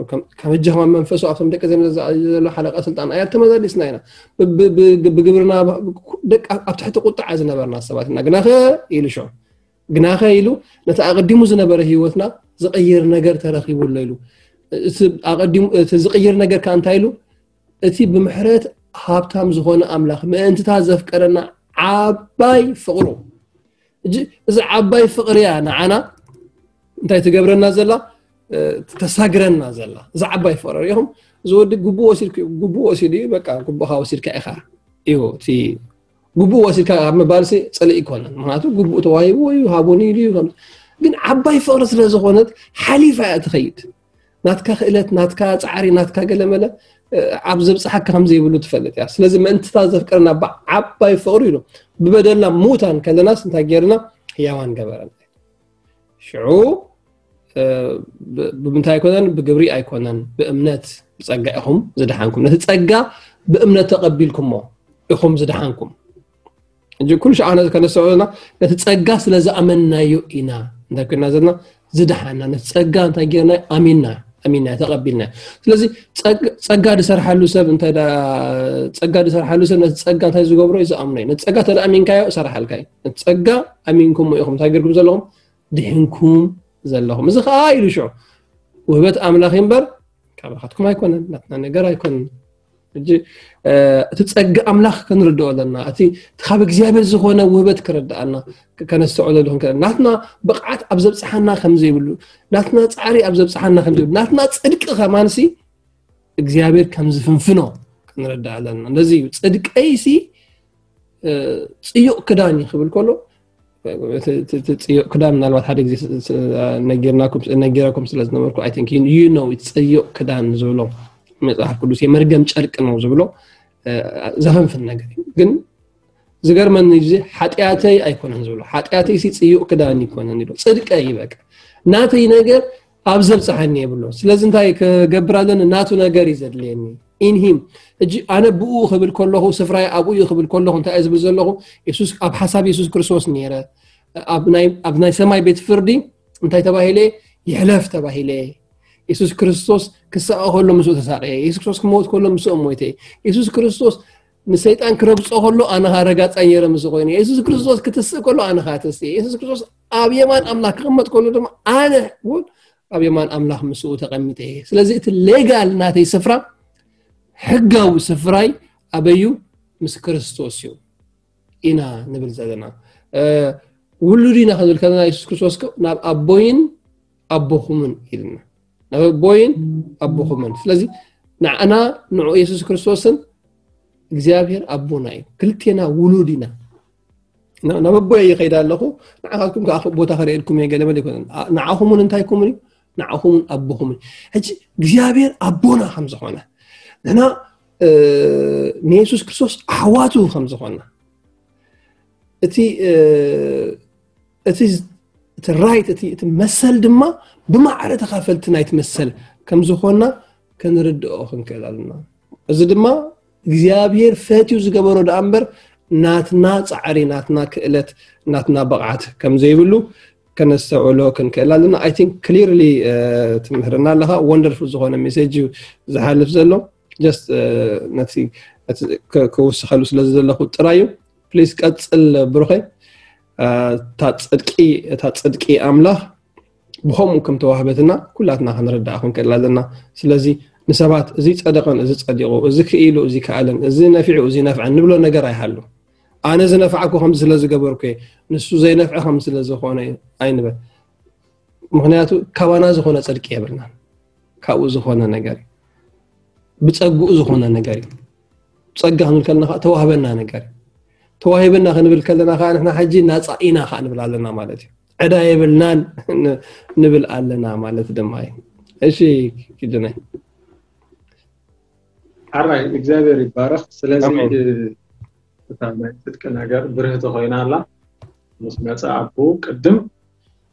ከም ሕጂ ከማን መንፈሱ ኣብቶም ደቂ ዘመን ዘሎ ሓለቃ ስልጣን ኣያ ተመላለስና ኢና። ብግብርና ደቂ ኣብ ትሕቲ ቁጥዓ ዝነበርና ሰባት ኢና። ግናኸ ኢሉ ሽዑ ግናኸ ኢሉ ነቲ ኣቐዲሙ ዝነበረ ህይወትና ዝቕይር ነገር ተረኺቡ ኣሎ ኢሉ። እቲ ዝቕይር ነገር ከዓ እንታይ ኢሉ? እቲ ብምሕረት ሃብታም ዝኾነ ኣምላኽ ምእንትታ ዘፍቀረና ዓባይ ፍቕሩ። እዚ ዓባይ ፍቕሪ እያ ንዓና እንታይ ትገብረና ዘላ? ተሳግረና ዘላ እዛ ዓባይ ፍቕሪ። ሪኢኹም? እዚ ወዲ ግቡ ወሲድኩ ግቡ ወሲዱ እዩ። በቃ ግቡኻ ወሲድካ ኢኻ እዩ እቲ ግቡእ ወሲድካ ኣብ ምባልሲ ጽልኢ ይኮነን። ምክንያቱ ግቡእ ተዋሂቡ ወይ ሃቡኒ ኢሉ እዩ ከም-፣ ግን ዓባይ ፍቕሪ ስለ ዝኾነት ሓሊፋ እያ ትኸይድ። ናትካ ክእለት፣ ናትካ ጻዕሪ፣ ናትካ ገለመለ፣ እ፣ ኣብ ዘብጽሓካ ከም ዘይብሉ ትፈልጥ እያ። ስለዚ ምእንትታ ዘፍቅረና ብዓባይ ፍቕሪ ኢሉ ብበደልና ምዉታን ከለናስ እንታይ ጌርና? ህያዋን ገበረና። ሽዑ፣ እ፣ ብ-፣ ብምንታይ ኣይኮነን? ብግብሪ ኣይኮነን፣ ብእምነት ብጸጋ ኢኹም ዝደሓንኩም። ነቲ ጸጋ ብእምነት ተቐቢልኩሞ ኢኹም ዝደሓንኩም። እንጂ ኩሉ ሻዕ ነዚ ከነስተውዕልና ነቲ ጸጋ ስለ ዝኣመንናዮ ኢና እንታይ ኮይና ዘለና ዝደሓና። ነቲ ጸጋ እንታይ ጌርና? ኣሚንና፣ ኣሚንና፣ ተቐቢልና። ስለዚ ጸግ-፣ ጸጋ ዝሰርሓሉ ሰብ እንተ ዳ-፣ ጸጋ ዝሰርሓሉ ሰብ ነቲ ጸጋ እንታይ ዝገብሮ እዩ? ዝኣምኖ እዩ። ነቲ ጸጋ ተደኣሚንካዮ እሰርሓልካ እዩ። ነቲ ጸጋ ኣሚንኩሞ ኢኹም እንታይ ጌርኩም ዘለኹም? ድሕንኩም ዘለኹም። እዚ ኸኣ ኢሉ ሽዑ ውህበት ኣምላኽ እምበር ካብ ናትኩም ኣይኮነን፣ ናትና ነገር ኣይኮነን። ሕጂ፣ እ፣ እቲ ጸጋ ኣምላኽ ክንርድኦ ኣለና። እቲ፣ እቲ ካብ እግዚኣብሔር ዝኾነ ውህበት ክረድኣና፣ ክ-፣ ከነስተውዕለሉ ክንክእል። ናትና ብቕዓት ኣብ ዘብጽሓና ከም ዘይብሉ፣ ናትና ጻዕሪ ኣብ ዘብጽሓና ከም ዘይብሉ፣ ናትና ጽድቂ ከማንሲ እግዚኣብሔር ከም ዝፍንፍኖ ክንረድእ ኣለና። እንደዚ እዩ። ጽድቀይሲ፣ እ፣ ጽዩቕ ክዳን እዩ ክብል ከሎ፣ እቲ፣ እቲ፣ እቲ ጽዩቕ ክዳን ምናልባት ሓደ ግዜ ስ-፣ ስ-፣ ነጊርናኩም፣ ነጊረኩም ስለ ዝነበርኩ፣ I think you, you know፣ እቲ ጽዩቕ ክዳን ዝብሎ መጽሓፍ ቅዱስ የመርገም ጨርቂ ነው ዝብሎ፣ እ፣ ዘፈንፍን ነገር እዩ። ግን ዝገርመኒ ግዜ ሓጢኣተይ ኣይኮነን ዝብሎ፣ ሓጢኣተይሲ ጽዩቕ ክዳን ይኮነን ይብሎ፣ ጽድቀይ በቃ። ናተይ ነገር ኣብ ዘብጽሓኒ የብሎ። ስለዚ እንታይ ክገብር ኣለኒ? ናቱ ነገር እዩ ዘድልየኒ። In him። ሕጂ ኣነ ብኡ ክብል ከለኹ፣ ስፍራይ ኣብኡ እዩ ክብል ከለኹ፣ እንታይ እየ ዝብል ዘለኹ? የሱስ፣ ኣብ ሓሳብ የሱስ ክርስቶስ ነይረ። ኣብ ናይ፣ ኣብ ናይ ሰማይ ቤት ፍርዲ እንታይ ተባሂለ? ይሕለፍ ተባሂለ። የሱስ ክርስቶስ ክሳቐ ከሎ ምስኡ ተሳቐየ። የሱስ ክርስቶስ ክመውት ከሎ ምስኡ ሞይተ። የሱስ ክርስቶስ ንሰይጣን ክረግጾ ከሎ ኣነ ኸኣ ረጋጻ ነይረ ምስኡ ኮይነ። የሱስ ክርስቶስ ክትስእ ከሎ ኣነ ኸኣ ተስእየ። የሱስ ክርስቶስ ኣብ የማን ኣምላኽ ክቕመጥ ከሎ ድማ ኣነ እውን ኣብ የማን ኣምላኽ ምስኡ ተቐሚጠ እየ። ስለዚ እቲ ሌጋል ናተይ ስፍራ፣ ሕጋዊ ስፍራይ ኣበዩ? ምስ ክርስቶስ እዩ ኢና ንብል ዘለና። እ፣ ውሉድ ኢና ክንብል ከለና የሱስ ክርስቶስ ከ ናብ ኣቦይን ኣቦኹምን ኢልና። ናብ ኣቦይን ኣቦኹምን። ስለዚ ንዓና ንዑ የሱስ ክርስቶስን እግዚኣብሔር ኣቦና እዩ። ክልቴና ውሉድ ኢና። ና-፣ ናብ ኣቦይ ይኸይድ ኣለኹ፣ ንዓኻትኩም ከዓ ቦታ ከርእየልኩም እየ፣ ገለ መለ ይኮነን። ኣ-፣ ንዓኹምን እንታይ ኩምን እዩ? ንዓኹምን ኣቦኹምን። ሕጂ እግዚኣብሔር ኣቦና ከም ዝኾነ፣ ንሕና፣ እ፣ ንየሱስ ክርስቶስ ኣሕዋቱ ከም ዝኾንና፣ እቲ፣ እ፣ እቲ ዝ-፣ እቲ ራይት፣ እቲ፣ እቲ መሰል ድማ ብማዕረ ተኻፈልቲ ናይቲ መሰል ከም ዝኾንና ክንርድኦ ክንክእል ኣለና። እዚ ድማ እግዚኣብሔር ፈትዩ ዝገበሮ ደኣ እምበር ናትና ጻዕሪ፣ ናትና ክእለት፣ ናትና ብቕዓት ከም ዘይብሉ ከነስተውዕሎ ክንክእል ኣለና። I think clearly፣ እ፣ ትምህርና ኣለኻ። ወንደርፉል ዝኾነ ሜሴጅ እዩ ዝሓልፍ ዘሎ። ጀስት፣ እ፣ ነቲ፣ ነቲ ከ-፣ ክውስኸሉ ስለ ዝደለኹ ጥራይ እዩ። ፕሊዝ ቀጽል ብሩኸይ። እ፣ እታ ጽድቂ፣ እታ ጽድቂ ኣምላኽ ብኸምኡ ከም ተዋህበትና ኩላትና ክንርዳእ ክንክእል ኣለና። ስለዚ ንሰባት እዚ ጸደቐን፣ እዚ ጸዲቑ፣ እዚ ክኢሉ፣ እዚ ከኣለን፣ እዚ ነፊዑ፣ እዚ ነፍዐን ንብሎ ነገር ኣይሃሉ። ኣነ ዝነፍዓኩ ከምዚ ስለ ዝገበርኩ እየ፣ ንሱ ዘይነፍዐ ከምዚ ስለ ዝኾነ እዩ ኣይንበል። ምኽንያቱ ካባና ዝኾነ ጽድቂ የብልናን። ካብኡ ዝኾነ ነገር እዩ። ብጸግኡ ዝኾነ ነገር እዩ። ጸጋ ክንብል ከለና ከኣ ተዋህበና ነገር እዩ። ተዋሂበና ክንብል ከለና ከኣ ንሕና ሕጂ ናጻ ኢና ከኣ ንብል ኣለና ማለት እዩ። ዕዳ የብልናን ን-፣ ንብል ኣለና ማለት ድማ እዩ። እሺ፣ ኪዱነይ። ሓራይ እግዚኣብሔር ይባረኽ። ስለዚ፣ ኣሜን። እ፣ እታ ናይ ጽድቂ ነገር ብርህቲ ኮይና ኣላ። ምስ መጸ ኣቦ ቅድም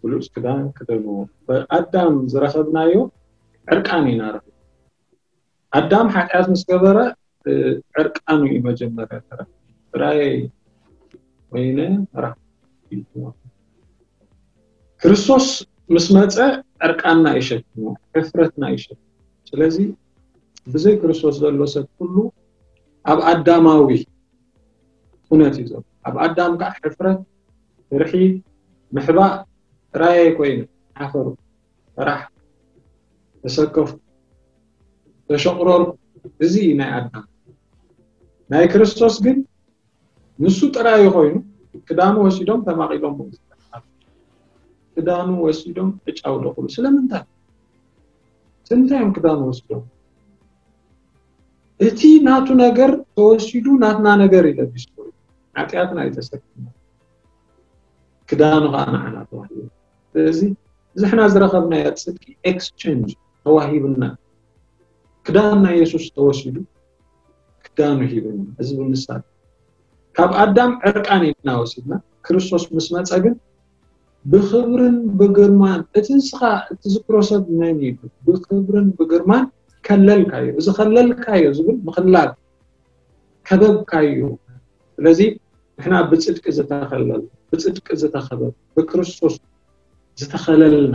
ብሉጽ ክዳን ክደንዎ። ብኣዳም ዝረኸብናዮ ዕርቃን ኢና ረኺብና። ኣዳም ሓጢኣት ምስ ገበረ፣ እ፣ ዕርቃኑ እዩ መጀመርያ ተረኺቡ። ጥራይ ኮይነ ራ-፣ ክርስቶስ ምስ መጸ ዕርቃንና እዩ ሸፊኑ፣ ሕፍረትና እዩ ሸፊኑ። ስለዚ ብዘይ ክርስቶስ ዘሎ ሰብ ኩሉ ኣብ ኣዳማዊ ኩነት እዩ ዘሎ። ኣብ ኣዳም ከዓ ሕፍረት፣ ፍርሒ፣ ምሕባእ ጥራይ ኮይኑ ሓፈሩ፣ ፈራሕ፣ ተሰከፉ፣ ተሸቕረርኩ። እዚ እዩ ናይ ኣዳም። ናይ ክርስቶስ ግን ንሱ ጥራይ ኮይኑ ክዳኑ ወሲዶም ተማቒሎሞ። ክዳኑ ወሲዶም ዕጫ ኣውደቑሉ። ስለምንታይ? ስለምንታይ እዮም ክዳኑ ወሲዶም? እቲ ናቱ ነገር ተወሲዱ ናትና ነገር እዩ ለቢስዎ። ሓጢኣትና እዩ ተሰኪሙ፣ ክዳኑ ከዓ ንዓና ተዋሂቡ። ስለዚ እዚ ሕና ዝረኸብናዮ ጽድቂ ኤክስቼንጅ ተዋሂብና፣ ክዳን ናይ የሱስ ተወሲዱ፣ ክዳኑ ሂብና። እዚ ብምሳሌ ካብ ኣዳም ዕርቃን ኢና ወሲድና፣ ክርስቶስ ምስ መጸ ግን ብኽብርን ብግርማን፣ እቲ ንስኻ እትዝክሮ ሰብ መን እዩ? ብኽብርን ብግርማን ከለልካዮ። እዚ ከለልካዮ ዝብል ምኽላል፣ ከበብካዮ። ስለዚ ንሕና ብጽድቂ ዝተኸለል፣ ብጽድቂ ዝተኸበብ፣ ብክርስቶስ ዝተኸለልና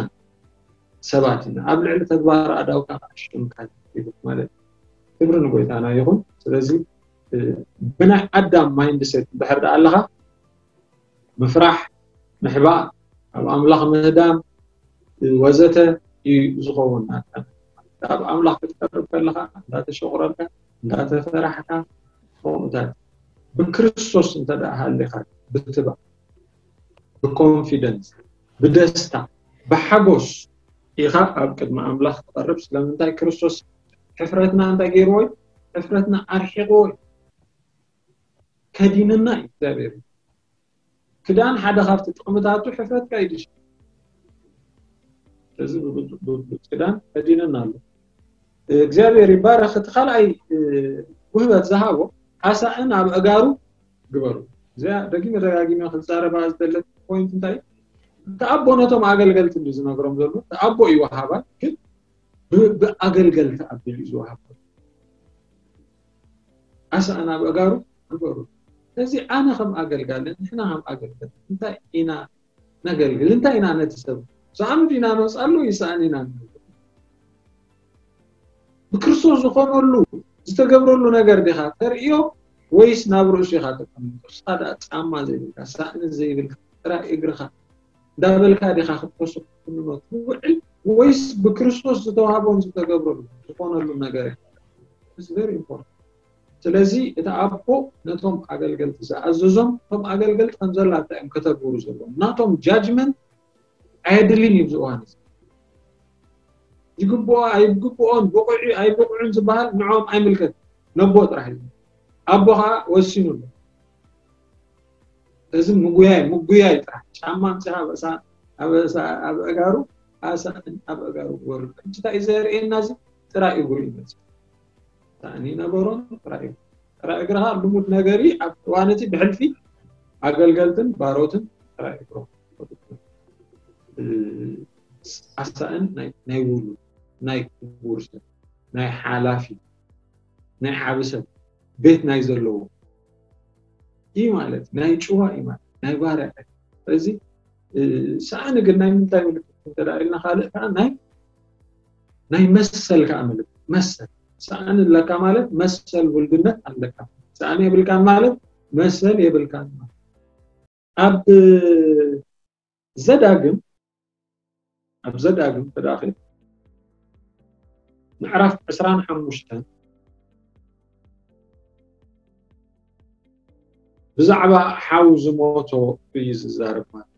ሰባት ኢና። ኣብ ልዕሊ ተግባር ኣዳውካ ሽምካ ይብል ማለት እዩ። ክብሪ ንጎይታና ይኹን። ስለዚ ብናይ ኣዳም ማይንድሴት እንድሕር ደኣ ኣለኻ፣ ምፍራሕ፣ ምሕባእ፣ ኣብ ኣምላኽ ምህዳም ወዘተ እዩ ዝኸውን። ኣብ ኣምላኽ ክትቀርብ ከለኻ እንዳተሸቑረርካ እንዳተፈራሕካ፣ ከምኡታት ብክርስቶስ እንተ ደኣ ሃሊኻ ብትባዕ፣ ብኮንፊደንስ፣ ብደስታ፣ ብሓጎስ ኢኻ ኣብ ቅድሚ ኣምላኽ ትቐርብ። ስለምንታይ? ክርስቶስ ሕፍረትና እንታይ ገይርዎ እዩ? ሕፍረትና ኣርሒቕዎ እዩ። ከዲንና እዩ እግዚኣብሔር። ክዳን ሓደ ካብቲ ጥቕምታቱ ሕፍረትካ እዩ ድሽ? ስለዚ ብብሉፅ ክዳን ከዲንና ኣሎ። እግዚኣብሔር ይባረኽ። እቲ ካልኣይ ውህበት ዝሃቦ፣ ሓሳእን ኣብ ኣእጋሩ ግበሩ። እዚኣ ደጊመ ደጋጊመ ክዛረባ ዝደለት ፖይንት እንታይ እዩ? እቲ ኣቦ ነቶም ኣገልገልቲ እንዲ ዝነግሮም ዘሎ፣ እቲ ኣቦ እዩ ወሃባይ፣ ግን ብ- ብኣገልገልቲ ኣቢሉ እዩ ዝወሃቦ። ሓሳእን ኣብ ኣእጋሩ ግበሩ። ስለዚ ኣነ ከም ኣገልጋሊ፣ ንሕና ከም ኣገልገልቲ እንታይ ኢና ነገልግል? እንታይ ኢና ነቲ ሰብ? ሰኣኑ ዲና ነውፅኣሉ? ይሰኣን ኢና ንብል? ብክርስቶስ ዝኾነሉ ዝተገብረሉ ነገር ዲኻ ተርእዮ፣ ወይስ ናብ ርእሱ ኢኻ ተቀምጦ? ንስኻ ደኣ ጫማ ዘይብልካ፣ ሳእኒ ዘይብልካ፣ ጥራይ እግርኻ እንዳበልካ ዲኻ ክትኮሶ ክትኩንኖ ትውዕል፣ ወይስ ብክርስቶስ ዝተዋህቦን ዝተገብረሉ ዝኾነሉ ነገር ኢኻ? It's very important። ስለዚ እቲ ኣቦ ነቶም ኣገልገልቲ ዝኣዘዞም፣ እቶም ኣገልገልቲ ከም ዘላታ እዮም ከተግብሩ ዘለዎም። ናቶም ጃጅመንት ኣየድልን እዩ ኣብዚ እዋን እዚ። ይግብኦ ኣይግብኦን፣ ብቑዕ ኣይብቑዕን ዝበሃል ንዕኦም ኣይምልከት፣ ነቦ ጥራሕ እዩ። ኣቦ ከዓ ወሲኑ ኣሎ። እዚ ምጉያይ ምጉያይ ጥራሕ፣ ጫማ ኣምፂኻ ኣብ እሳ- ኣብ እሳ- ኣብ ኣእጋሩ፣ ኣሳእን ኣብ ኣእጋሩ ክወርድ። ሕጂ እንታይ እዩ ዘርእየና? እዚ ጥራይ እግሩ እዩ መፅእ። ሳእኒ ነበሮን ጥራይ እግሩ። ጥራይ እግርኻ ልሙድ ነገር እዩ። ኣብ እዋን እቲ ብሕልፊ ኣገልገልትን ባሮትን ጥራይ እግሮም። እ፣ ኣሳእን ናይ ናይ ውሉድ፣ ናይ ክቡር ሰብ፣ ናይ ሓላፊ፣ ናይ ዓቢ ሰብ፣ ቤት ናይ ዘለዎ እዩ ማለት፣ ናይ ጭዋ እዩ ማለት፣ ናይ ባርያ። ስለዚ እ፣ ሳእኒ ግን ናይ ምንታይ ምልክት እንተ ደኣ ኢልና፣ ካልእ ከዓ ናይ ናይ መሰል ከዓ ምልክት፣ መሰል። ሳእኒ ኣለካ ማለት መሰል ውልድነት ኣለካ። ሳእኒ የብልካን ማለት መሰል የብልካን ማለት። ኣብ ዘዳግም፣ ኣብ ዘዳግም ተዳኺል ምዕራፍ ዕስራን ሓሙሽተን ብዛዕባ ሓው ዝሞቶ እዩ ዝዛረብ ማለት እዩ።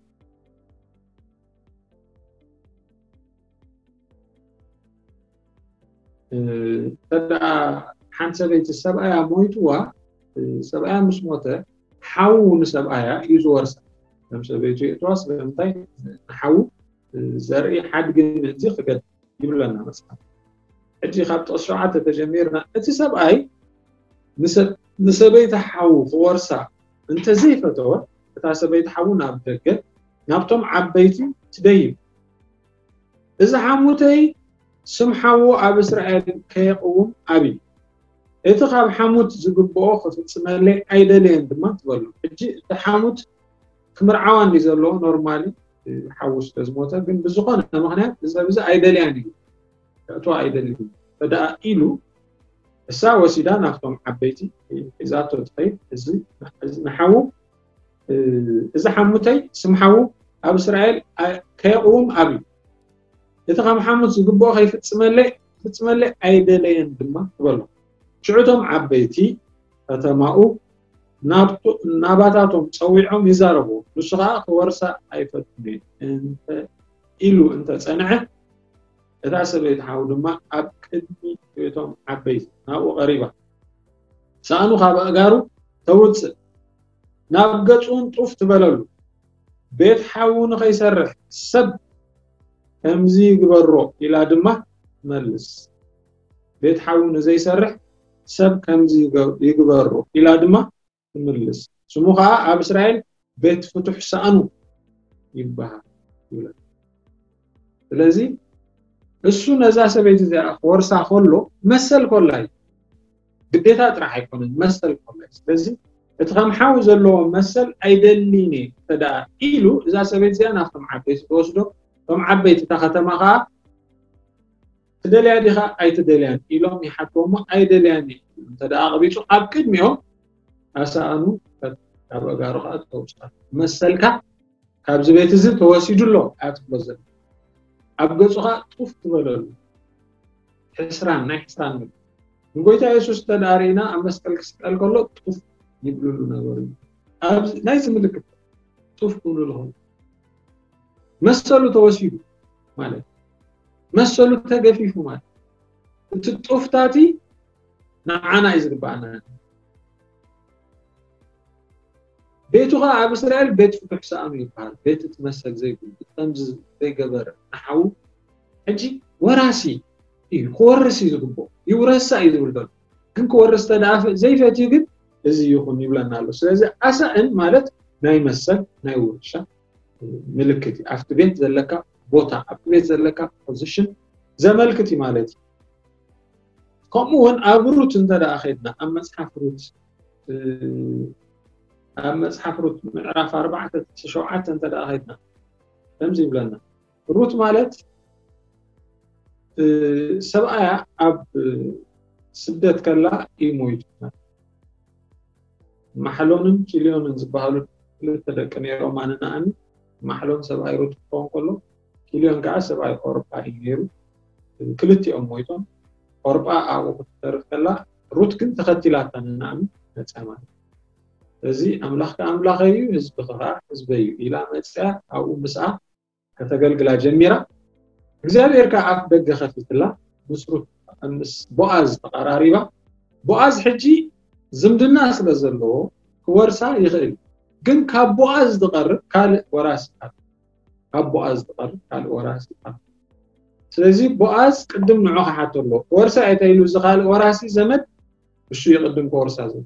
እ፣ እንተ ደኣ ሓንቲ ሰበይቲ ሰብኣያ ሞይትዋ፣ እ፣ ሰብኣያ ምስ ሞተ፣ ሓዉ ንሰብኣያ እዩ ዝወርሳ። ከም ሰበይቱ የእትዋ፣ ስለምንታይ ንሓዉ፣ እ፣ ዘርኢ ሓድጊ ምእንቲ ክገድል ይብለና መጽሓፍ። ሕጂ ካብ ጥቕሲ ሸውዓተ ተጀሚርና፣ እቲ ሰብኣይ ንሰ-፣ ንሰበይቲ ሓዉ ክወርሳ እንተዘይፈተወ፣ እታ ሰበይቲ ሓዉ ናብ ደገ፣ ናብቶም ዓበይቲ ትደይብ። እዚ ሓሙተይ ስም ሓዉ ኣብ እስራኤል ከየቕውም ኣብዩ። እቲ ካብ ሓሙት ዝግብኦ ክፍጽመለይ ኣይደለየን ድማ ትበሎ። ሕጂ እቲ ሓሙት ክምርዓዋ እንዲ ዘለዎ ኖርማሊ ሓዉ ስለ ዝሞተ፣ ግን ብዝኾነ ምኽንያት እዚ ሰብ እዚ ኣይደልያን እዩ፣ ክእትዋ ኣይደልን እዩ ተደኣ ኢሉ፣ እሳ ወሲዳ ናብቶም ዓበይቲ ሒዛቶ ትኸይድ። እዚ፣ እዚ ንሓዉ፣ እ፣ እዚ ሓሙተይ ስም ሓዉ ኣብ እስራኤል ኣ-፣ ከየቕውም ኣብዩ። እቲ ካብ ሓሙት ዝግብኦ ከይፍጽመለይ፣ ክፍጽመለይ ኣይደለየን ድማ ትበሎ። ሽዑ እቶም ዓበይቲ ከተማኡ ናብቶ-፣ ናባታቶም ጸዊዖም ይዛረቡ። ንሱ ኸኣ ክወርሳ ኣይፈቱን እየ እንተ ኢሉ እንተ ጸንዐ፣ እታ ሰበይቲ ሓው ድማ ኣብ ቅድሚ እቶም ዓበይቲ ናብኡ ቀሪባ፣ ሳእኑ ካብ ኣእጋሩ ተውጽእ፣ ናብ ገጹ እውን ጡፍ ትበለሉ። ቤት ሓዉ ንኸይሰርሕ ሰብ ከምዚ ይግበሮ ኢላ ድማ ትመልስ። ቤት ሓዉ ንዘይሰርሕ ሰብ ከምዚ ይገ- ይግበሮ ኢላ ድማ ትምልስ። ስሙ ኸዓ ኣብ እስራኤል ቤት ፍቱሕ ሳእኑ ይበሃል ይብላ። ስለዚ እሱ ነዛ ሰበይቲ እዚኣ ክወርሳ ከሎ መሰል ኮላ እዩ። ግዴታ ጥራሕ ኣይኮነን፣ መሰል ኮላ እዩ። ስለዚ እቲ ከም ሓው ዘለዎ መሰል ኣይደሊን እየ እንተ ደኣ ኢሉ፣ እዛ ሰበይቲ እዚኣ ናብቶም ዓበይቲ ትወስዶ። እቶም ዓበይቲ እታ ከተማ ኸዓ ትደልያ ዲኻ ኣይትደልያን ኢሎም ይሓትዎ እሞ ኣይደልያን እየ እንተ ደኣ ኣቕቢጹ ኣብ ቅድሚኦም ኣሳእኑ ካብ ኣእጋሩ ኸዓ ተውጽኣ። መሰልካ ካብዚ ቤት እዚ ተወሲዱ ኣሎ ኣያ ትብሎ ዘላ። ኣብ ገጹ ኸዓ ጡፍ ትበለሉ። ሕስራን ናይ ሕስራን ምግቢ። ንጎይታ የሱስ እንተ ደኣ ርኢና ኣብ መስቀል ክስቀል ከሎ ጡፍ ይብልሉ ነበሩ። ኣብዚ ናይዚ ምልክት ጡፍ ክብሉ ኣለኹም። መሰሉ ተወሲዱ ማለት መሰሉ ተገፊፉ ማለት እቲ ጡፍታቲ ንዓና እዩ ዝግባኣና። ቤቱ ኸዓ ኣብ እስራኤል ቤት ፍቱሕ ሰኣኑ ይበሃል። ቤት እቲ መሰል ዘይብሉ ከምዚ ዘይገበረ ንሓዉ ሕጂ ወራሲ እዩ ክወርስ እዩ ዝግብኦ። ይውረሳ እዩ ዝብል ዘሎ። ግን ክወርስ ተደኣ ዘይፈትዩ ግን እዚ ይኹን ይብለና ኣሎ። ስለዚ ኣሳእን ማለት ናይ መሰል ናይ ውርሻ ምልክት እዩ። ኣብቲ ቤት ዘለካ ቦታ ኣብቲ ቤት ዘለካ ፖዚሽን ዘመልክት እዩ ማለት እዩ። ከምኡ እውን ኣብ ሩት እንተ ደኣ ኸድና ኣብ መፅሓፍ ሩት ኣብ መፅሓፍ ሩት ምዕራፍ ኣርባዕተ ሸውዓተ እንተ ደኣ ኸድና ከምዚ ይብለና። ሩት ማለት ሰብኣያ ኣብ ስደት ከላ እዩ ሞይቱ። ማሕሎንን ኪልዮንን ዝበሃሉ ክልተ ደቂ ነይሮም ኣነናኣኒ። ማሕሎን ሰብኣይ ሩት ክኸውን ከሎ ኪልዮን ከዓ ሰብኣይ ኦርጳ እዩ ነይሩ። ክልቲኦም ሞይቶም። ኦርጳ ኣብኡ ክትተርፍ ከላ ሩት ግን ተኸቲላታ ንናኣሚ መፅያ ማለት እዩ። እዚ ኣምላኽካ ኣምላኸይ እዩ፣ ህዝብኻ ከዓ ህዝበይ እዩ ኢላ መፅያ ኣብኡ ምስኣ ከተገልግላ ጀሚራ። እግዚኣብሔር ከዓ ኣፍ ደገ ከፊትላ ምስ ሩት ምስ ቦኣዝ ተቐራሪባ። ቦኣዝ ሕጂ ዝምድና ስለ ዘለዎ ክወርሳ ይኽእል፣ ግን ካብ ቦኣዝ ዝቐርብ ካልእ ወራሲ ኣሎ። ካብ ቦኣዝ ዝቐርብ ካልእ ወራሲ ኣሎ። ስለዚ ቦኣዝ ቅድም ንዑ ክሓቶ ኣለዎ። ክወርሳ እየ ተኢሉ እዚ ካልእ ወራሲ ዘመድ እሱ ይቕድም ክወርሳ ዘሎ።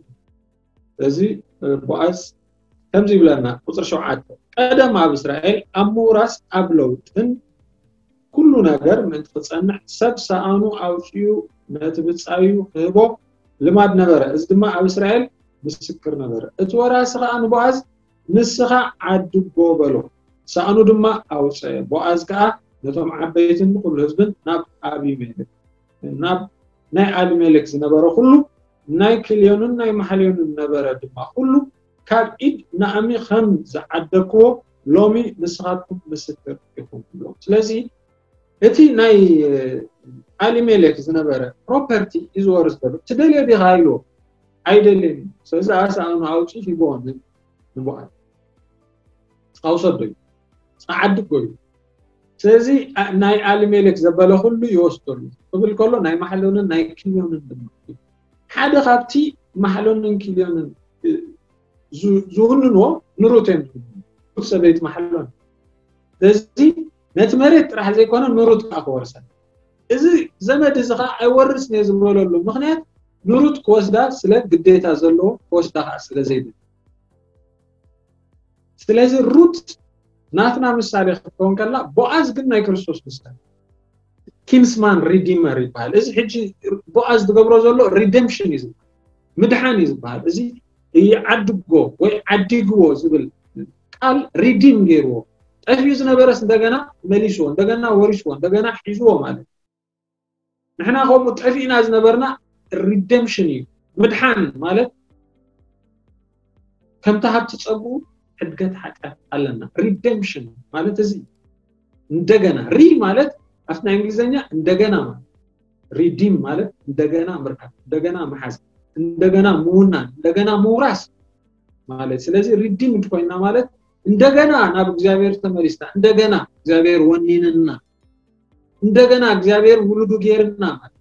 ስለዚ ቦኣዝ ከምዚ ይብለና ቁፅሪ ሸውዓተ ቀደም ኣብ እስራኤል ኣብ ምውራስ ኣብ ለውጥን ኩሉ ነገር ምእንቲ ክፀንዕ ሰብ ሰኣኑ ኣውፅኡ ነቲ ብፃዩ ክህቦ ልማድ ነበረ። እዚ ድማ ኣብ እስራኤል ምስክር ነበረ። እቲ ወራሲ ከዓ ንቦኣዝ ንስኻ ዓድጎ በሎ። ሰኣኑ ድማ ኣውፀ። ቦኣዝ ከዓ ነቶም ዓበይትን ንኩሉ ህዝብን ናብ ኣቢሜሌክ ናብ ናይ ኣቢሜሌክ ዝነበረ ኩሉ ናይ ክልዮንን ናይ ማሕልዮንን ነበረ ድማ ኩሉ ካብ ኢድ ናኣሚ ከም ዝዓደግክዎ ሎሚ ንስኻትኩም ምስክር ኢኹም ትብሎም። ስለዚ እቲ ናይ ኣሊሜሌክ ዝነበረ ፕሮፐርቲ እዩ ዝወርስ ዘሎ። ትደልዮ ዲኻ ኢልዎ ኣይደልን። ስለዚ ኣሳእኑ ኣውፂ ሂቦ ንበዓል ፃውሰዶ እዩ ፃዓዲ ጎዩ። ስለዚ ናይ ኣሊሜሌክ ዘበለ ኩሉ ይወስደሉ ክብል ከሎ ናይ ማሕሎንን ናይ ክልዮንን ድማ ሓደ ካብቲ ማሕሎንን ክልዮንን ዝውንንዎ ንሩት እዮም። ሩት ሰበይቲ ማሕሎን ስለዚ ነቲ መሬት ጥራሕ ዘይኮነ ንሩት ከዓ ክወርሰን። እዚ ዘመድ እዚ ከዓ ኣይወርስን እየ ዝበለሉ ምክንያት ንሩት ክወስዳ ስለ ግዴታ ዘለዎ ክወስዳ ከዓ ስለ ዘይብል። ስለዚ ሩት ናትና ምሳሌ ክትከውን ከላ ቦኣዝ ግን ናይ ክርስቶስ ምሳሌ። ኪንስማን ሪዲመር ይበሃል። እዚ ሕጂ ቦኣዝ ዝገብሮ ዘሎ ሪደምሽን እዩ ዝበሃል፣ ምድሓን እዩ ዝበሃል። እዚ ይዓድጎ ወይ ዓዲግዎ ዝብል ቃል ሪዲም ገይርዎ። ጠፊኡ ዝነበረስ እንደገና መሊስዎ፣ እንደገና ወሪስዎ፣ እንደገና ሒዝዎ ማለት እዩ። ንሕና ከምኡ ጠፊእና ዝነበርና ሪደምሽን እዩ። ምድሓን ማለት ከምቲ ሃብቲ ጸጉኡ ሕድገት ሓጢኣት ኣለና። ሪደምሽን ማለት እዚ እንደገና ሪ ማለት ኣብቲ ናይ እንግሊዝኛ እንደገና ማለት ሪዲም ማለት እንደገና ምርካብ፣ እንደገና ምሓዝ፣ እንደገና ምውናን፣ እንደገና ምውራስ ማለት። ስለዚ ሪዲም እንድኮይና ማለት እንደገና ናብ እግዚኣብሔር ተመሊስና፣ እንደገና እግዚኣብሔር ወኒንና፣ እንደገና እግዚኣብሔር ውሉዱ ገይርና ማለት።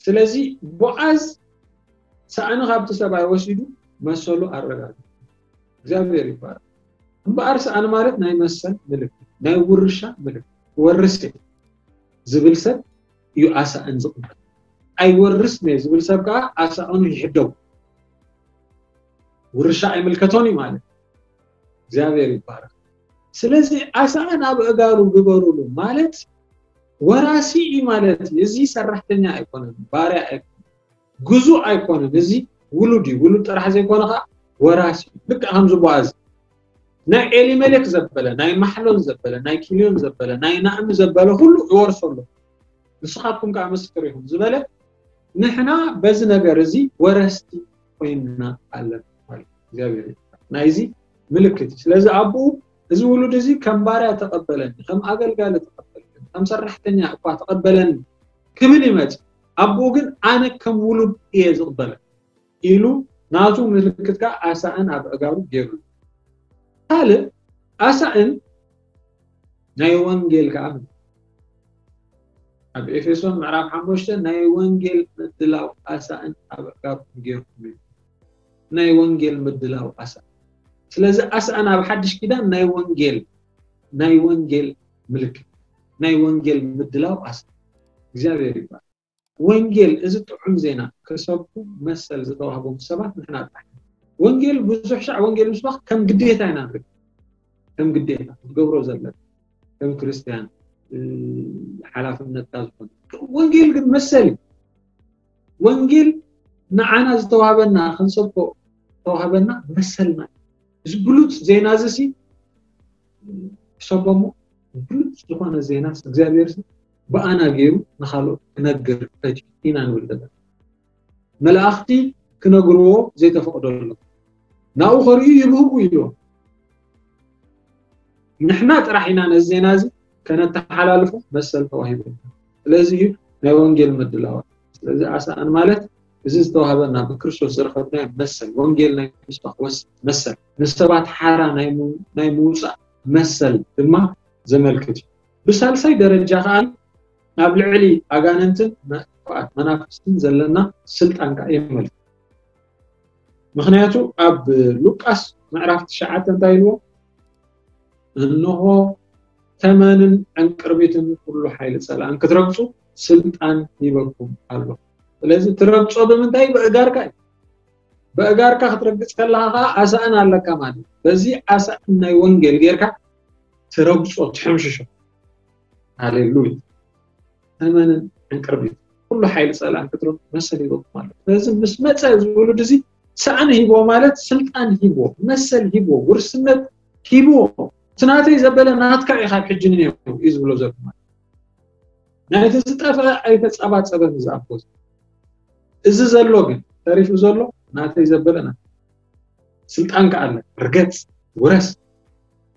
ስለዚ ቦኣዝ ሳእኒ ካብቲ ሰብኣይ ወሲዱ መሰሉ ኣረጋግጡ። እግዚኣብሔር ይባረክ። እምበኣር ሰኣን ማለት ናይ መሰል ምልክት፣ ናይ ውርሻ ምልክት። ክወርስ እየ ዝብል ሰብ እዩ ኣሳእን ዝቕበል። ኣይወርስን እየ ዝብል ሰብ ከዓ ኣሳእኑ ይሕደጉ። ውርሻ ኣይምልከቶን እዩ ማለት። እግዚኣብሔር ይባረክ። ስለዚ ኣሳእን ኣብ ኣእጋሩ ግበሩሉ ማለት ወራሲ እዩ ማለት እዩ። እዚ ሰራሕተኛ ኣይኮነን፣ ባርያ ኣይኮነን፣ ግዙእ ኣይኮነን። እዚ ውሉድ እዩ። ውሉድ ጥራሕ ዘይኮነ ከዓ ወራሲ እዩ። ልክዕ ከምዚ ቦኣዝ ናይ ኤሊመሌክ ዘበለ፣ ናይ ማሕሎን ዘበለ፣ ናይ ኪልዮን ዘበለ፣ ናይ ናእሚ ዘበለ ኩሉ ይወርሶ ኣሎ። ንስኻትኩም ከዓ ምስክር ኢኹም ዝበለ፣ ንሕና በዚ ነገር እዚ ወረስቲ ኮይንና ኣለና ማለት እዩ። እግዚኣብሔር ይባርክ። ናይዚ ምልክት እዩ። ስለዚ ኣቦኡ እዚ ውሉድ እዚ ከም ባርያ ተቐበለኒ፣ ከም ኣገልጋሊ ተቐበለኒ፣ ከም ሰራሕተኛ እኳ ተቐበለኒ ክብል ይመጽእ። ኣቦኡ ግን ኣነ ከም ውሉድ እየ ዝቕበለኒ ኢሉ ናቱ ምልክት ከዓ ኣሳእን ኣብ ኣእጋሩ ገይሩ። ካልእ ኣሳእን ናይ ወንጌል ከዓ ኣብ ኤፌሶን ምዕራፍ ሓሙሽተ ናይ ወንጌል ምድላው ኣሳእን ኣብ ኣእጋርኩም ገይርኩም እዩ። ናይ ወንጌል ምድላው ኣሳእን። ስለዚ ኣሳእን ኣብ ሓድሽ ኪዳን ናይ ወንጌል ናይ ወንጌል ምልክት ናይ ወንጌል ምድላው ኣሳእን እግዚኣብሔር ይባል። ወንጌል እዚ ጥዑም ዜና ክሰብኩ መሰል ዝተዋህቦም ሰባት ንሕና ጥራሕ ኢና። ወንጌል ብዙሕ ሻዕ ወንጌል ምስባኽ ከም ግዴታ ኢና ንርኢ። ከም ግዴታ ክትገብሮ ዘለና ከም ክርስትያን እ፣ ሓላፍነትካ ዝኾነ ወንጌል ግን መሰል እዩ። ወንጌል ንዓና ዝተዋህበና ክንሰብኮ ዝተዋህበና መሰልና እዩ። እዚ ብሉፅ ዜና እዚ ሲ ሰቦሞ ብሉፅ ዝኾነ ዜና እግዚኣብሔር ሲ ብኣና ገይሩ ንኻልኦት ክነግር ፈትዩ ኢና ንብል ዘለና። መላእኽቲ ክነግርዎ ዘይተፈቕደሎም ናብኡ ከርእዩ ይብህጉ እዮም። ንሕና ጥራሕ ኢና ነዚ ዜና እዚ ከነተሓላልፎ መሰል ተዋሂቡና። ስለዚ እዩ ናይ ወንጌል ምድላዋት። ስለዚ ኣሳእን ማለት እዚ ዝተዋህበና ብክርስቶስ ዝረኸብናዮ መሰል፣ ወንጌል ናይ ምስባኽ ወስ- መሰል፣ ንሰባት ሓራ ናይ ሙ- ናይ ምውፃእ መሰል ድማ ዘመልክት እዩ። ብሳልሳይ ደረጃ ከዓ ኣብ ልዕሊ ኣጋንንትን መጥፋእት መናፍስትን ዘለና ስልጣን ከዓ የመልክት። ምክንያቱ ኣብ ሉቃስ ምዕራፍ ትሽዓተ እንታይ ኢልዎ? እንሆ ተመንን ዕንቅርቢትን ኩሉ ሓይሊ ፀላእን ክትረግፁ ስልጣን ሂበኩም ኣሎ። ስለዚ ትረግፆ ብምንታይ? ብእጋርካ እዩ። ብእጋርካ ክትረግፅ ከለካ ከዓ ኣሳእን ኣለካ ማለት እዩ። በዚ ኣሳእን ናይ ወንጌል ጌርካ ትረግፆ ትሕምሽሾ። ሃሌሉያ። ተመንን ዕንቅርቢት ኩሉ ሓይሊ ፀላእን ክትረግፁ መሰል ሂበኩም ኣሎ። ስለዚ ምስ መፀ ዝውሉድ እዚ ሳእኒ ሂቦ ማለት ስልጣን ሂቦ መሰል ሂቦ ውርስነት ሂቦ እቲ ናተይ ዘበለ ናትካ እዩ ካብ ሕጂ ንኔው እዩ ዝብሎ ዘሎ ማለት ናይቲ ዝጠፍአ ኣይተፀባፀበን እዚ ኣቦ እዚ። እዚ ዘሎ ግን ተሪፉ ዘሎ ናተይ ዘበለ ናት ስልጣን ከኣለ ርገፅ ውረስ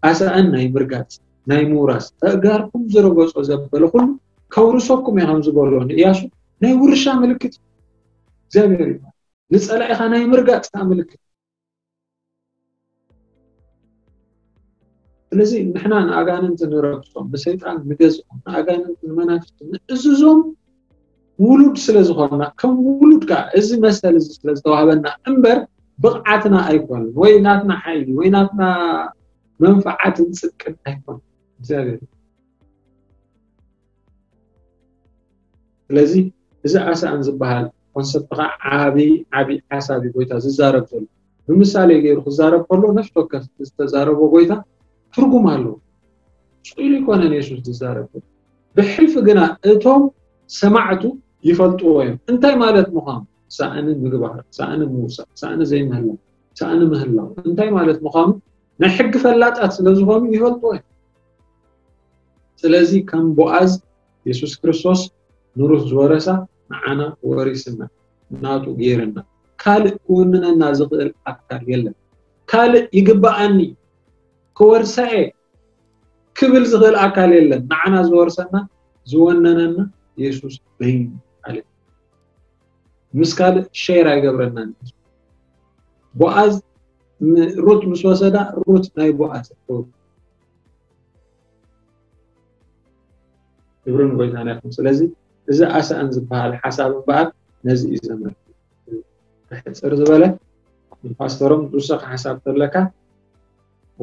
ኣሳእን ናይ ምርጋፅ ናይ ምውራስ ተእጋርኩም ዝረገፆ ዘበለ ኩሉ ከውርሰኩም እየ ከም ዝበሎ ንእያሱ ናይ ውርሻ ምልክት እዩ። እግዚኣብሔር ይባል ንፀላኢኻ ናይ ምርጋፅ ከዓ ምልክት ስለዚ ንሕና ንኣጋንንቲ ንረግጾም ንሰይጣን ንገዝኦም ንኣጋንንቲ ንመናፍስቲ ንእዝዞም ውሉድ ስለ ዝኾንና ከም ውሉድ ከዓ እዚ መሰል እዚ ስለ ዝተዋህበና እምበር ብቕዓትና ኣይኮነን ወይ ናትና ሓይሊ ወይ ናትና መንፈዓትን ፅድቅን ኣይኮነን እግዚኣብሔር ስለዚ እዚ ኣሳእን ዝበሃል ኮንሰፕት ከዓ ዓብዪ ዓብዪ ሓሳብ እዩ ጎይታ ዝዛረብ ዘሎ ብምሳሌ ገይሩ ክዛረብ ከሎ ነፍሲ ወከፍ ዝተዛረቦ ጎይታ ትርጉም ኣለዎ ስኢሉ ኣይኮነን የሱስ ዝዛረብ ዘሎ ብሕልፊ ግና እቶም ሰማዕቱ ይፈልጥዎ እዮም እንታይ ማለት ምዃኑ ሳእኒ ምግባር ሳእኒ ምውሳእ ሳእኒ ዘይምህላው ሳእኒ ምህላው እንታይ ማለት ምዃኑ ናይ ሕጊ ፈላጣት ስለ ዝኾኑ ይፈልጥዎ እዮም ስለዚ ከም ቦኣዝ የሱስ ክርስቶስ ንሩት ዝወረሳ ንዓና ወሪስና ናቱ ገይርና ካልእ ክውንነና ዝኽእል ኣካል የለን ካልእ ይግበኣኒ ክወርሳ እየ ክብል ዝኽእል ኣካል የለን ንዓና ዝወርሰና ዝወነነና የሱስ በይኑ ኣለ ምስ ካልእ ሸር ኣይገብረናን ቦኣዝ ሩት ምስ ወሰዳ ሩት ናይ ቦኣዝ ክብርን ጎይታና ይኹን ስለዚ እዚ ኣሳእን ዝበሃል ሓሳብ እምበኣር ነዚ እዩ ዘመልክት ሕፅር ዝበለ ንፓስተሮም ዝውሰኽ ሓሳብ ተለካ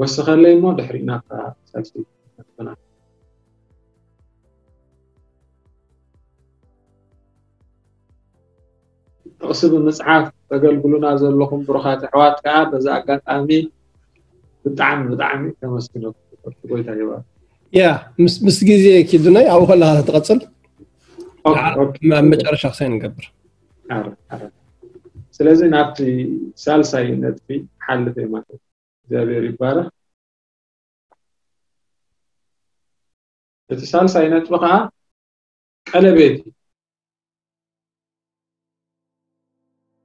ወስኸለይ እሞ ድሕሪ ናብታ ሳልሰይቲ ነጥብና። ጥቕሲ ብምጽሓፍ ተገልግሉና ዘለኹም ብሩኻት ኣሕዋት ከኣ በዚ ኣጋጣሚ ብጣዕሚ ብጣዕሚ ከመስግነኩም እፈቱ። ጎይታ ይባርክ። ያ ምስ ምስ ግዜ ኪዱናይ ኣብኡ ከለኻ ትቐጽል ኦኬ፣ ኦኬ። ኣብ መጨረሻ ክሳይ ንገብር ኣረ፣ ኣረ። ስለዚ ናብቲ ሳልሳይ ነጥቢ ሓልፍ እየ ማለት እዩ። እግዚኣብሔር ይባረክ። እቲ ሳልሳይ ነጥቢ ከዓ ቀለቤት እዩ።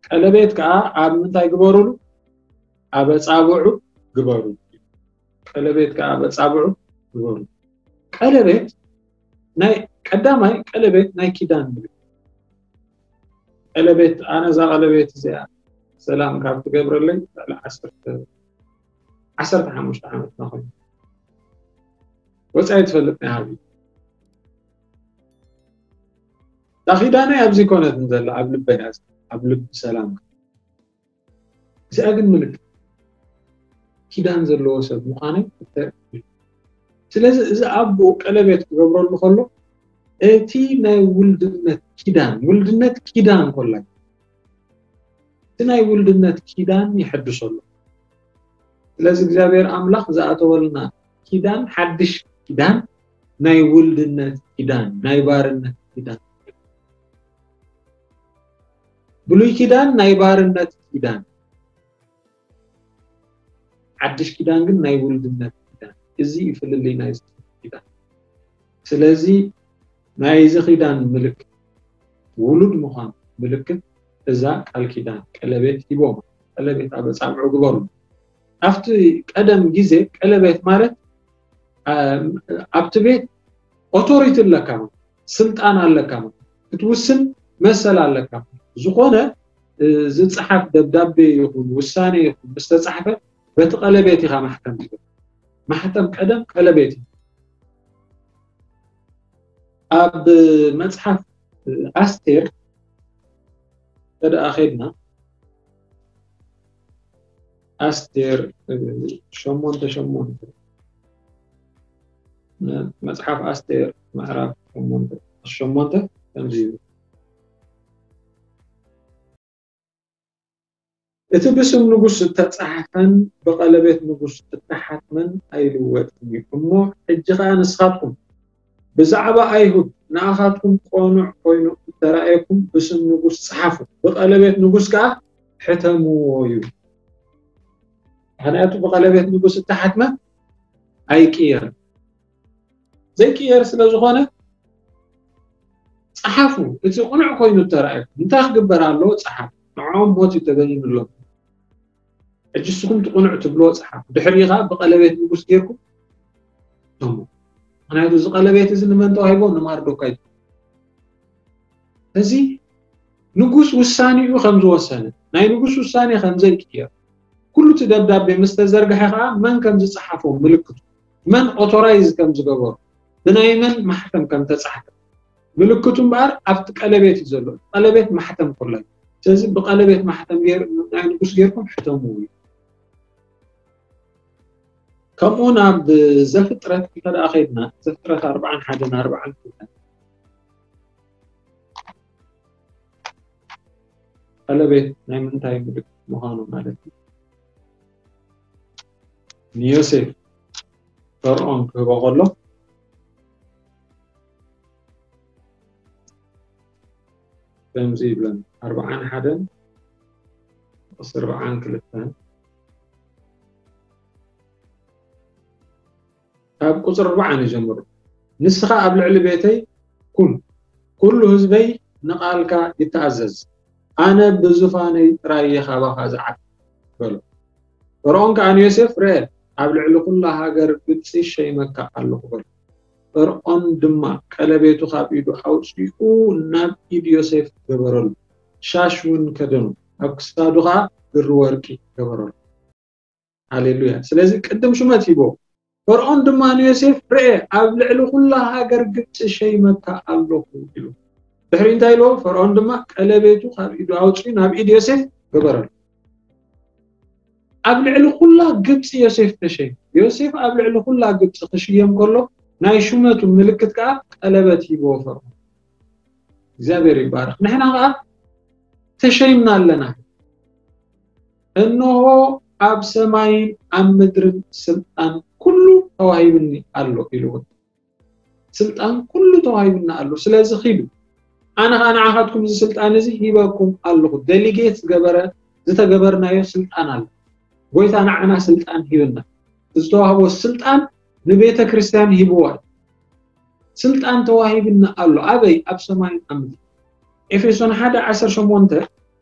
ቀለቤት ከዓ ኣብ ምንታይ ግበሩሉ? ኣብ ኣጻብዑ ግበሩ። ቀለቤት ከዓ ኣብ ኣጻብዑ ግበሩ። ቀለቤት ናይ ቀዳማይ ቀለቤት ናይ ኪዳን እዩ። ቀለቤት ኣነ እዛ ቀለቤት እዚኣ ሰላም ካብ ትገብረለይ ልዕሊ ዓሰርተ ዓሰርተ ሓሙሽተ ዓመት ናኾይኑ ወፃኢ ትፈልጥ ናይ ሃቢ ዳኺዳነይ ኣብዚ ኮነትን ዘላ ኣብ ልበይ እያ፣ ኣብ ልቢ ሰላም። እዚኣ ግን ምልክት ኪዳን ዘለዎ ሰብ ምዃነይ እተርኢ። ስለዚ እዚ ኣቦ ቀለቤት ክገብረሉ ከሎ እቲ ናይ ውልድነት ኪዳን፣ ውልድነት ኪዳን ኮላ እቲ ናይ ውልድነት ኪዳን ይሕድሰሉ። ስለዚ እግዚኣብሔር ኣምላኽ ዝኣተወልና ኪዳን ሓድሽ ኪዳን ናይ ውልድነት ኪዳን ናይ ባርነት ኪዳን ብሉይ ኪዳን ናይ ባርነት ኪዳን ሓድሽ ኪዳን ግን ናይ ውልድነት ኪዳን እዚ እዩ ፍልልይ ናይ ኪዳን ስለዚ ናይዚ ኪዳን ምልክት ውሉድ ምዃን ምልክት እዛ ቃል ኪዳን ቀለቤት ሂቦም ቀለቤት ኣብ ኣጻብዑ ግበሩ ኣብቲ ቀደም ግዜ ቀለቤት ማለት ኣብቲ ቤት ኦቶሪቲ ኣለካ ስልጣን ኣለካ ክትውስን መሰል ኣለካ ዝኾነ ዝፅሓፍ ደብዳቤ ይኹን ውሳኔ ይኹን ምስተፃሕፈ በቲ ቀለቤት ኢኻ ማሕተም ማሕተም ቀደም ቀለቤት እዩ ኣብ መፅሓፍ ኣስቴር ተደኣ ኸድና ኣስቴር ሸሞንተ ሸሞንተ መጽሓፍ ኣስቴር ምዕራፍ ሸሞንተ ሸሞንተ ከምዚ ይብል እቲ ብስም ንጉስ እተጻሓፈን ብቐለቤት ንጉስ እተሓትመን ኣይልወጥን እዩ እሞ ሕጂ ኸኣ ንስኻትኩም ብዛዕባ ኣይሁድ ንኣኻትኩም ቆኑዕ ኮይኑ እተራእየኩም ብስም ንጉስ ጸሓፉ ብቐለቤት ንጉስ ከኣ ሕተምዎ እዩ ምኽንያቱ ብቐለቤት ንጉስ እተሓትመ ኣይቅየርን ዘይቅየር ስለ ዝኾነ ጸሓፉ እቲ ቁኑዕ ኮይኑ እተራእየኩም እንታይ ክግበር ኣለዎ ጸሓፉ ንዕኦም ሞት እዩ ተበይኑሎም ሕጂ ንስኹም ትቕኑዕ ትብልዎ ጸሓፍ ድሕሪኻ ብቐለቤት ንጉስ ጌርኩም ቶሞ ምክንያቱ እዚ ቀለቤት እዚ ንመን ተዋሂቦ ንማርዶካይ እዚ ንጉስ ውሳኔኡ ከም ዝወሰነ ናይ ንጉስ ውሳኔ ከም ዘይቅየር ኩሉ እቲ ደብዳቤ ምስ ተዘርግሐ ከዓ መን ከም ዝጸሓፎ ምልክቱ መን ኦቶራይዝ ከም ዝገበሩ ብናይ መን ማሕተም ከም ተጻሕፈ ምልክቱ እምበኣር ኣብቲ ቀለቤት እዩ ዘሎ ቀለቤት ማሕተም ኮላ እዩ ስለዚ ብቀለቤት ማሕተም ናይ ንጉስ ጌርኩም ሕተምዎ እዩ ከምኡ ናብ ዘፍጥረት እንተ ደኣ ከይድና ዘፍጥረት ኣርባዓን ሓደን ኣርባዓን ክልተን ቀለቤት ናይ ምንታይ ምልክት ምዃኑ ማለት እዩ ንዮሴፍ ፈርዖን ክህቦ ከሎ ከምዚ ይብለን ኣርባዓን ሓደን ጥቕሲ ኣርባዓን ክልተን ካብ ቁፅሪ ኣርባዓን ይጀምሩ ንስኻ ኣብ ልዕሊ ቤተይ ኩን ኩሉ ህዝበይ ንቓልካ ይተኣዘዝ ኣነ ብዙፋነይ ጥራይ እየ ካባኻ ዝዓቢ በሎ ፈርዖን ከኣ ንዮሴፍ ርአ ኣብ ልዕሊ ኩላ ሃገር ግብፂ ሸይመካ ኣለኹ በሎ ፈርዖን ድማ ቀለቤቱ ካብ ኢዱ ኣውፂኡ ናብ ኢድ ዮሴፍ ገበረሉ ሻሽ እውን ከደኑ ኣብ ክሳዱ ከዓ ብሪ ወርቂ ገበረሉ ሃሌሉያ ስለዚ ቅድም ሹመት ሂቦ ፈርዖን ድማ ንዮሴፍ ርአ ኣብ ልዕሊ ኩላ ሃገር ግብፂ ሸይመካ ኣለኹ ኢሉ ድሕሪ እንታይ ኢልዎ ፈርዖን ድማ ቀለቤቱ ካብ ኢዱ ኣውፅኡ ናብ ኢድ ዮሴፍ ገበረሉ ኣብ ልዕሊ ኩላ ግብፂ ዮሴፍ ተሸይሙ። ዮሴፍ ኣብ ልዕሊ ኩላ ግብፂ ክሽየም ከሎ ናይ ሹመቱ ምልክት ከዓ ቀለበት ሂብዎ ፈርዖን። እግዚኣብሔር ይባረክ። ንሕና ከዓ ተሸይምና ኣለና። እንሆ ኣብ ሰማይን ኣብ ምድርን ስልጣን ኩሉ ተዋሂብኒ ኣሎ ኢሉ እውን። ስልጣን ኩሉ ተዋሂብና ኣሎ። ስለዚ ኺዱ ኣነ ኸዓ ንዓኻትኩም እዚ ስልጣን እዚ ሂበኩም ኣለኹ። ደሊጌት ዝገበረ ዝተገበርናዮ ስልጣን ኣሎ። ጎይታ ንዓና ስልጣን ሂብና። ዝተዋህቦ ስልጣን ንቤተ ክርስቲያን ሂብዋ እዩ። ስልጣን ተዋሂብና ኣሎ። ኣበይ? ኣብ ሰማይን ኣብ ምድሪ። ኤፌሶን ሓደ ዓሰርተ ሸሞንተ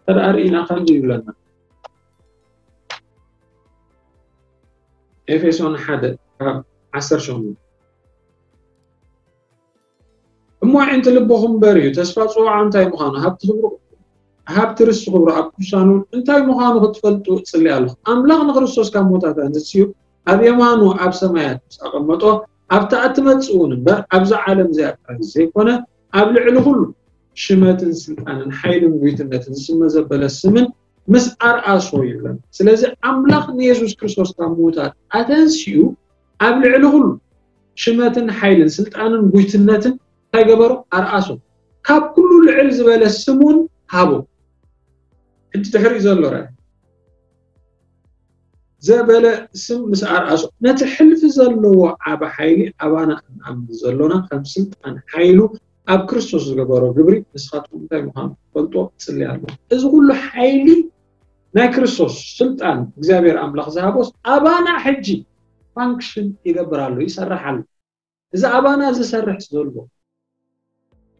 ተደኣ ርኢና ከምዚ ይብለና። ኤፌሶን ሓደ ካብ ዓሰርተ ሸሞንተ። እሞ ኣዒንቲ ልብኹም በርዩ፣ ተስፋ ጽውዓ እንታይ ምዃኑ፣ ሃብቲ ክብሩ፣ ሃብቲ ርስቲ ክብሩ ኣብ ቅዱሳን እውን እንታይ ምዃኑ ክትፈልጡ እጽሊ ኣለኹ። ኣምላኽ ንክርስቶስ ካብ ሞታት ኣንስዩ ኣብ የማኑ ኣብ ሰማያት ምስ ኣቐመጦ ኣብታ እትመጽእ እውን እምበር ኣብዛ ዓለም እዚኣ ጥራይ ዘይኮነ ኣብ ልዕሊ ኩሉ ሽመትን ስልጣንን ሓይልን ጉይትነትን ዝስመ ዘበለ ስምን ምስ ኣርኣሶ ይብለን። ስለዚ ኣምላኽ ንየሱስ ክርስቶስ ካብ ምዉታት ኣተንስኡ ኣብ ልዕሊ ኩሉ ሽመትን ሓይልን ስልጣንን ጉይትነትን እንታይ ገበሮ? ኣርኣሶ። ካብ ኩሉ ልዕል ዝበለ ስሙን ሃቦ። ሕጂ ድሕሪኡ ዘሎ ርኣይ። ዘበለ ስም ምስ ኣርኣሶ ነቲ ሕልፊ ዘለዎ ዓቢ ሓይሊ ኣባና እንኣምን ዘሎና ከም ስልጣን ሓይሉ ኣብ ክርስቶስ ዝገበሮ ግብሪ ንስኻትኩም እንታይ ምዃኑ ትፈልጦ ጽሊ ኣሎ። እዚ ኩሉ ሓይሊ ናይ ክርስቶስ ስልጣን እግዚኣብሔር ኣምላኽ ዝሃቦስ ኣባና ሕጂ ፋንክሽን ይገብር ኣሎ፣ ይሰርሕ ኣሎ። እዚ ኣባና ዝሰርሕ ዘሎ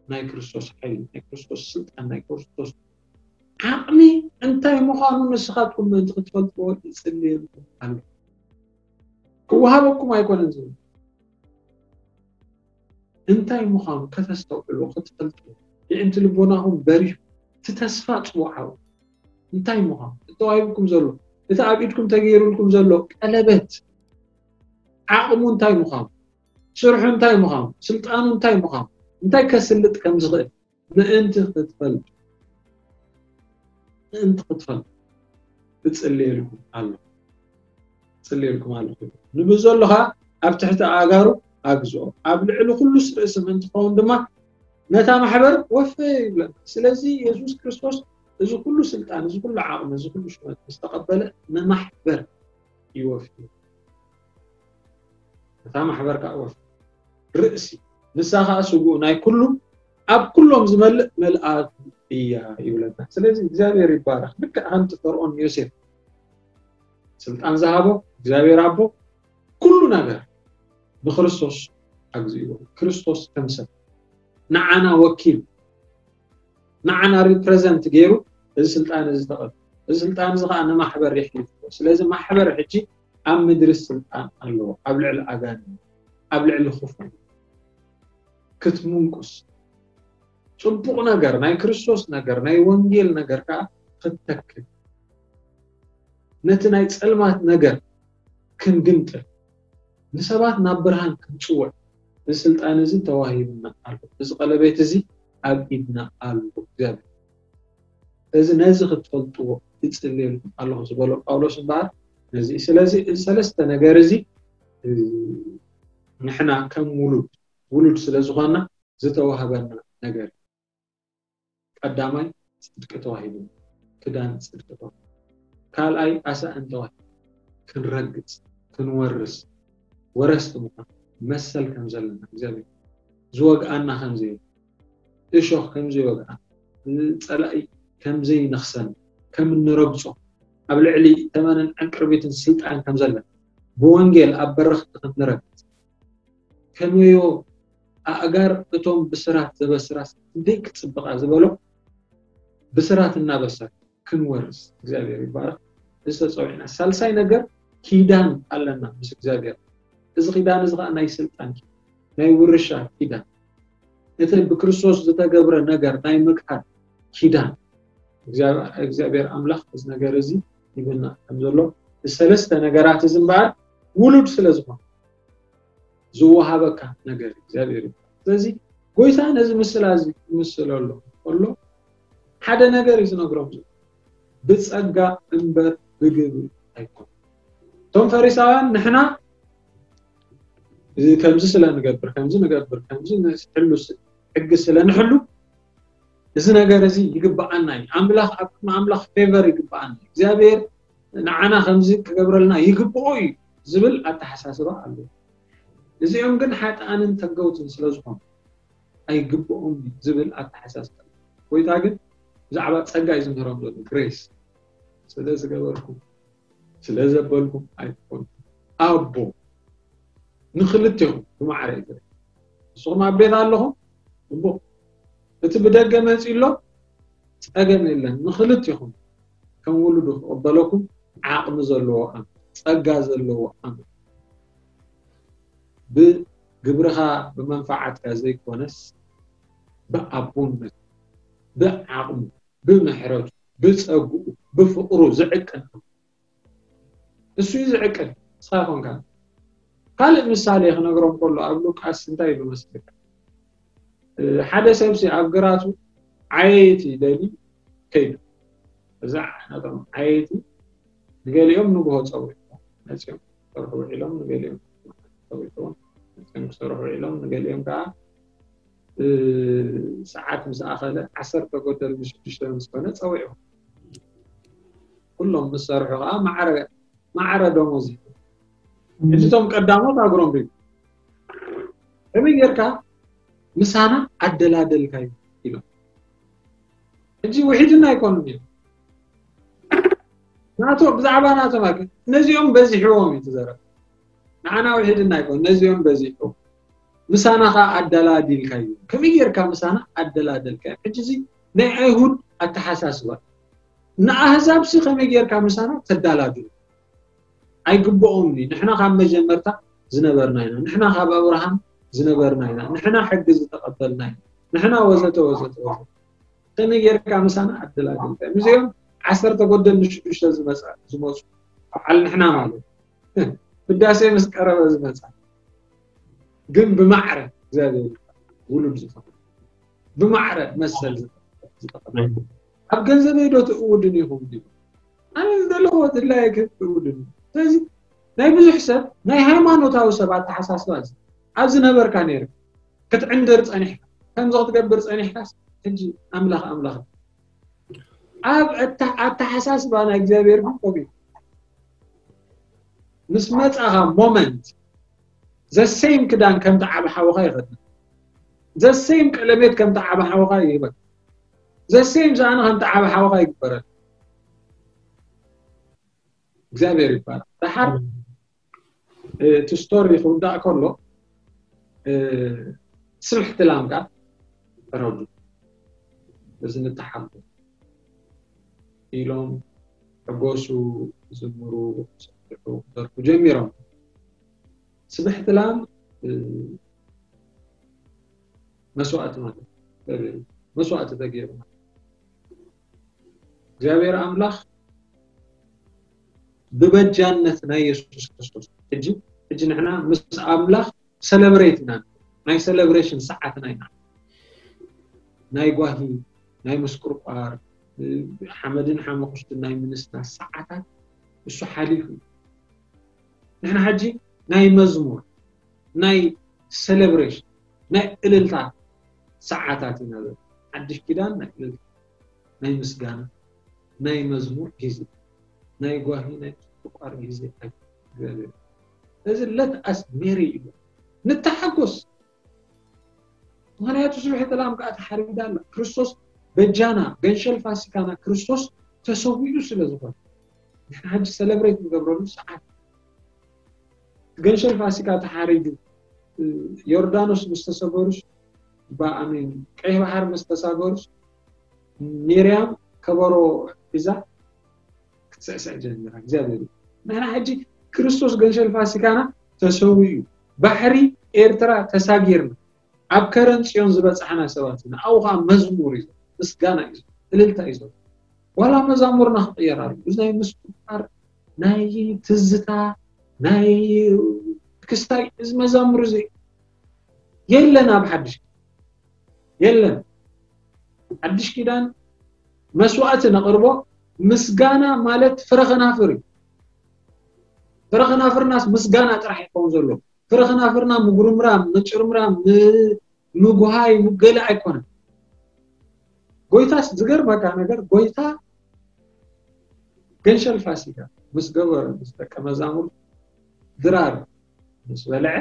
ናይ ክርስቶስ ሓይሊ፣ ናይ ክርስቶስ ስልጣን፣ ናይ ክርስቶስ ዓቕሚ እንታይ ምዃኑ ንስኻትኩም ምእንቲ ክትፈልጥዎ ይጽልየልኩም ኣሎ። ክወሃበኩም ኣይኮነን ዝብል እንታይ ምዃኑ ከተስተውዕሉ ክትፈልጡ የእንቲ ልቦናኹም በሪሁ እቲ ተስፋ ጽውዓዊ እንታይ ምዃኑ እቲ ተዋሂብኩም ዘሎ እቲ ኣብ ኢድኩም ተገይሩልኩም ዘሎ ቀለበት ዓቕሙ እንታይ ምዃኑ ስርሑ እንታይ ምዃኑ ስልጣኑ እንታይ ምዃኑ እንታይ ከስልጥ ከም ዝኽእል ምእንቲ ክትፈልጡ ምእንቲ ክትፈልጡ እጽልየልኩም ኣሎ እጽልየልኩም ኣለኹ ንብዞ ኣለኻ ኣብ ትሕቲ ኣእጋሩ ኣግዝኦ ኣብ ልዕሊ ኩሉስ ርእሲ ምእንቲ ክኸውን ድማ ነታ ማሕበር ወፈ ይብለና ስለዚ የሱስ ክርስቶስ እዚ ኩሉ ስልጣን እዚ ኩሉ ዓቕሚ እዚ ኩሉ ሽመት ዝተቐበለ ንማሕበር ይወፍዩ እታ ማሕበር ከዓ ወፍዩ ርእሲ ንሳ ከዓ ስጉኡ ናይ ኩሉ ኣብ ኩሎም ዝመልእ መልኣት እያ ይብለና ስለዚ እግዚኣብሔር ይባረክ ልክዕ ከምቲ ፈርኦን ዮሴፍ ስልጣን ዝሃቦ እግዚኣብሔር ኣቦ ኩሉ ነገር ንክርስቶስ ኣግዚእዎ ክርስቶስ ከም ሰብ ንዓና ወኪል ንዓና ሪፕረዘንት ገይሩ እዚ ስልጣን እዚ ተቐብ እዚ ስልጣን እዚ ከዓ ንማሕበር የሕሊፍዎ ስለዚ ማሕበር ሕጂ ኣብ ምድሪ ስልጣን ኣለዎ ኣብ ልዕሊ ኣጋን ኣብ ልዕሊ ክፉ ክትምንቁስ ጽቡቕ ነገር ናይ ክርስቶስ ነገር ናይ ወንጌል ነገር ከዓ ክትተክል ነቲ ናይ ጸልማት ነገር ክንግምጥል ንሰባት ናብ ብርሃን ክንጽውዕ እዚ ስልጣን እዚ ተዋሂብና ኣሎ እዚ ቀለቤት እዚ ኣብ ኢድና ኣሎ እግዚኣብሔር እዚ ነዚ ክትፈልጥዎ ይጽልየልኩም ኣለኹ ዝበሎ ጳውሎስ እምበኣር ነዚ ስለዚ እዚ ሰለስተ ነገር እዚ ንሕና ከም ውሉድ ውሉድ ስለ ዝኾና ዝተዋህበና ነገር ቀዳማይ ጽድቂ ተዋሂቡ ክዳን ጽድቂ ተዋሂቡ ካልኣይ ኣሳእን ተዋሂቡ ክንረግጽ ክንወርስ ወረስቲ ምዃን መሰል ከም ዘለና እግዚኣብሔር ዝወግኣና ከም ዘይብሉ እሾኽ ከም ዘይወግኣና ጸላኢ ከም ዘይነኽሰን ከም እንረግጾ ኣብ ልዕሊ ተመንን ዕንቅርቢትን ስልጣን ከም ዘለና ብወንጌል ኣብ በረኽቲ ከም ንረግጽ ከመዮ ኣእጋር እቶም ብስራት ዘበስራስ ክንደይ ክጽብቓ ዝበሎ ብስራት እናበሰር ክንወርስ እግዚኣብሔር ይባረክ ዝተፀውዕና ሳልሳይ ነገር ኪዳን ኣለና ምስ እግዚኣብሔር እዚ ኪዳን እዚ ከዓ ናይ ስልጣን ናይ ውርሻ ኪዳን እቲ ብክርስቶስ ዝተገብረ ነገር ናይ ምክሓድ ኪዳን እግዚኣብሔር ኣምላኽ እዚ ነገር እዚ ይብልና ከም ዘሎ ሰለስተ ነገራት እዚ እምበኣር ውሉድ ስለ ዝኾነ ዝወሃበካ ነገር እግዚኣብሔር እዩ ስለዚ ጎይታ ነዚ ምስላ እዚ ይምስለሎ ከሎ ሓደ ነገር እዩ ዝነግሮም ዘሎ ብፀጋ እምበር ብግብሪ ኣይኮን እቶም ፈሪሳውያን ንሕና እዚ ከምዚ ስለ ንገብር ከምዚ ንገብር ከምዚ ንሕሉ ስ- ሕጊ ስለ ንሕሉ እዚ ነገር እዚ ይግብኣና እዩ፣ ኣምላኽ ኣብ ቅድሚ ኣምላኽ ፌቨር ይግብኣና እዩ፣ እግዚኣብሔር ንዓና ከምዚ ክገብረልና ይግብኦ እዩ ዝብል ኣተሓሳስባ ኣሎ። እዚኦም ግን ሓጥኣንን ተገውትን ስለ ዝኾኑ ኣይግብኦም እዩ ዝብል ኣተሓሳስባ ኣሎ። ጎይታ ግን ብዛዕባ ጸጋ እዩ ዝምህሮም ዘሎ፣ ግሬስ። ስለ ዝገበርኩም ስለ ዘበልኩም ኣይትኾኑ። ኣቦ ንክልቴኹም ብማዕረ እዩ ዝርኢ። ንስኹም ኣብ ቤት ኣለኹም፣ እሞ እቲ ብደገ መፂኡ ኣሎ፣ ጸገም የለን። ንክልቴኹም ከም ውሉዱ ክቕበለኩም ዓቕሚ ዘለዎ ኣምላኽ፣ ጸጋ ዘለዎ ኣምላኽ፣ ብግብርኻ ብመንፈዓትካ ዘይኮነስ ብኣቦነቱ፣ ብዓቕሙ፣ ብምሕረቱ፣ ብጸግኡ፣ ብፍቕሩ ዝዕቅን ኣምላኽ። እሱ እዩ ዝዕቅን፣ ንስኻ ኮንካ። ካልእ ምሳሌ ክነግሮም ከሎ ኣብ ሉቃስ እንታይ ኢሉ መስለካ? እ፣ ሓደ ሰብሲ ኣብ ግራቱ ዓየይቲ ደልዩ ከይዱ። እዛ ናቶም ዓየይቲ ንገሊኦም ንግሆ ጸዊዕዎም መጺኦም ክሰርሑ ውዒሎም፣ ንገሊኦም ጸዊዕዎም መጺኦም ክሰርሑ ውዒሎም፣ ንገሊኦም ከዓ እ፣ ሰዓት ምስ ኣኸለ ዓሰርተ ጎደል ንሽዱሽተ ምስ ኮነ ጸዊዕዎም። ኩሎም ምስ ሰርሑ ከዓ ማዕረ ማዕረ ደሞዝ እዩ። ሕጂ እቶም ቀዳሞት ኣግሮም ሪቡ ከመይ ጌርካ ምሳና ኣደላደልካዩ ኢሎም። ሕጂ ውሒድና ኣይኮኑን እዮም ናቶ ብዛዕባ ናቶም ኣክ ነዚኦም በዚሕዎም እዩ ትዘረብ። ንዓና ውሒድና ኣይኮን ነዚኦም በዚሕዎም ምሳና ኸ ኣደላዲልካዩ። ከመይ ጌርካ ምሳና ኣደላደልካዩ? ሕጂ እዚ ናይ ኣይሁድ ኣተሓሳስባ እዩ። ንኣህዛብ ሲ ከመይ ጌርካ ምሳና ተዳላድሉ? ኣይግብኦምን እዩ። ንሕና ካብ መጀመርታ ዝነበርና ኢና። ንሕና ካብ ኣብርሃም ዝነበርና ኢና። ንሕና ሕጊ ዝተቐበልና ኢና። ንሕና ወዘተ ወዘተ ወዘተ። ከመይ ጌርካ ምሳና ኣደላድልካ? ምስዚኦም ዓሰርተ ጎደል ንሽዱሽተ ዝመጻ ዝመጹ በዓል ንሕና ማለት ህዳሴ ምስ ቀረበ ዝመጻ ግን ብማዕረ እግዚኣብሔር ውሉድ ዝኾነ ብማዕረ መሰል ዝተቐበለ ኣብ ገንዘበይ ዶ ትእውድን ኢኹም ድዩ? ኣነ ዝደለኹዎ ድላየ ክህብ ትእውድን። ስለዚ ናይ ብዙሕ ሰብ ናይ ሃይማኖታዊ ሰብ ኣተሓሳስባ እዚ ኣብ ዝነበርካ ነይሩ ክትዕንድር ጸኒሕካ ከምዚ ክትገብር ጸኒሕካስ ሕጂ ኣምላኽ ኣምላኽ ኣብ ኣተ- ኣተሓሳስባ ናይ እግዚኣብሔር ግን ቆቢል ምስ መጻኻ ሞመንት ዘሴም ክዳን ከምቲ ዓብ ሓወኻ ይኸድን ዘሴም ቀለሜት ከምቲ ዓብ ሓወኻ ይህበን ዘሴም ዝኣነ ከምቲ ዓብ ሓወኻ ይግበረን እግዚኣብሔር ይባላል ደሓር እቲ ስቶሪ ክውዳእ ከሎ ስብሕቲ ላም ከዓ ተረዱ እዚ ንተሓጎ ኢሎም ሕጎሱ ዝምሩ ሰሑ ክደርፉ ጀሚሮም ስብሕቲ ላም መስዋእቲ ማለት መስዋእቲ ተገይሩ እግዚኣብሔር ኣምላኽ ብበጃነት ናይ የሱስ ክርስቶስ ሕጂ ሕጂ ንሕና ምስ ኣምላኽ ሰለብሬት ኢና ናይ ሰለብሬሽን ሰዓትና ኢና ናይ ጓሂ ናይ ምስቁርቋር ሓመድን ሓመኩሽትን ናይ ምንስና ሰዓታት እሱ ሓሊፉ እዩ ንሕና ሕጂ ናይ መዝሙር ናይ ሰለብሬሽን ናይ እልልታ ሰዓታት ኢና ዘለና ሓድሽ ኪዳን ናይ እልልታ ናይ ምስጋና ናይ መዝሙር ግዜ ናይ ጓሂ ናይ ምስቁርቋር ግዜ እግዚኣብሔር እዚ let us merry እዩ ንተሓጎስ ምክንያቱ ስብሒ ጥላም ከዓ ተሓሪዳ ኣላ ክርስቶስ በጃና ገንሸል ፋሲካና ክርስቶስ ተሰዊኡ ስለ ዝኾነ ንሕና ሕጂ ሰለብሬት ንገብረሉ ሰዓት ገንሸል ፋሲካ ተሓሪዱ ዮርዳኖስ ምስ ተሰገሩስ ብኣሜን ቀይ ባሕር ምስ ተሳገሩስ ሚርያም ከበሮ ሒዛ ክትስዕስዕ ጀሚራ እግዚኣብሔር ንሕና ሕጂ ክርስቶስ ገንሸል ፋሲካና ተሰዊኡ ባሕሪ ኤርትራ ተሳጊርና ኣብ ከረን ጽዮን ዝበጻሕና ሰባት ኢና ኣብኡ ከዓ መዝሙር እዩ ምስጋና እዩ እልልታ እዩ ዘሎ ዋላ መዛሙርና ክቕየር ኣሎ እዚ ናይ ምስቁር ናይ ትዝታ ናይ ክስታይ እዚ መዛሙር እዚ የለን ኣብ ሓድሽ የለን ሓድሽ ኪዳን መስዋእቲ ነቕርቦ ምስጋና ማለት ፍረ ከናፍር እዩ ፍረ ከናፍርናስ ምስጋና ጥራሕ ይኸውን ዘሎ። ፍረ ከናፍርና ምጉርምራም፣ ምጭርምራም፣ ምጉሃይ፣ ምገለ ኣይኮነን። ጎይታስ ዝገርመካ ነገር፣ ጎይታ ገንሸል ፋሲካ ምስ ገበረ፣ ምስ ደቀ መዛሙርቱ ድራር ምስ በልዐ፣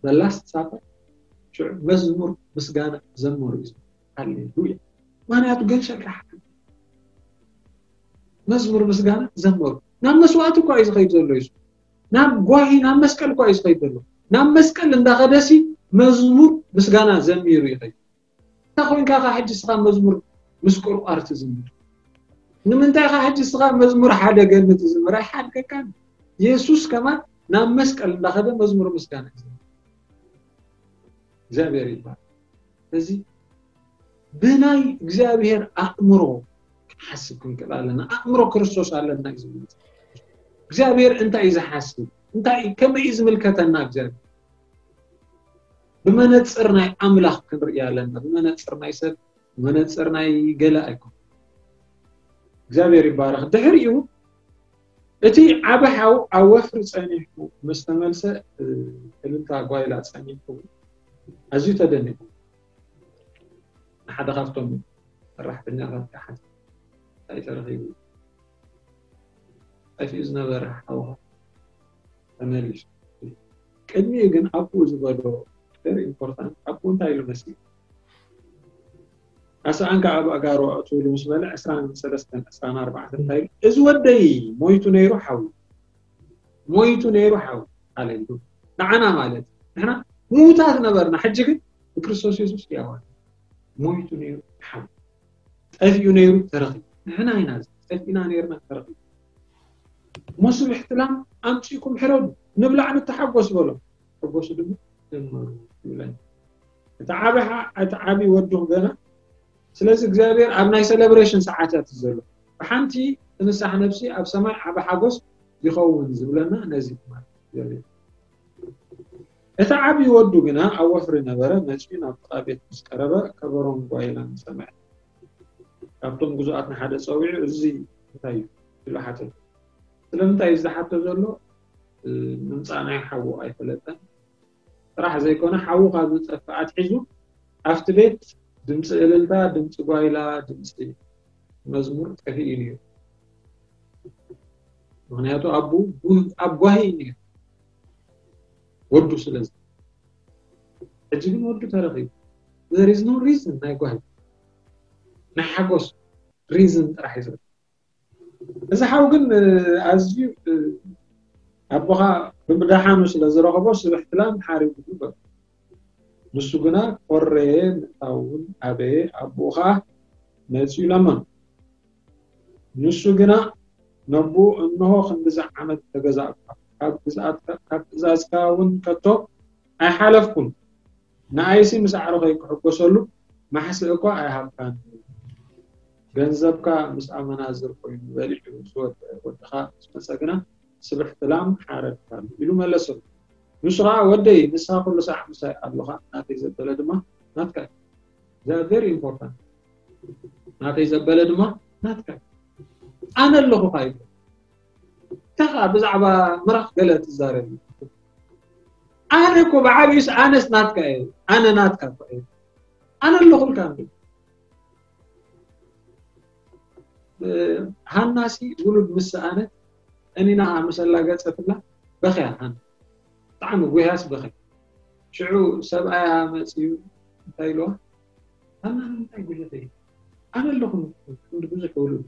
በላስ ሳፈር ሽዑ መዝሙር ምስጋና ዘመሩ እዩ። ሃሌሉያ። ምክንያቱ ገንሸል ራሕቲ መዝሙር ምስጋና ዘመሩ። ናብ መስዋእቲ እኳ እዩ ዝኸይድ ዘሎ እዩ። ናብ ጓሂ፣ ናብ መስቀል እኳ እዩ ዝኸይድ ዘሎ። ናብ መስቀል እንዳኸደሲ መዝሙር ምስጋና ዘሚሩ ይኸይድ። እንታይ ኮይንካ ካ ሕጂ ስኻ መዝሙር ምስ ቆርቋር ትዝምር? ንምንታይ ካ ሕጂ ስኻ መዝሙር ሓደገኒ ትዝምር? ኣይሓድገካን። የሱስ ከማን ናብ መስቀል እንዳኸደ መዝሙር ምስጋና እዩ ዝዝምር። እግዚኣብሔር ይባል። እዚ ብናይ እግዚኣብሔር ኣእምሮ ክንሓስብ ክንክእል ኣለና። ኣእምሮ ክርስቶስ ኣለና እዩ ዝብል እግዚኣብሔር። እንታይ እዩ ዝሓስብ? እንታይ እዩ፣ ከመይ እዩ ዝምልከተና እግዚኣብሔር? ብመነፅር ናይ ኣምላኽ ክንርኢ ኣለና። ብመነፅር ናይ ሰብ፣ ብመነፅር ናይ ገለ ኣይኮን። እግዚኣብሔር ይባረኽ። ድሕሪኡ እቲ ዓቢ ሓው ኣብ ወፍሪ ጸኒሑ ምስ ተመልሰ፣ እ፣ እልልታ ጓይላ ጸኒሑ ኣዝዩ ተደኒቑ። ንሓደ ካብቶም ሰራሕተኛታት ክሓት እንታይ ተረኺቡ? ጠፊኡ ዝነበረ ሓውኻ ተመሊሱ። ቅድሚኡ ግን ኣቦኡ ዝበሎ very important፣ ኣቦኡ እንታይ ኢሉ መሲሉ? ኣስኣን ከኣ ኣብ ኣጋሩ ኣእትውሉ ምስ በለ ዕስራን ሰለስተን ዕስራን ኣርባዕተን እንታይ ኢሉ? እዚ ወደይ ሞይቱ ነይሩ ሓዊ፣ ሞይቱ ነይሩ ሓዊ ኣለ ኢሉ። ንዓና ማለት ንሕና ምዉታት ነበርና፣ ሕጂ ግን ብክርስቶስ የሱስ ሕያዋን። ሞይቱ ነይሩ ሓዊ፣ ጠፊኡ ነይሩ ተረኺቡ። ንሕና ኢና እዚ ጠፊእና ነይርና ተረኺቡ። እሞ ስብሕቲ ላም ኣምጺእኩም ሕረዱ፣ ንብላዕ ንተሓጎስ በሎም። ተሓጎሱ ድማ ጀመሩ ይብለና። እቲ ዓቢ ሓ-፣ እቲ ዓቢ ወዱ ገና። ስለዚ እግዚኣብሔር ኣብ ናይ ሰለብሬሽን ሰዓታት እዩ ዘሎ። ብሓንቲ ትንሳሕ ነፍሲ ኣብ ሰማይ ዓቢ ሓጎስ ይኸውን ዝብለና ነዚ ማለት እዩ። እቲ ዓቢ ወዱ ግና ኣብ ወፍሪ ነበረ፣ መጺኡ ናብ ጥቓ ቤት ምስ ቀረበ ከበሮን ጓይላን ሰምዐ። ካብቶም ግዙኣት ንሓደ ጸዊዑ፣ "እዚ እንታይ እዩ?" ኢሉ ሓተተ። ስለምንታይ እዩ ዝሓቶ ዘሎ? እ፣ ምምጻእ ናይ ሓዉ ኣይፈለጠን። ጥራሕ ዘይኮነ፣ ሓዉ ካብ ዝጠፍእ ኣትሒዙ ኣብቲ ቤት ድምጺ እልልታ፣ ድምጺ ጓይላ፣ ድምጺ መዝሙር ጠፊኡ እዩ ነይሩ። ምኽንያቱ ኣቡ ኣብ ጓሂ እዩ ነይሩ፣ ወዱ ስለዚ። ሕጂ ግን ወዱ ተረኺቡ። There is no reason ናይ ጓሂ፣ ናይ ሓጎስ ሪዝን ጥራሕ እዩ ዘሎ። እዚ ሓው ግን፣ እ፣ ኣዝዩ፣ እ፣ ኣቦኻ ብምድሓኑ ስለ ዝረኸቦ ስብሕቲ ላም ሓሪጉ በሎ። ንሱ ግና ኮረየ፣ ምእታው እውን ኣበየ። ኣቦኡ ኸኣ መጺኡ ለመኖ። ንሱ ግና ነቦኡ፣ "እንሆ ክንድዚ ዓመት ተገዛእኩ፣ ካብ ግዝኣትካ፣ ካብ ትእዛዝካ እውን ከቶ ኣይሓለፍኩን። ንኣይሲ ምስ ኣዕሩኸይ ክሕጎሰሉ ማሕስእ እኳ ኣይሃብካን። ገንዘብካ ምስ ኣመናዝር ኮይኑ በሊዑ ዝወድአ ወድኻ ምስ መጸ ግና ስብሕቲ ላም ሓረድካሉ" ኢሉ መለሰሉ። ንሱ ኸኣ፣ "ወደይ፣ ንስኻ ኩሉ ሳዕ ምሳይ ኣሎኻ፣ ናተይ ዘበለ ድማ ናትካ እዩ። They are very important። ናተይ ዘበለ ድማ ናትካ እዩ። ኣነ ኣለኹኻ" ይብል። እንታይ ኸኣ ብዛዕባ ምራኽ ገለ ትዛረብ? ኣነ እኮ ብዓቢኡስ ኣነስ ናትካ እየ። ኣነ ናትካ እኮ እየ። ኣነ ኣለኹልካ እንዴ? እ፣ ሃናሲ ውሉድ ምስ ሰኣነት፣ ጠኒና ምስ ኣላገጸትላ በኽያ ሃና። ብጣዕሚ ጉህያስ በኽያ። ሽዑ ሰብኣያ መጺኡ እንታይ ኢልዋ? "ሃና፣ ንምንታይ ጉህየተይ? ኣነ ኣለኹ፣ ክንዲ ብዙሕ ውሉድ፣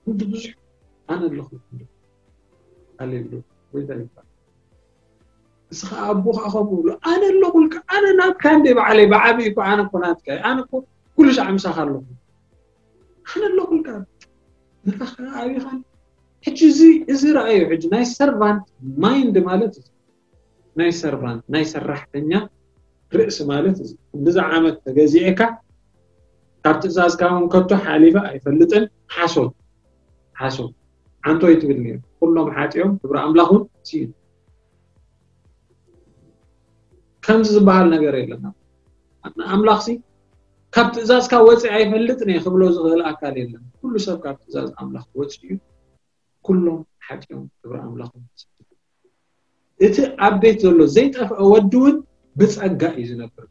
ክንዲ ብዙሕ ኣነ ኣለኹ፣ ክንዲ ኣሌሉ ወይ እንታይ ይባል?" ንስኻ ኣቦኻ ከምኡ ብሎ፣ "ኣነ ኣለኹልካ፣ ኣነ ናትካ እንዴ ባዕለይ፣ ብዓቢ እኮ ኣነ እኮ ናትካ እየ፣ ኣነ እኮ ኩሉ ሻዕ ምሳኻ ኣለኹ፣ ኣነ ኣለኹልካ፣ ንረኻ ኣቢኻን." ሕጂ እዚ፣ እዚ ረኣዩ፣ ሕጂ ናይ ሰርቫንት ማይንድ ማለት እዚ፣ ናይ ሰርቫንት፣ ናይ ሰራሕተኛ ርእሲ ማለት እዚ። ክንድዚ ዓመት ተገዚኤካ፣ ካብ ትእዛዝካ እውን ከቶ ሓሊፈ ኣይፈልጥን። ሓሶት፣ ሓሶት። ዓንቶ ይትብል ነይሩ። ኩሎም ሓጢኦም፣ ክብሪ ኣምላኽ እውን ስኢኑ። ከምዚ ዝበሃል ነገር የለን። ኣምላኽሲ ካብ ትእዛዝካ ወፂእ ኣይፈልጥን እየ ክብሎ ዝኽእል ኣካል የለን። ኩሉ ሰብ ካብ ትእዛዝ ኣምላኽ ወፂኡ እዩ። ኩሎም ሓጢኦም ክብሪ ኣምላኽ። እቲ ኣብ ቤት ዘሎ ዘይጠፍአ ወዲ እውን ብጸጋ እዩ ዝነብር።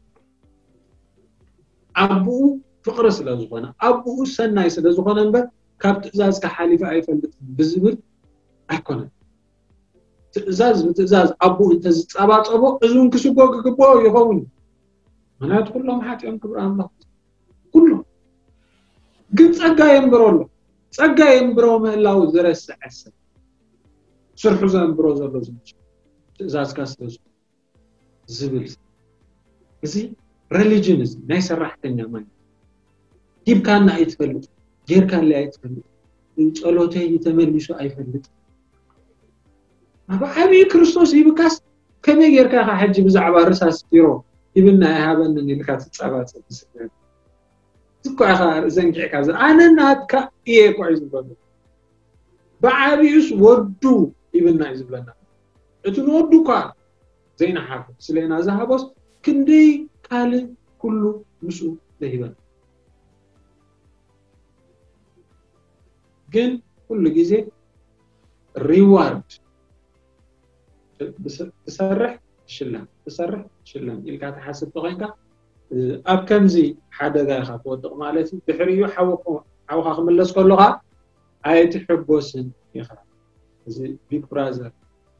ኣቦኡ ፍቕሪ ስለ ዝኾነ፣ ኣቦኡ ሰናይ ስለ ዝኾነ እምበር ካብ ትእዛዝካ ሓሊፈ ኣይፈልጥን ብዝብል ኣይኮነን። ትእዛዝ ብትእዛዝ ኣቦኡ እንተዝጸባጸቦ እዚ እውን ክስጎ ክግብኦ ይኸውን እዩ። ምክንያቱ ኩሎም ሓጢኦም ክብሪ ኣምላኽ ኩሎም። ግን ጸጋ የንብሮ ኣሎ። ጸጋ የንብሮ ምህላው ዝረስዐ ሰብ፣ ስርሑ ዘንብሮ ዘሎ ዝመስሎ፣ ትእዛዝካ ስለ ዝኾነ ዝብል። እዚ ሬሊጅን፣ እዚ ናይ ሰራሕተኛ ማለት፣ ሂብካና ኣይትፈልጥ፣ ጌርካለይ ኣይትፈልጥ፣ ጸሎተይ ተመሊሱ ኣይፈልጥ። ኣብ ዓብዪ ክርስቶስ ሂብካስ ከመይ ጌርካ ኢኻ ሕጂ ብዛዕባ ርሳስ ቢሮ ሂብና ኣይሃበንን ኢልካ ትጸባጸብ? ዝስገር እኮ ኢኻ ዘንጊዕካ ዘ-፣ ኣነ ናትካ እየ እኮ እዩ ዝበሎ። ብዓብዩስ ወዱ ሂብና እዩ ዝብለና። እቲ ንወዱ እኳ ዘይነሓፎ ስለና ዝሃቦስ ክንደይ ካልእ ኩሉ ምስኡ ለሂበና። ግን ኩሉ ግዜ ሪዋርድ ብስ-፣ ትሰርሕ ትሽለም፣ ትሰርሕ ትሽለም ኢልካ ትሓስብ ተኾይንካ፣ እ፣ ኣብ ከምዚ ሓደጋ ኢኻ ትወድቕ ማለት እዩ። ድሕሪኡ ሓውኹ-፣ ሓውኻ ክምለስ ከሎ ኸኣ ኣይትሕጎስን ኢኻ። እዚ ቢግ ብራዘር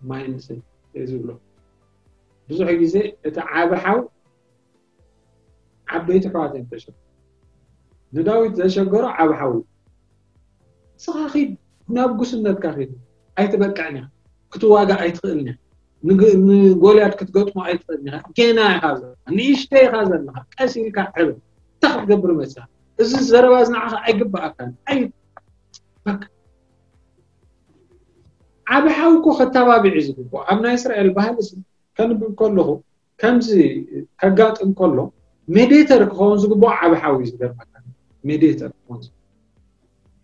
ማይንድሴት እዩ ዝብሎ። ብዙሕ ግዜ እቲ ዓቢ ሓው ዓበይቲ ኣሕዋት እዮም ዘሸግሩ። ንዳዊት ዘሸገሮ ዓቢ ሓው እዩ። ንስኻ ኺድ፣ ናብ ጉስነትካ ኺድ። ኣይትበቅዕን ኢኻ። ክትዋጋእ ኣይትኽእልን ኢኻ። ንግ-፣ ንጎልያድ ክትገጥሞ ኣይትኽእልን ኢኻ። ጌና ኢኻ ዘለኻ። ንእሽተይ ኢኻ ዘለኻ። ቀስ ኢልካ ዕበ። እንታይ ክትገብር መጺኻ? እዚ ዘረባ እዚ ንዓኻ ኣይግብኣካን። ኣይ-፣ በቃ። ዓቢ ሓው እኮ ከተባብዕ እዩ ዝግብኦ። ኣብ ናይ እስራኤል ባህሊ ሲ ከንብብ ከለኹ ከምዚ ከጋጥም ከሎ ሜዲተር ክኸውን ዝግብኦ ዓቢ ሓው እዩ ዝገርመካ። ሜዲተር ክኸውን ዝግብኦ።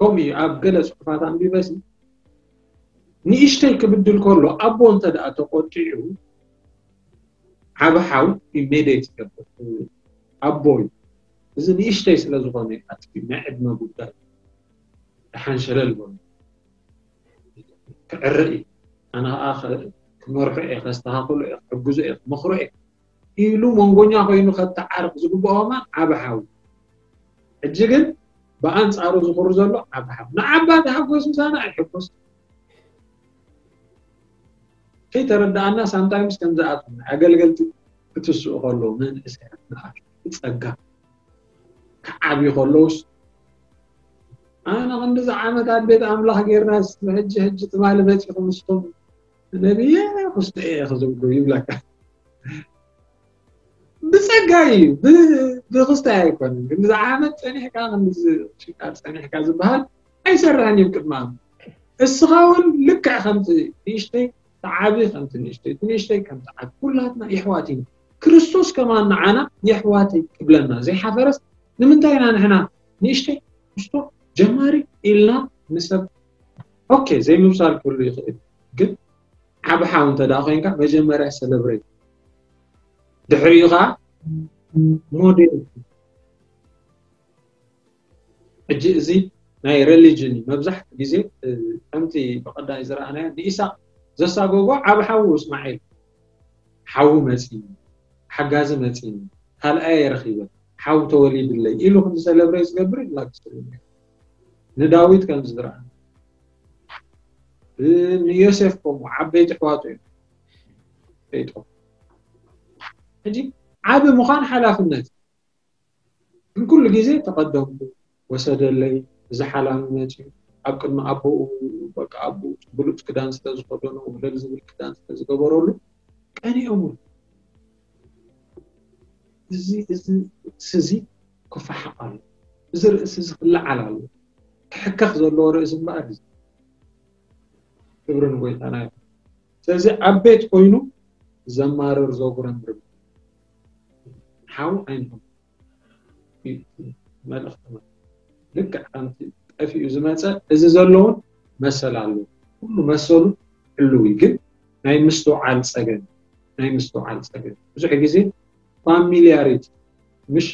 ከምኡ እዩ ኣብ ገለ ጽሑፋት ኣንቢበ ሲ ንእሽተይ ክብድል ከሎ ኣቦ እንተ ደኣ ተቆጢዑ ዓቢ ሓው እዩ ሜዲት ይገብር። ኣቦ እዩ። እዚ ንእሽተይ ስለ ዝኾነ እዩ ኣጥፊኡ። ናይ ዕድመ ጉዳይ። ደሓን ሸለል በሉ። ክዕረ እዩ። ኣነ ኸኣ ኸ-፣ ክመርሖ እየ፣ ከስተኻኽሎ እየ፣ ክሕግዞ እየ፣ ክመኽሮ እየ ኢሉ መንጎኛ ኮይኑ ከተዓርቕ ዝግብኦ ከማን ዓቢ ሓው። ሕጂ ግን ብኣንጻሩ ዝኹሪ ዘሎ ዓቢ ሓው። ንዓባ ተሓጎስ ምሳና ኣይሕጎስ። ከይተረድኣና ሳምታይምስ ከም ዝኣትዉ ኣገልገልቲ ክትስኡ ከለዉ መንእሰያት ንኣሽቱ ጸጋ ክዓብዩ ከለዉስ ኣነ ክንዲዚ ዓመት ኣብ ቤት ኣምላኽ ጌርናስ ሕጂ ሕጂ ትማሊ መጺኹም ንስኹም ነብየ ክስተ እየ ክዝብሉ ይብለካ። ብጸጋ እዩ፣ ብ-፣ ብክስታይ ኣይኮነን። ግን ዝዓመት ጸኒሕካ፣ ክንዲ ሽቃር ጸኒሕካ ዝበሃል ኣይሰርሕን እዩ ቅድሚ ኣምላኽ። እስኻ እውን ልክዕ ከምቲ ንእሽተይ ትዓቢ፣ ከምቲ ንእሽተይ፣ እቲ ንእሽተይ ከምቲ ዓቢ። ኩላትና የሕዋት ኢና። ክርስቶስ ከማን ንዓና የሕዋተይ ክብለና ዘይሓፈረስ፣ ንምንታይ ኢና ንሕና ንእሽተይ፣ ንእሽቶ፣ ጀማሪ ኢልና ንሰብ፣ ኦኬ፣ ዘይምብሳል ክህሉ ይኽእል፣ ግን ዓቢ ሓው እንተ ደኣ ኮይንካ፣ መጀመርያ ሰለብሬት፣ ድሕሪኡ ኸዓ ሞዴል። ሕጂ እዚ ናይ ሬሊጅን እዩ። መብዛሕትኡ ግዜ፣ እ፣ ከምቲ ብቐዳይ ዝረኣናዮ፣ ንኢሳቅ ዘሳጎጎ ዓቢ ሓዉ እስማዒል፣ ሓዉ መጺኒ፣ ሓጋዚ መጺኒ፣ ካልኣየ ረኺበ፣ ሓው ተወሊድለይ ኢሉ ክንዲ ሰለብሬት ዝገብር ይላግስ። ንዳዊት ከም ዝረኣ፣ እ፣ ንዮሴፍ ከምኡ ዓበይቲ ኣሕዋቱ እዮም ፈይጦም። ሕጂ ዓቢ ምዃን ሓላፍነት እዩ። ግን ኩሉ ግዜ ተቐደምኩ፣ ወሰደለይ፣ እዚ ሓላሚ መጺኡ፣ ኣብ ቅድሚ ኣቦኡ፣ በቃ ኣቦኡ ብሉጽ ክዳን ስለ ዝኸደኖ፣ ውልል ዝብል ክዳን ስለ ዝገበረሉ፣ ቀኒኦምሉ። እዚ፣ እዚ ርእሲ እዚ ክፈሓቕ ኣሎ። እዚ ርእሲ እዚ ክለዓል ኣሎ። ክሕከኽ ዘለዎ ርእሲ እምበኣር እዩ። ክብሪ ንጎይታና ይኹን። ስለዚ ኣብ ቤት ኮይኑ ዘማርር ዘጉረምርም ሓው ኣይንኹን። መልእኽቲ ማለት ልክዕ ከምቲ ጠፊኡ ዝመጸ እዚ ዘለውን መሰል ኣለዎ። ኩሉ መሰሉ ህልው እዩ። ግን ናይ ምስትውዓል ጸገም፣ ናይ ምስትውዓል ጸገም። ብዙሕ ግዜ ፋሚሊያሪቲ፣ ምሽ፣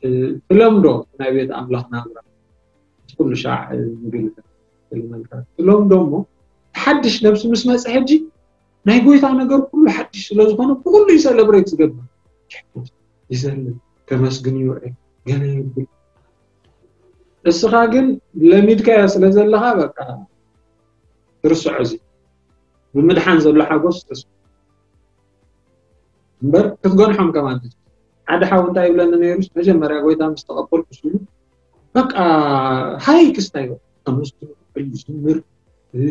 እ፣ ትለምዶ ናይ ቤት ኣምላኽ ናብራ፣ እቲ ኩሉ ሻዕ፣ እ፣ ምግልጋል። ክልመልካ ትብሎም ዶ እሞ፣ ሓድሽ ነብሲ ምስ መጸ ሕጂ ናይ ጎይታ ነገር ኩሉ ሓድሽ ስለ ዝኾነ ብኹሉ እዩ ሰለብሬት ዝገብር። ይዘልል፣ ከመስግን ይውዕል፣ ገለ ይብል። እስኻ ግን ለሚድካዮ ስለ ዘለኻ በቃ ትርስዖ። እዚ ብምድሓን ዘሎ ሓጎስ ተስፋ እምበር ክትገንሖም ከማን ትችል። ሓደ ሓው እንታይ ይብለኒ ነይሩስ፣ መጀመርያ ጎይታ ምስ ተቐበልኩ ሲሉ በቃ ሃይ ክስታይ በቃ ከመስግን ይዝምር፣ እ፣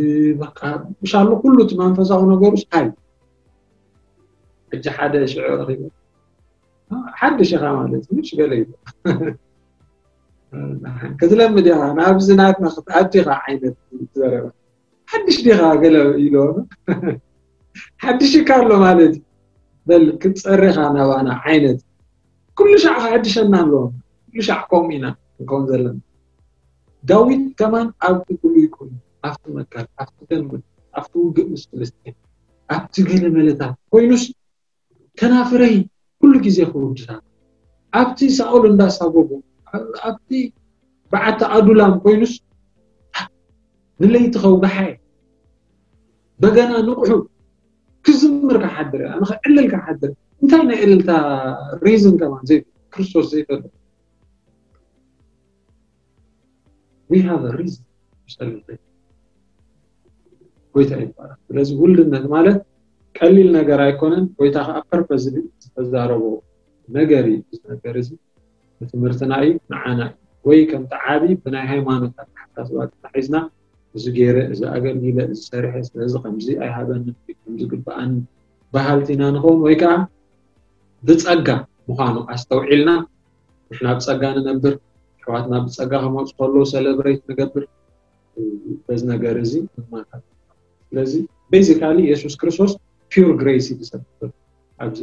በቃ ምሻሉ ኩሉ እቲ መንፈሳዊ ነገሩስ ሃይ። ሕጂ ሓደ ሽዑ ረኺበ፣ ሓድሽ ኢኻ ማለት እዩ፣ ምሽ ገለ እዩ። ክትለምድ ኢኻ፣ ናብዚ ናትና ክትኣቱ ኢኻ ዓይነት ዘረባ። ሓድሽ ዲኻ ገለ ኢሎ። ሓድሽ እካ ኣሎ ማለት እዩ። በል ክትጸሪ ኢኻ ናባና ዓይነት። ኩሉ ሻዕ ክሕድሸና ኣለዎ። ኩሉ ሻዕ ከምኡ ኢና ንከውን ዘለና። ዳዊት ከማን ኣብቲ ብሉይ ኮይኑ፣ ኣብቲ መካል፣ ኣብቲ ገንበት፣ ኣብቲ ውግእ ምስ ፍልስጤም፣ ኣብቲ ገለ መለታት ኮይኑስ ከናፍረይ ኩሉ ግዜ ክውድሳ። ኣብቲ ሳኦል እንዳሳጎጎ፣ ኣብቲ በዓቲ ኣዱላም ኮይኑስ ንለይቲ ከውግሓ እየ። በገና ንቑሑ ክዝምር ክሓድር እየ። ኣነ ክዕልል ክሓድር። እንታይ ናይ ዕልልታ ሪዝን ከማን ዘይ-፣ ክርስቶስ ዘይፈልጥ። We have a reason to celebrate። ጎይታ ይባረክ። ስለዚ ውልድነት ማለት ቀሊል ነገር ኣይኮነን። ጎይታ ከዓ ፐርፐስሊ ዝተዛረቦ ነገር እዩ። እዚ ነገር እዚ ንትምህርትና እዩ፣ ንዓና እዩ። ወይ ከምቲ ዓቢ ብናይ ሃይማኖት ኣተሓሳስባ ተታሒዝና እዚ ገይረ፣ እዚ ኣገልጊለ፣ እዚ ሰሪሐ፣ ስለዚ ከምዚ ኣይሃበንን፣ ከምዚ ግብኣኒ በሃልቲ ኢና ንኸውን፣ ወይ ከዓ ብጸጋ ምዃኑ ኣስተውዒልና ንሕና ብጸጋ ንነብር፣ ኣሕዋትና ብጸጋ ክመፁ ከለዉ ሰለብሬት ንገብር፣ በዚ ነገር እዚ ንማካት። ስለዚ ቤዚካሊ የሱስ ክርስቶስ ፒውር ግሬስ እዩ ዝሰብክ ኣብዚ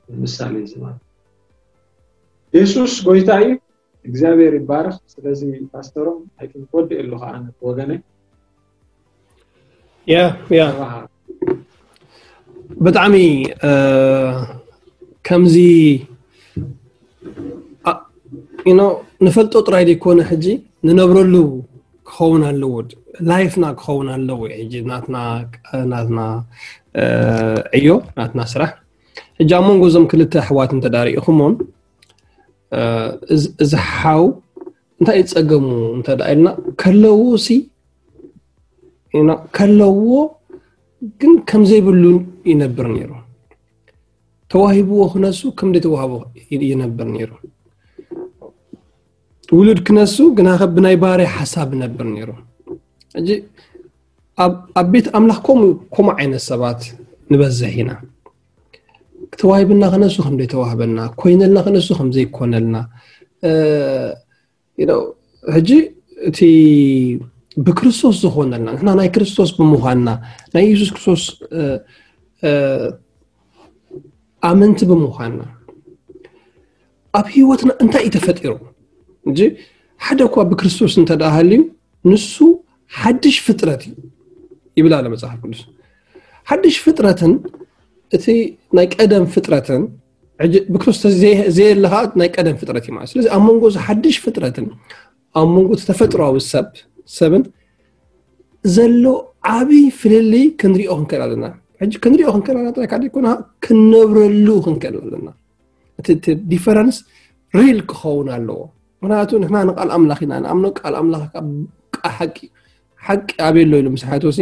ምሳሌ እዚ ማለት። የሱስ ጎይታ እዩ። እግዚኣብሔር ይባረክ። ስለዚ ፓስተሮም፣ ኣይ ቲንክ፣ ወዲእ ኣለኹ ኣነ ብወገነይ። ያ ያ ኣባሃ። ብጣዕሚ እ፣ ከምዚ ዩ ኖ ንፈልጦ ጥራይ ዘይኮነ ሕጂ ንነብረሉ ክኸውን ኣለዎ፣ ላይፍና ክኸውን ኣለዎ። ሕጂ ናትና ናትና እ፣ ዕዮ፣ ናትና ስራሕ። ሕጂ ኣብ መንጎ እዞም ክልተ ኣሕዋት እንተዳሪእኹሞም እ፣ እዚ- እዚ ሓው እንታይ እዩ ጸገሙ እንተ ደኣ ኢልና፣ ከለዎ ሲ ዩ ኖ ከለዎ ግን ከም ዘይብሉ ይነብር ነይሩ። ተዋሂብዎ ክነሱ ከም ዘይተዋህቦ ይነብር ነይሩ። ውሉድ ክነሱ ግና ከ ብናይ ባርያ ሓሳብ ይነብር ነይሩ። ሕጂ ኣብ ኣብ ቤት ኣምላኽ ከምኡ ከምኡ ዓይነት ሰባት ንበዝሕ ኢና። ተዋሂብና ክነሱ ከም ዘይተዋህበና፣ ኮይነልና ክነሱ ከም ዘይኮነልና እ፣ you know፣ ሕጂ እቲ ብክርስቶስ ዝኾነልና፣ ንሕና ናይ ክርስቶስ ብምዃንና፣ ናይ የሱስ ክርስቶስ እ፣ እ፣ ኣመንቲ ብምዃንና፣ ኣብ ህይወትና እንታይ እዩ ተፈጢሩ? እንጂ ሓደ እኳ ብክርስቶስ እንተ ደኣ ሃልዩ፣ ንሱ ሓድሽ ፍጥረት እዩ ይብል ኣሎ መጽሓፍ ቅዱስ። ሓድሽ ፍጥረትን እቲ ናይ ቀደም ፍጥረትን፣ ሕጂ ብክርስቶስ ዘየ- ዘየለ ኸዓ ናይ ቀደም ፍጥረት እዩ ማለት። ስለዚ ኣብ መንጎ እዚ ሓድሽ ፍጥረትን ኣብ መንጎ እቲ ተፈጥሮኣዊ ሰብ ሰብን ዘሎ ዓብዪ ፍልልይ ክንሪኦ ክንክእል ኣለና። ሕጂ ክንሪኦ ክንክእል ኣለና ጥራይ ካብ ዘይኮነ ክንነብረሉ ክንክእል ኣለና። እቲ እቲ ዲፈረንስ ሪል ክኸውን ኣለዎ። ምክንያቱ ንሕና ንቃል ኣምላኽ ኢና ንኣምኖ። ቃል ኣምላኽ ከዓ ቃ- ሓቂ ሓቂ ኣበይ ኣሎ ኢሉ ምስ ሓተወሲ፣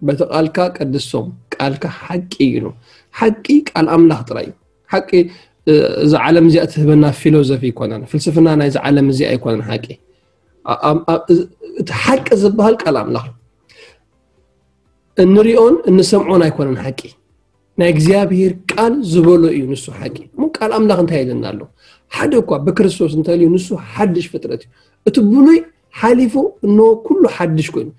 በቲ ቃልካ ቀድሶም፣ ቃልካ ሓቂ እዩ ኢሉ። ሓቂ ቃል ኣምላኽ ጥራይ እዩ። ሓቂ እ፣ እዛ ዓለም እዚኣ ትህበና ፊሎዞፊ ኣይኮነን፣ ፍልስፍና ናይዚ ዓለም እዚኣ ኣይኮነን ሓቂ። ኣ- ኣ- ኣ- እዚ- እቲ ሓቂ ዝበሃል ቃል ኣምላኽ እዩ። እንሪኦን እንሰምዖን ኣይኮነን ሓቂ፣ ናይ እግዚኣብሔር ቃል ዝበሎ እዩ ንሱ ሓቂ። እሞ ቃል ኣምላኽ እንታይ ኢልና ኣሎ? ሓደ እኳ ብክርስቶስ እንተልዩ ንሱ ሓድሽ ፍጥረት እዩ። እቲ ብሉይ ሓሊፉ እነሆ ኩሉ ሓድሽ ኮይኑ።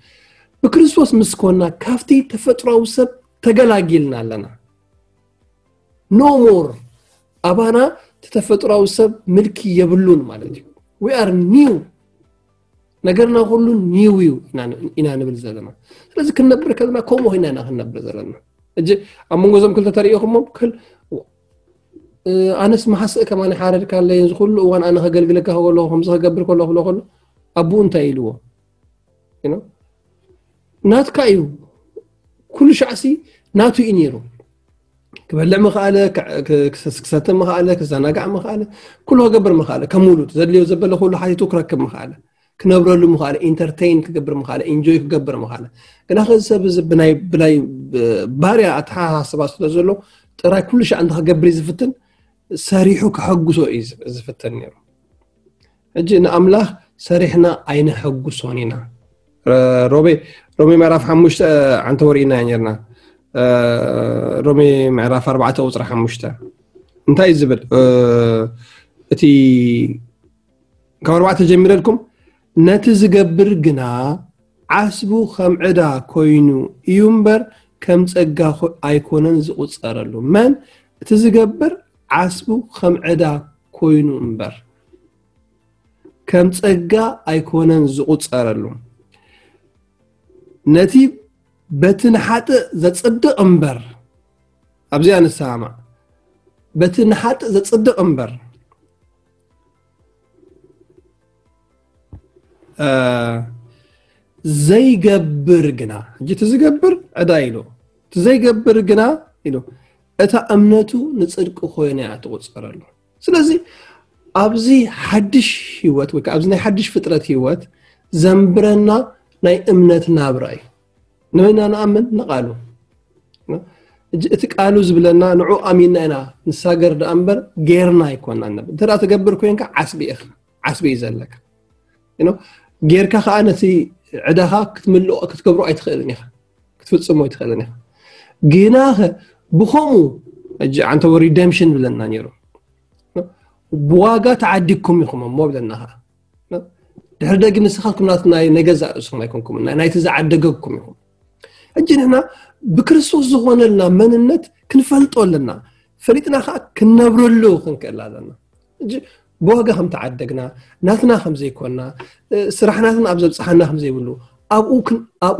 ብክርስቶስ ምስ ኮና ካብቲ ተፈጥሮኣዊ ሰብ ተገላጊልና ኣለና። ኖ ሞር ኣባና እቲ ተፈጥሮኣዊ ሰብ ምልኪ የብሉን ማለት እዩ። We are new፣ ነገርና ኩሉ ኒው እዩ ኢና ኢና ንብል ዘለና። ስለዚ ክንነብር ከለና ከምኡ ኮይና ኢና ክንነብር ዘለና። እጂ ኣብ መንጎ እዞም ክልተ ተሪኢኹሞ ክል እ፣ ኣነስ መሓስእ ከማን ሓረድካ ኣለይ እዚ ኩሉ እዋን ኣነ ከገልግለካ ከለኹ ከምዚ ከገብር ከለኹ ብሎ ከሎ ኣቡኡ እንታይ ኢልዎ? You know? ናትካ እዩ። ኩሉ ሻዕሲ ናቱ እዩ ነይሩ። ክበልዕ ምኽኣለ፣ ክሰተ ምኽኣለ፣ ክዘናጋዕ ምኽኣለ፣ ኩሉ ክገብር ምኽኣለ። ከም ውሉድ ዘድልዮ ዘበለ ኩሉ ሓቲቱ ክረክብ ምኽኣለ፣ ክነብረሉ ምኽኣለ፣ ኢንተርቴይን ክገብር ምኽኣለ፣ ኢንጆይ ክገብር ምኽኣለ። ግና ከዚ ሰብ እዚ ብናይ ብናይ ባርያ ኣተሓሳስባ ስለ ዘሎ ጥራይ ኩሉ ሻዕ እንተ ክገብር እዩ ዝፍትን፣ ሰሪሑ ከሐጉሶ እዩ ዝፍትን ነይሩ። ሕጂ ንኣምላኽ ሰሪሕና ኣይነሐጉሶን ኢና። ሮሜ ሮሜ ምዕራፍ ሓሙሽተ ዓንተ ወሪእና ኔርና። ሮሜ ምዕራፍ ኣርባዕተ ቁፅሪ ሓሙሽተ እንታይ እዩ ዝብል? እቲ ካብ ኣርባዕተ ጀሚረልኩም፣ ነቲ ዝገብር ግና ዓስቡ ከም ዕዳ ኮይኑ እዩ እምበር ከም ጸጋ ኣይኮነን ዝቑጸረሉ። መን እቲ ዝገብር ዓስቡ ከም ዕዳ ኮይኑ እምበር ከም ጸጋ ኣይኮነን ዝቑጸረሉ። ነቲ በቲ ንሓጥእ ዘጽድቕ እምበር፣ ኣብዚኣ ንሰማማዕ፣ በቲ ንሓጥእ ዘጽድቕ እምበር ዘይገብር ግና፣ ሕጂ እቲ ዝገብር ዕዳ ኢሉ፣ እቲ ዘይገብር ግና ኢሉ፣ እታ እምነቱ ንጽድቂ ኮይና እያ ትቑጸረሉ። ስለዚ ኣብዚ ሓድሽ ህይወት ወይ ከዓ ኣብዚ ናይ ሓድሽ ፍጥረት ህይወት ዘንብረና ናይ እምነት ናብራ እዩ። ንመና ንኣምን ንቃሉ። እቲ ቃሉ ዝብለና ንዑ ኣሚንና ኢና ንሳገር ደኣ እምበር ጌርና ኣይኮና ነብ እንተ ትገብር ኮይንካ ዓስቢ ኢኻ፣ ዓስቢ እዩ ዘለካ። ጌርካ ከዓ ነቲ ዕዳኻ ክትምልኦ ክትገብሮ ኣይትኽእልን ኢኻ፣ ክትፍጽሞ ኣይትኽእልን ኢኻ። ግናኸ ብኸምኡ ሕጂ ዓንተቦ ሪደምሽን ብለና ነይሩ። ብዋጋ ተዓዲግኩም ኢኹም እሞ ብለና ከዓ ድሕሪ ደጊ ንስኻትኩም ናይ ገዛእ ርእስኹም ኣይኮንኩም፣ ናይቲ ዝዓደገኩም ኢኹም። ሕጂ ንሕና ብክርስቶስ ዝኾነልና መንነት ክንፈልጦ ኣለና። ፈሊጥና ከዓ ክንነብረሉ ክንክእል ኣለና። ሕጂ ብዋጋ ከም ተዓደግና፣ ናትና ከም ዘይኮና፣ ስራሕ ናትና ኣብ ዘብፅሓና ከም ዘይብሉ፣ ኣብኡ ኣብኡ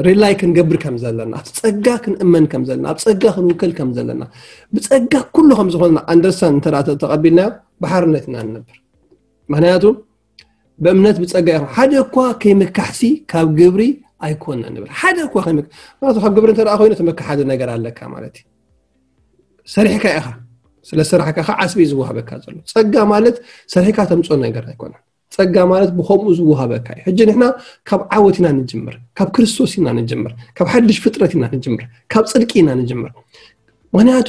ሪላይ ክንገብር ከም ዘለና፣ ኣብ ጸጋ ክንእመን ከም ዘለና፣ ኣብ ጸጋ ክንውከል ከም ዘለና፣ ብጸጋ ኩሉ ከም ዝኾንና ኣንደርሳን እንተ ተቐቢልናዮ ብሓርነት ኢና ንነብር። ምክንያቱ ብእምነት ብጸጋ ኢኹም፣ ሓደ እኳ ከይምካሕሲ ካብ ግብሪ ኣይኮነ ንብል። ሓደ እኳ ከይምክ ምክንያቱ ካብ ግብሪ እንተ ኮይኑ እቲ ምክሓዲ ነገር ኣለካ ማለት እዩ። ሰሪሕካ ኢኻ፣ ስለ ስራሕካ ከዓ ዓስቢ እዩ ዝወሃበካ ዘሎ። ጸጋ ማለት ሰሪሕካ ተምጾ ነገር ኣይኮነን። ጸጋ ማለት ብኸምኡ ዝወሃበካ እዩ። ሕጂ ንሕና ካብ ዓወት ኢና ንጅምር፣ ካብ ክርስቶስ ኢና ንጅምር፣ ካብ ሓድሽ ፍጥረት ኢና ንጅምር፣ ካብ ጽድቂ ኢና ንጅምር። ምክንያቱ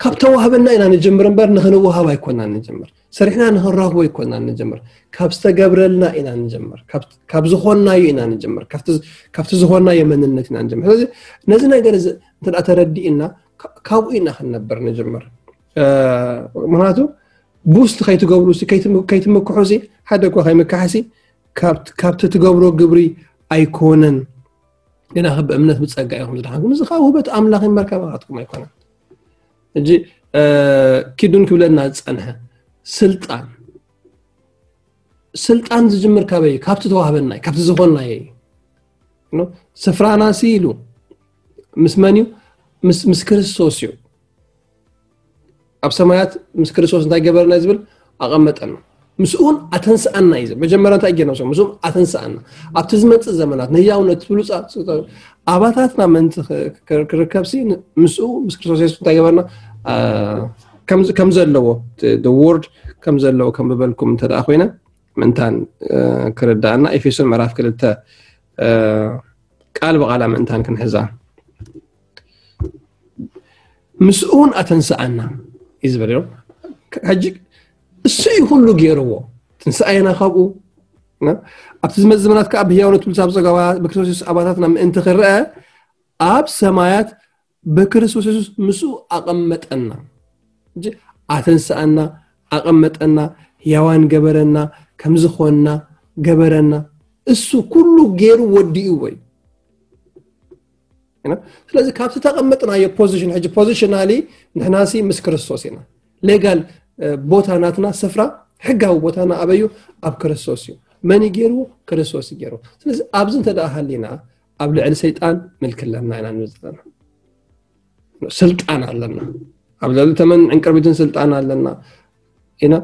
ካብ ተዋህበና ኢና ንጅምር እምበር ንኽንወሃብ ኣይኮናን ንጅምር። ሰሪሕና ንኽንረኽቦ ኣይኮናን ንጅምር። ካብ ዝተገብረልና ኢና ንጅምር። ካብ ዝኾንናዮ ኢና ንጅምር። ካብቲ ዝኾንናዮ መንነት ኢና ንጅምር። ስለዚ ነዚ ነገር እዚ እንተ ተረዲእና ካብኡ ኢና ክንነብር ንጅምር። ምክንያቱ ቡስት ከይትገብሩ ከይትምክሑ ሲ ሓደ እኳ ከይምካሕ ሲ ካብቲ ትገብሮ ግብሪ ኣይኮነን። ግና ብእምነት ብጸጋ ኢኹም ዝድሓንኩም፣ እዚ ከዓ ውህበት ኣምላኽ እምበር ካባኻትኩም ኣይኮነን። ሕጂ ኪዱን ክብለና ዝጸንሐ ስልጣን ስልጣን ዝጅምር ካበይ? ካብቲ ተዋህበናይ ካብቲ ዝኾንናዮ እዩ። ስፍራና ሲ ኢሉ ምስ መን እዩ? ምስ ክርስቶስ እዩ። ኣብ ሰማያት ምስ ክርስቶስ እንታይ ገበረና ዝብል ኣቐመጠና፣ ምስኡን ኣተንስኣና እዩ። መጀመርያ እንታይ ገና ምስኡን ኣተንስኣና ኣብቲ ዝመፅእ ዘመናት ንህያውነት ብሉፃት ኣባታትና ምእንቲ ክርከብ ሲ ምስኡ ምስ ክርስቶስ የሱስ እንታይ ገበርና? ከም ዘለዎ ወርድ ከም ዘለዎ ከም ብበልኩም እንተ ኮይነ ምእንታን ክርዳእና ኤፌሶን ምዕራፍ ክልተ ቃል ብቓላ ምእንታን ክንሕዛ ምስኡን ኣተንስኣና እዩ ዝበለ። ሕጂ እሱ እዩ ኩሉ ገይርዎ። ትንስኣየና ካብኡ ኣብቲ ዝመጽእ ዘመናት ከዓ ብህያውነቱ ብልሳብ ጸጋ ብክርስቶስ ኣባታትና ምእንቲ ክረአ ኣብ ሰማያት ብክርስቶስ የሱስ ምስኡ ኣቐመጠና። ኣተንስኣና፣ ኣቐመጠና፣ ህያዋን ገበረና፣ ከም ዝኾንና ገበረና። እሱ ኩሉ ገይሩ ወዲእዎ እዩ። ስለዚ ካብቲ ተቐመጥናዮ ፖዚሽን ሕጂ ፖዚሽናሊ ንሕናሲ ምስ ክርስቶስ ኢና። ሌጋል ቦታ ናትና ስፍራ ሕጋዊ ቦታና ኣበዩ ኣብ ክርስቶስ እዩ። መን ገይርዎ? ክርስቶስ ገይርዎ። ስለዚ ኣብዚ እንተ ደኣ ሃሊና ኣብ ልዕሊ ሰይጣን ምልኪ ኣለና ኢና ንብል ዘለና። ስልጣን ኣለና። ኣብ ልዕሊ ተመን ዕንቅርቢትን ስልጣን ኣለና ኢና።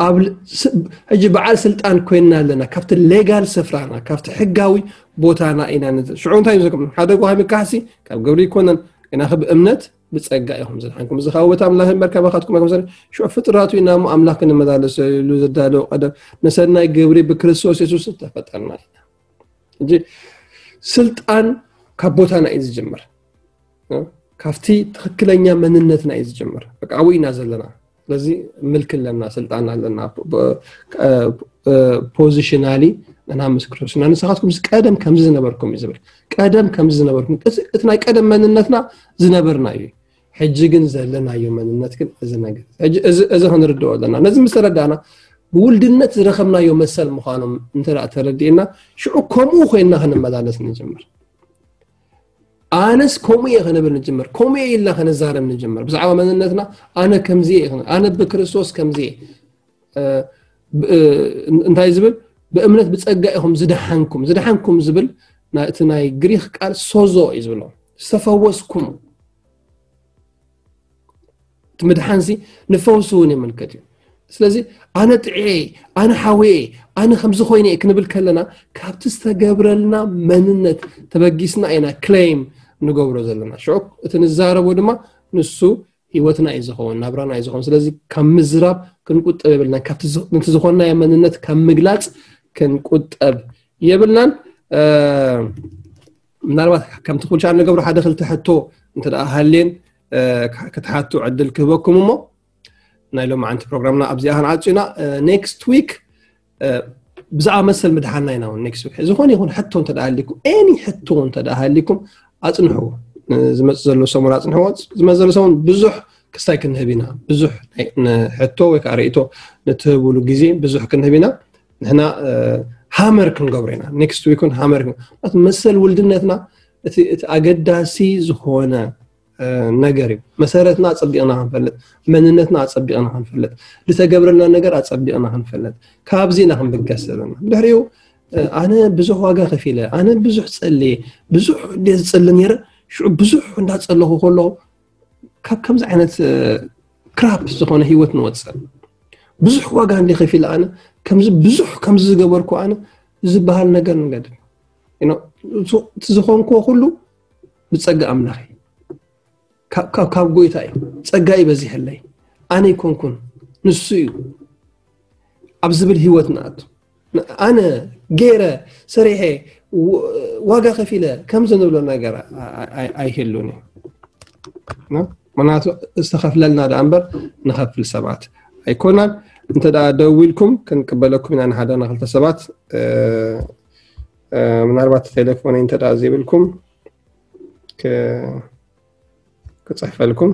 ኣብ ል- ስ- ሕጂ በዓል ስልጣን ኮይንና ኣለና። ካብቲ ሌጋል ስፍራና፣ ካብቲ ሕጋዊ ቦታና ኢና ንዘ- ሽዑ እንታይ ይዘኩም? ሓደ ጓሃሚ ካሕሲ ካብ ግብሪ ይኮነን፣ ግናኸ ብእምነት ብጸጋ ኢኹም ዝድሓንኩም። እዚ ካብ ውበት ኣምላኽ እምበር ካባኻትኩም ኣይኮነን። ሽዑ ፍጥራቱ ኢና እሞ ኣምላኽ ክንመላለሰሉ ዘዳለወ ቀደም ንሰናይ ግብሪ ብክርስቶስ የሱስ ተፈጠርና ኢና። ሕጂ ስልጣን ካብ ቦታና እዩ ዝጅምር። ካብቲ ትኽክለኛ መንነትና እዩ ዝጅምር። በቃ ኣብኡ ኢና ዘለና። ስለዚ ምልኪ ኣለና፣ ስልጣን ኣለና። ፖዚሽናሊ ንሕና ምስ ክርስቶስ ኢና። ንስኻትኩም ቀደም ከምዚ ዝነበርኩም እዩ ዝብል። ቀደም ከምዚ ዝነበርኩም፣ እቲ እቲ ናይ ቀደም መንነትና ዝነበርና እዩ። ሕጂ ግን ዘለናዮ መንነት ግን እዚ ነገር ሕጂ እዚ እዚ ክንርድኦ ኣለና። ነዚ ምስ ተረዳእና ብውልድነት ዝረኸብናዮ መሰል ምዃኖም እንተ ደኣ ተረዲእና ሽዑ ከምኡ ኮይንና ክንመላለስ ንጅምር። ኣነስ ከምኡ እየ ክንብል ንጅምር። ከምኡ እየ ኢልና ክንዛረብ ንጅምር። ብዛዕባ መንነትና ኣነ ከምዚ እየ፣ ኣነ ብክርስቶስ ከምዚ እየ። እ፣ ብ- እ፣ እንታይ ዝብል? ብእምነት ብጸጋ ኢኹም ዝደሓንኩም። ዝደሓንኩም ዝብል ናይ- እቲ ናይ ግሪክ ቃል ሶዞ እዩ ዝብሎ። ዝተፈወስኩም። እቲ ምድሓንሲ ንፈውሲ እውን የመልከት እዩ። ስለዚ ኣነ ጥዕየ፣ ኣነ ሓወየ፣ ኣነ ከምዚ ኮይነ እየ ክንብል ከለና ካብቲ ዝተገብረልና መንነት ተበጊስና ኢና ክሌም ንገብሮ ዘለና። ሽዑ እቲ ንዛረቦ ድማ ንሱ ህይወትና እዩ ዝኸውን፣ ናብራና እዩ ዝኸውን። ስለዚ ካብ ምዝራብ ክንቁጠብ የብልናን። ካብቲ ዝ- ነቲ ዝኾንናዮ መንነት ካብ ምግላፅ ክንቁጠብ የብልናን። እ፣ ምናልባት ከምቲ ኩልሻ ንገብሮ ሓደ ክልተ ሕቶ እንተ ደኣ ሃልየን እ፣ ክ- ክትሓቱ ዕድል ክህበኩም እሞ ናይ ሎማዓንቲ ፕሮግራምና ኣብዚኣ ክንዓጹ ኢና። ኔክስት ዊክ ብዛዕባ መሰል ምድሓንና ኢና እውን ኔክስት ዊክ ዝኾነ ይኹን ሕቶ እንተ ደኣ ሃሊኩም፣ ኤኒ ሕቶ እንተ ደኣ ሃሊኩም ኣጽንሕዎ። ዝመጽእ ዘሎ ሰሙን ኣጽንሕዎ። ዝመጽእ ዘሎ ሰሙን ብዙሕ ክስታይ ክንህብ ኢና። ብዙሕ ናይ- ን- ሕቶ ወይ ከዓ ርእይቶ ንትህብሉ ግዜ ብዙሕ ክንህብ ኢና። ንሕና ሃመር ክንገብሮ ኢና። ኔክስት ዊክ እውን ሃመር ክን- መሰል ውልድነትና እቲ እቲ ኣገዳሲ ዝኾነ እ፣ ነገር እዩ። መሰረትና ኣጸቢቕና ክንፈልጥ፣ መንነትና ኣጸቢቕና ክንፈልጥ፣ ዝተገብረልና ነገር ኣጸቢቕና ክንፈልጥ፣ ካብዚ ኢና ክንብገስ ዘለና። ብድሕሪኡ እ፣ ኣነ ብዙሕ ዋጋ ከፊለ፣ ኣነ ብዙሕ ጸልየ፣ ብዙሕ ድየ ዝጸሊ ነይረ። ሽዑ ብዙሕ እንዳጸለኹ ከለኹ ካብ ከምዚ ዓይነት እ፣ ክራፕ ዝኾነ ህይወት ንወጽእ። ብዙሕ ዋጋ እንዲ ከፊለ ኣነ ከምዚ ብዙሕ ከምዚ ዝገበርኩ ኣነ ዝበሃል ነገር ንገድፍ። You know፣ እቲ ዝኾንክዎ ኩሉ ብጸጋ ኣምላኽ እዩ። ካብ- ካብ- ካብ ጎይታ እዩ። ጸጋ ይበዚሐለይ፣ ኣነ ይኮንኩን፣ ንሱ እዩ ኣብ ዝብል ህይወት ንኣቱ። ኣነ ገይረ ሰሪሐ ው- ዋጋ ከፊለ ከምዚ ንብሎ ነገር ኣ- ኣ- ኣይ- ኣይህሉን እዩ። ና? ምክንያቱ ዝተኸፍለልና ደኣ እምበር ንኸፍል ሰባት ኣይኮናን። እንተ ደኣ ደዊልኩም ክንቅበለኩም ኢና፣ ንሓደ ንክልተ ሰባት እ፣ እ፣ ምናልባት ቴሌፎን እንተ ደኣ ዘይብልኩም ክ- ክጽሕፈልኩም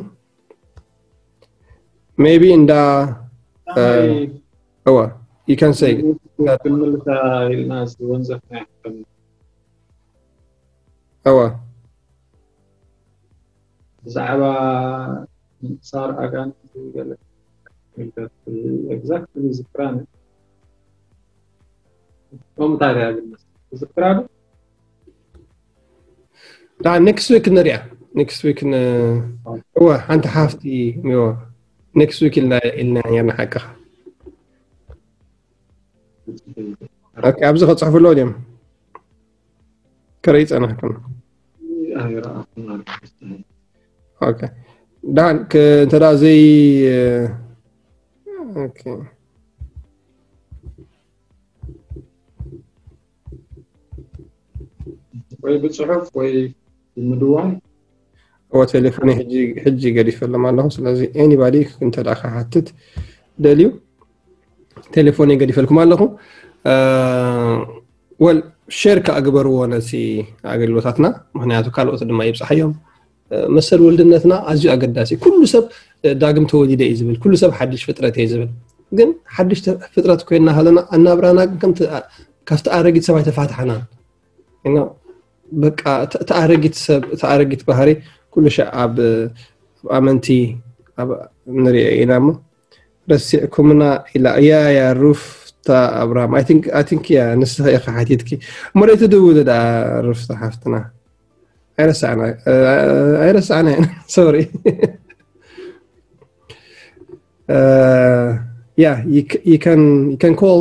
maybe እንዳ እ፣ እዋ you can say ክንምልሳ ኢልና ዝወንዘፍና እዋ ብዛዕባ ምንሳር ኣጋንንቲ ገለ ኤግዛክትሊ ዝክራን ከምኡ ታዲያ ግን ዝክራን ዳ ኔክስት ዊክ ንሪኣ ኔክስት ዊክ እወ ሓንቲ ሓፍቲ እወ ኔክስት ዊክ ኢልና ኢልና ነርና ሓቅኻ ኦኬ ኣብዚ ከፅሕፉ ኣለዎ ድዮም ከርኢ ፀናሕኩም ኦኬ ዳን እንተ ደኣ ዘይ ኦኬ ወይ ብፅሑፍ ወይ ብምድዋል እወ ቴሌፎን ሕጂ ገዲፈሎም ኣለኹ ስለዚ ኤኒባዲ እንተ ደኣ ክሓትት ደልዩ ቴሌፎን ገዲፈልኩም ኣለኹ ወል ሼር ከኣ ግበርዎ ነቲ ኣገልግሎታትና ምክንያቱ ካልኦት ድማ ይብፅሓዮም መሰል ወልድነትና ኣዝዩ ኣገዳሲ ኩሉ ሰብ ዳግም ተወሊደ እዩ ዝብል ኩሉ ሰብ ሓድሽ ፍጥረት እየ ዝብል ግን ሓድሽ ፍጥረት ኮይንና ሃለና ኣናብራና ግን ከምቲ ካብቲ ኣረጊት ሰብ ኣይተፋትሓናን በቃ እቲ ኣረጊት ሰብ እቲ ኣረጊት ባህሪ ኩሉ ሻዕ ኣብ ኣመንቲ ንሪኦ ኢና እሞ ረሲዕኩምና ኢላ እያ ያ ሩፍታ ኣብርሃም I think እያ ንስኺ ኢኻ ሓቲትኪ እሞ ዶ ትድውሊ ደኣ ሩፍታ ሓፍትና ኣይረሳዕና ኣይረሳዕና ኢና sorry Yeah, you, c- you can you can call,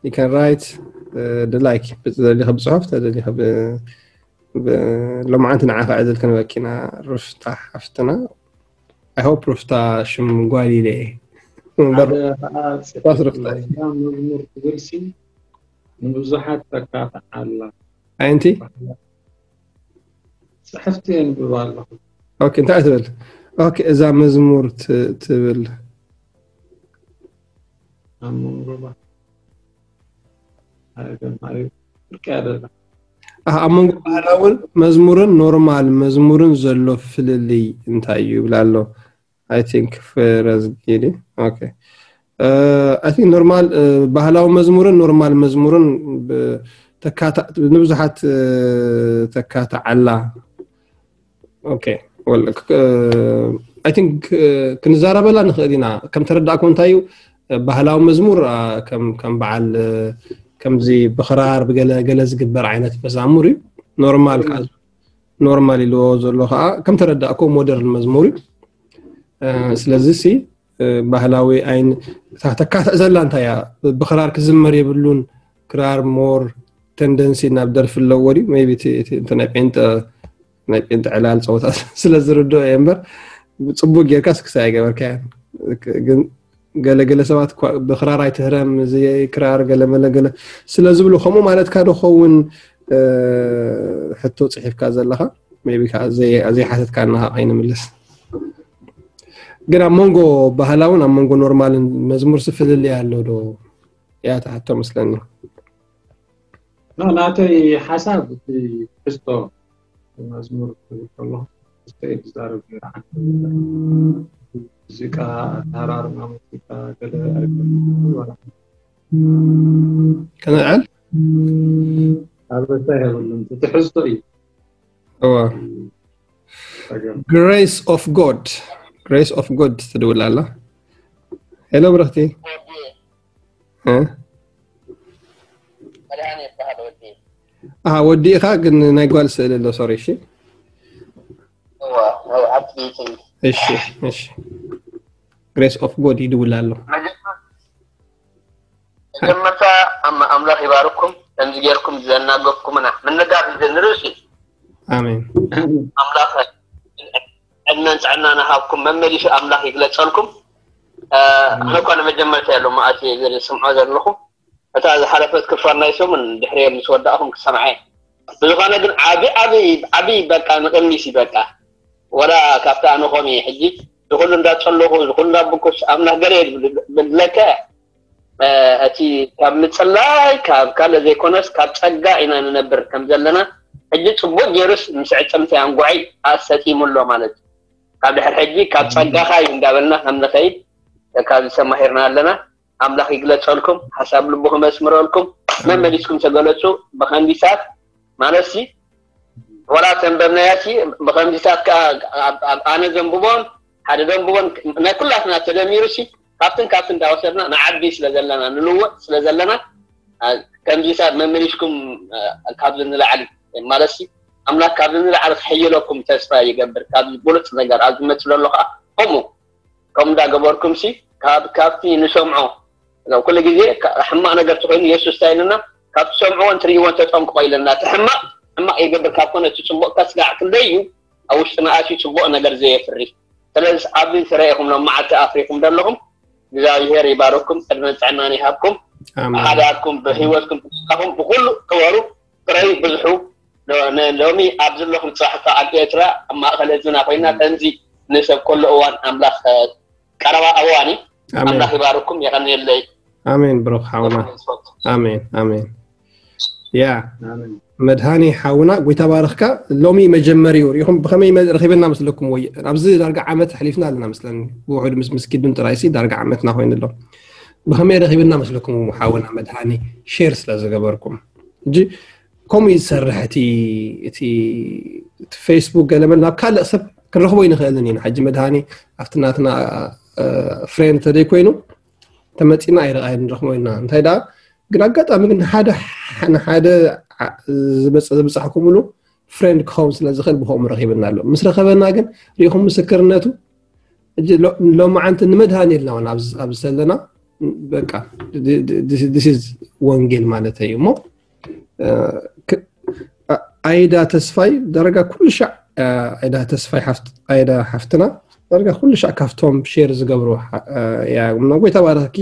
you can write, uh, the like. ተደሊኻ ብጽሑፍ፣ ተደሊኻ ብ ብ- ሎማዓንቲ ንዓኻ ዕድል ክንበኪና። ሩፍታ ሓፍትና፣ I hope ሩፍታ ሽም ጓል ኢለ እየ። እምበር ሓደ ከዓ ኳስ ጽሑፍ ሩፍታ እዩ። ኣለዋ። እዛ መዝሙር ትብል ሲ ንብዙሓት ተካትዓላ። ኣየንቲ? ጽሕፍቲ የንብብ ኣለኹ። ኦኬ፣ እንታይ ትብል? ኦኬ፣ እዛ መዝሙር ት- ትብል ኣብ መንጎ ባ- ኣይ፣ ደም፣ ኣይ፣ ብርቂ ኣይደለም። ኣህ፣ ኣብ መንጎ ባህላውን መዝሙርን ኖርማል መዝሙርን ዘሎ ፍልልይ እንታይ እዩ ይብል ኣሎ። I think ፍረዝጊዲ። ኦኬ። I think ኖርማል፣ ባህላዊ መዝሙርን ኖርማል መዝሙርን ብ- ተካታ- ንብዙሓት ተካታዓላ። ኦኬ። Well, I think ክንዛረበላ ንኽእል ኢና። ከም ተረዳእኩም እንታይ እዩ፣ ባህላዊ መዝሙር፣ ኣ፣ ከም ከም በዓል፣ እ፣ ከምዚ ብኽራር ብገለ ገለ ዝግበር ዓይነት መዛሙር እዩ። ኖርማል ከዓ፣ ኖርማል ኢልዎ ዘሎ ከዓ ከም ተረዳእኮ ሞደርን መዝሙር እዩ። እ፣ ስለዚ ሲ፣ እ፣ ባህላዊ ኣይን እታ ተካትዕ ዘላ እንታይ እያ? ብኽራር ክዝመር የብሉን። ክራር ሞር ተንደንሲ ናብ ደርፊ ኣለዎ ድዩ? Maybe እቲ እቲ እንተ ናይ ጴንጠ ናይ ጴንጠ ዕላል ጸወታ ስለ ዝርድኦ እየ እምበር፣ ጽቡቅ ጌርካ ስክሳ ኣይገበርካያን። ግን ገለገለ ሰባት እኳ ብክራር ኣይትህረም፣ እዚ ክራር ገለመለ ገለ ስለ ዝብሉ፣ ከምኡ ማለትካ ዶ ኸውን? እ፣ ሕቶ ጽሒፍካ ዘለኻ? Maybe ከኣ ዘይ-፣ ዘይሓተትካና ከኣ ከይንምልስ። ግን ኣብ መንጎ ባህላውን ኣብ መንጎ ኖርማልን መዝሙርሲ ፍልልይ ኣሎ ዶ? እያ ትሓቶ መስለኒ። ኖ፣ ናተይ ሓሳብ እቲ ትሕዝቶ መዝሙር ክብል ከለኹ፣ ትሕዝቶ እየ ዝዛረብ ነይረ። ዓንዲ ሙዚቃ፣ ኣተሃራርማ ሙዚቃ፣ ገለ ኣይኮነን። ዋላ ከነዕል? ኣበሳ የብሉን። እቲ ትሕዝቶ እዩ። እዋ። ጸገም። Grace of God። Grace of God ትድውል ኣላ። ሄሎ ብረኽቲ። እ? መድሃኔ ይበሃል ወዲ። ኣሃ፣ ወዲ ኢኻ ግን ናይ ጓል ስእሊ ኣሎ፣ ሶሪ። እሺ። እዋ፣ ናይ ዓዲ ቤተይ። እሺ፣ እሺ። Grace of God ይድውል ኣሎ። መጀመርታ፣ መጀመርታ ኣም-፣ ኣምላኽ ይባርኩም፣ ከምዚ ጌርኩም ዘናገፍኩምና። ምንጋፍ እዩ ንርእሲ። ኣሜን። ኣምላኽ ዕድመን ጥዕናን ይሃብኩም፣ መመሊሱ ኣምላኽ ይግለጸልኩም። እ፣ ኣነ እኳ ንመጀመርታ እየ ሎማዓንቲ ዝስምዖ ዘለኹ። እታ ዝሓለፈት ክፋል ናይ ሰሙን ድሕሪ ምስ ወዳእኹም ክሰምዐ። ብዝኾነ ግን ዓቢ፣ ዓቢ፣ ዓቢ በቃ ንቕድሚት እዩ በቃ። ወላ ካብቲ ኣነ ኮም እየ ሕጂ ዝኹሉ እንዳጸለኹ፣ ዝኹሉ እንዳብኩስ ኣምላኽ ገለ ብለከ፣ እ፣ እቲ ካብ ምጽላይ ካብ ካልእ ዘይኮነስ ካብ ጸጋ ኢና ንነብር ከም ዘለና ሕጂ ጽቡቕ ጌሩስ ምስ ዕጽምቲ ኣንጓዒ ኣሰጢሙ ኣሎ ማለት እዩ። ካብ ድሕሪ ሕጂ ካብ ጸጋኻ እዩ እንዳበልና ከም ንኸይድ ካብዚ ተማሂርና ኣለና። ኣምላኽ ይግለጸልኩም፣ ሓሳብ ልቡ ክመስምረልኩም። መመሊስኩም ተገለጹ። ብኸንዲሳት ማለትሲ፣ ወላ ተንበብናያሲ፣ ብኸንዲሳት ከኣ ኣብ፣ ኣብ ኣነ ዘንብቦን ሓደ ዘንብቦን ናይ ኩላትና ተደሚሩሲ፣ ካብትን ካብትን እንዳወሰድና ንዓቢ ስለ ዘለና፣ ንልወጥ ስለ ዘለና፣ ኣ፣ ከምዚሳት መመሊስኩም፣ ኣ፣ ካብዚ ንላዕሊ ማለትሲ፣ ኣምላኽ ካብዚ ንላዕሊ ክሕይለኩም ተስፋ ይገብር። ካብዚ ብሉጽ ነገር ኣብ ዝመጽእ ዘሎ ከኣ ከምኡ፣ ከምኡ እንዳገበርኩምሲ፣ ካብ፣ ካብቲ ንሰምዖ፣ ኩሉ ግዜ ካ-፣ ሕማቕ ነገር ተኾይኑ የሱስ እንታይ ኢሉና? ካብ ትሰምዕዎን ትርእይዎን ተጠንቅቖ ኢለና። እቲ ሕማቕ፣ ሕማቕ ይገብር ካብ ኮነ እቲ ጽቡቕ ከስጋዕ ክንደይ እዩ ኣብ ውሽጥና ኣትዩ ጽቡቕ ነገር ዘየፍሪ። ስለዚ ኣብዚ ተረኢኹም ሎም መዓልቲ ኣፍሪኹም ዘለኹም፣ እግዚኣብሔር ይባርኩም፣ ዕድመን ጥዕናን ይሃብኩም። ኣሜን። ብሓዳርኩም፣ ብህይወትኩም፣ ብተስፋኹም፣ ብኹሉ ክበሩ፣ ጥረዩ፣ ብዝሑ። ሎ-፣ ነ-፣ ሎሚ ኣብ ዘለኹም ጽባሕ እኳ ኣብ ኤርትራ፣ ኣብ ማእከል ህዝብና ኮይና፣ ከምዚ ንሰብ ከሎ እዋን ኣምላኽ፣ እ፣ ቀረባ እዋን እዩ። ኣሜን። ኣምላኽ ይባርኩም፣ የቐንየለይ። ኣሜን ብሩኽ ሓውና። ኣሜን፣ ኣሜን። ያ፣ ኣሜን። መድሃኔ ሓውና፣ ጎይታ ባርኽካ። ሎሚ መጀመሪኡ ርኢኹም ብኸመይ መ-፣ ረኺበና መስለኩም ወይ? ኣብዚ ዳርጋ ዓመት ኣሕሊፍና ኣለና መስለኒ። ብውሑድ ምስ፣ ምስ ኪዱን ጥራይሲ ዳርጋ ዓመትና ኮይኑ ኣሎ። ብኸመይ ረኺብና መስለኩም ሓውና መድሃኔ ሼር ስለ ዝገበርኩም? ሕጂ ከምኡ እዩ ዝሰርሕ እቲ፣ እቲ፣ እቲ ፌስቡክ ገለ መለ ናብ ካልእ ሰብ ክንረኽቦ ኣይንኽእልን ኢና። ሕጂ መድሃኔ ኣብቲ ናትና፣ እ፣ ፍሬንድ ተደይ ኮይኑ ተመጺና ኣይረ-፣ ኣይንረኽቦ ኢና። እንታይ ደኣ ግን ኣጋጣሚ ግን ንሓደ፣ ንሓደ ዓ-፣ ዝበጽ-፣ ዝበጻሕኩምሉ ፍሬንድ ክኸውን ስለ ዝኽእል ብኸምኡ ረኺብና ኣሎ። ምስ ረኸበና ግን ርኢኹም ምስክርነቱ። ሕጂ ሎ-፣ ሎማዓንቲ ንመድሃኔ ኢልና እውን ኣብዚ፣ ኣብዚ ዘለና በቃ this is ወንጌል ማለት እዩ እሞ ኣይዳ ተስፋይ ዳርጋ ኩሉ ሻዕ ኣይዳ ተስፋይ ሓፍት ኣይዳ ሓፍትና ዳርጋ ኩሉ ሻዕ ካብቶም ሼር ዝገብሩ ያ እሞ ጎይታ ባረኪ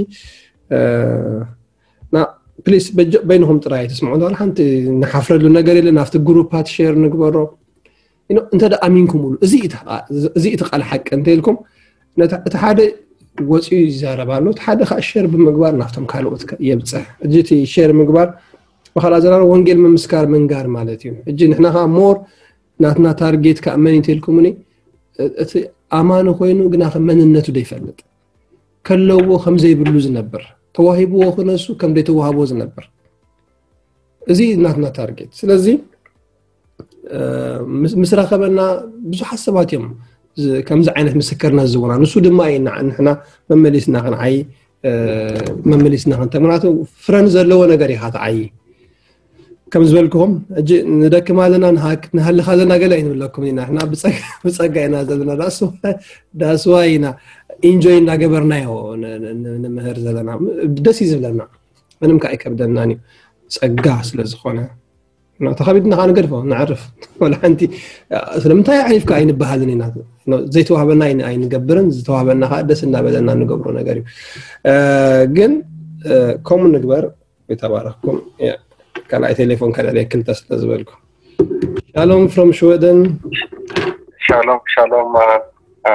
ና ፕሊስ በይንኹም ጥራይ ትስምዑ እንተኾነ ሓንቲ ንሓፍረሉ ነገር የለን ኣብቲ ግሩፓት ሼር ንግበሮ እንተ ኣሚንኩምሉ እዚ እቲ ቃል ሓቂ እንተ ኢልኩም እቲ ሓደ ወፂኡ ይዛረብ ኣሎ እቲ ሓደ ከዓ ሸር ብምግባር ናብቶም ካልኦት የብፅሕ እጂ እቲ ሸር ምግባር ብካልኣ ዘራር ወንጌል ምምስካር ምንጋር ማለት እዩ እጂ ንሕና ከዓ ሞር ናትና ታርጌት ከዓ መን እንተ ኢልኩምኒ እቲ ኣማኒ ኮይኑ ግና መንነቱ ዘይፈልጥ ከለዎ ከም ዘይብሉ ዝነብር ተዋሂብዎ ክነሱ ከም ዘይተዋህቦ ዝነብር እዚ ናትና ታርጌት ስለዚ ምስ ረኸበና ብዙሓት ሰባት እዮም ከምዚ ዓይነት ምስክርነት ዝህቡና ንሱ ድማ እዩ ንሕና መመሊስና ክንዓይ መመሊስና ክንተ ምክንያቱ ፍረን ዘለዎ ነገር ኢኻ ትዓይ ከም ዝበልክኹም ሕጂ ንደክም ኣለና ንሃልኽ ኣለና ገለ ኣይንብለኩም ኢና ሕና ብፀጋ ኢና ዘለና ዳስዋ ኢና ኢንጆይ እናገበርናዮ ንምህር ዘለና ደስ እዩ ዝብለና ምንም ከዓ ኣይከብደናን እዩ ጸጋ ስለ ዝኾነ ተኸቢድና ከዓ ንገድፎ ንዕርፍ ወላ ሓንቲ ስለምንታይ ኣዕሪፍካ ኣይንበሃልን ኢና ዘይተዋህበና ኣይንገብርን ዝተዋህበና ከዓ ደስ እናበለና ንገብሮ ነገር እዩ ግን ከምኡ ንግበር ይተባረኽኩም ካልኣይ ቴሌፎን ከልዕለ ክልተ ስለ ዝበልኩ ሻሎም from ሽወደን ሻሎም ሻሎም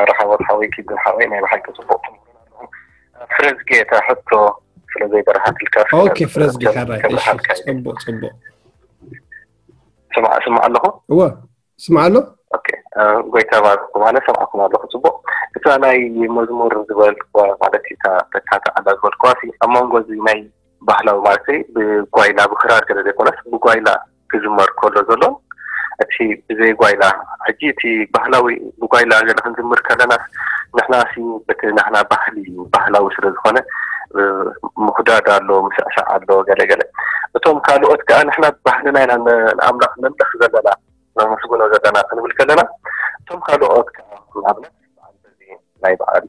ረሓቦት ሓወይ ኪዱን ሓወይ ናይ ብሓቂ ፅቡቅ ትምህሩ ኣለኹም ፍረዝጌ እታ ሕቶ ስለ ዘይበረሃትልካ ኦኬ ፍረዝጌ ሕራይ እሺ ጽቡቅ ጽቡቅ ስማዕ ስማዕ ኣለኹ እወ ስማዕ ኣሎ ኦኬ ጎይታ ባርኩ ማለት ሰምዓኩም ኣለኹ ጽቡቅ እታ ናይ መዝሙር ዝበልክዋ ማለት እታ ተካተዓላ ዝበልክዋ ኣብ መንጎ እዚ ናይ ባህላዊ ማለት ብጓይላ ብክራር ገለ ዘይኮነስ ብጓይላ ክዝመር ከሎ ዘሎ እቲ ብዘይ ጓይላ ሕጂ እቲ ባህላዊ ብጓይላ ገለ ክንዝምር ከለና ንሕና ሲ በቲ ናህና ባህሊ እዩ ባህላዊ ስለ ዝኾነ ምኹዳድ ኣሎ ምስዕሳዕ ኣሎ ገለ ገለ እቶም ካልኦት ከዓ ንሕና ባህልና ኢና ንኣምላኽ ነምለኽ ዘለና ነመስግኖ ዘለና ክንብል ከለና እቶም ካልኦት ከዓ ንኣብነት በዓል በዚ ናይ በዓል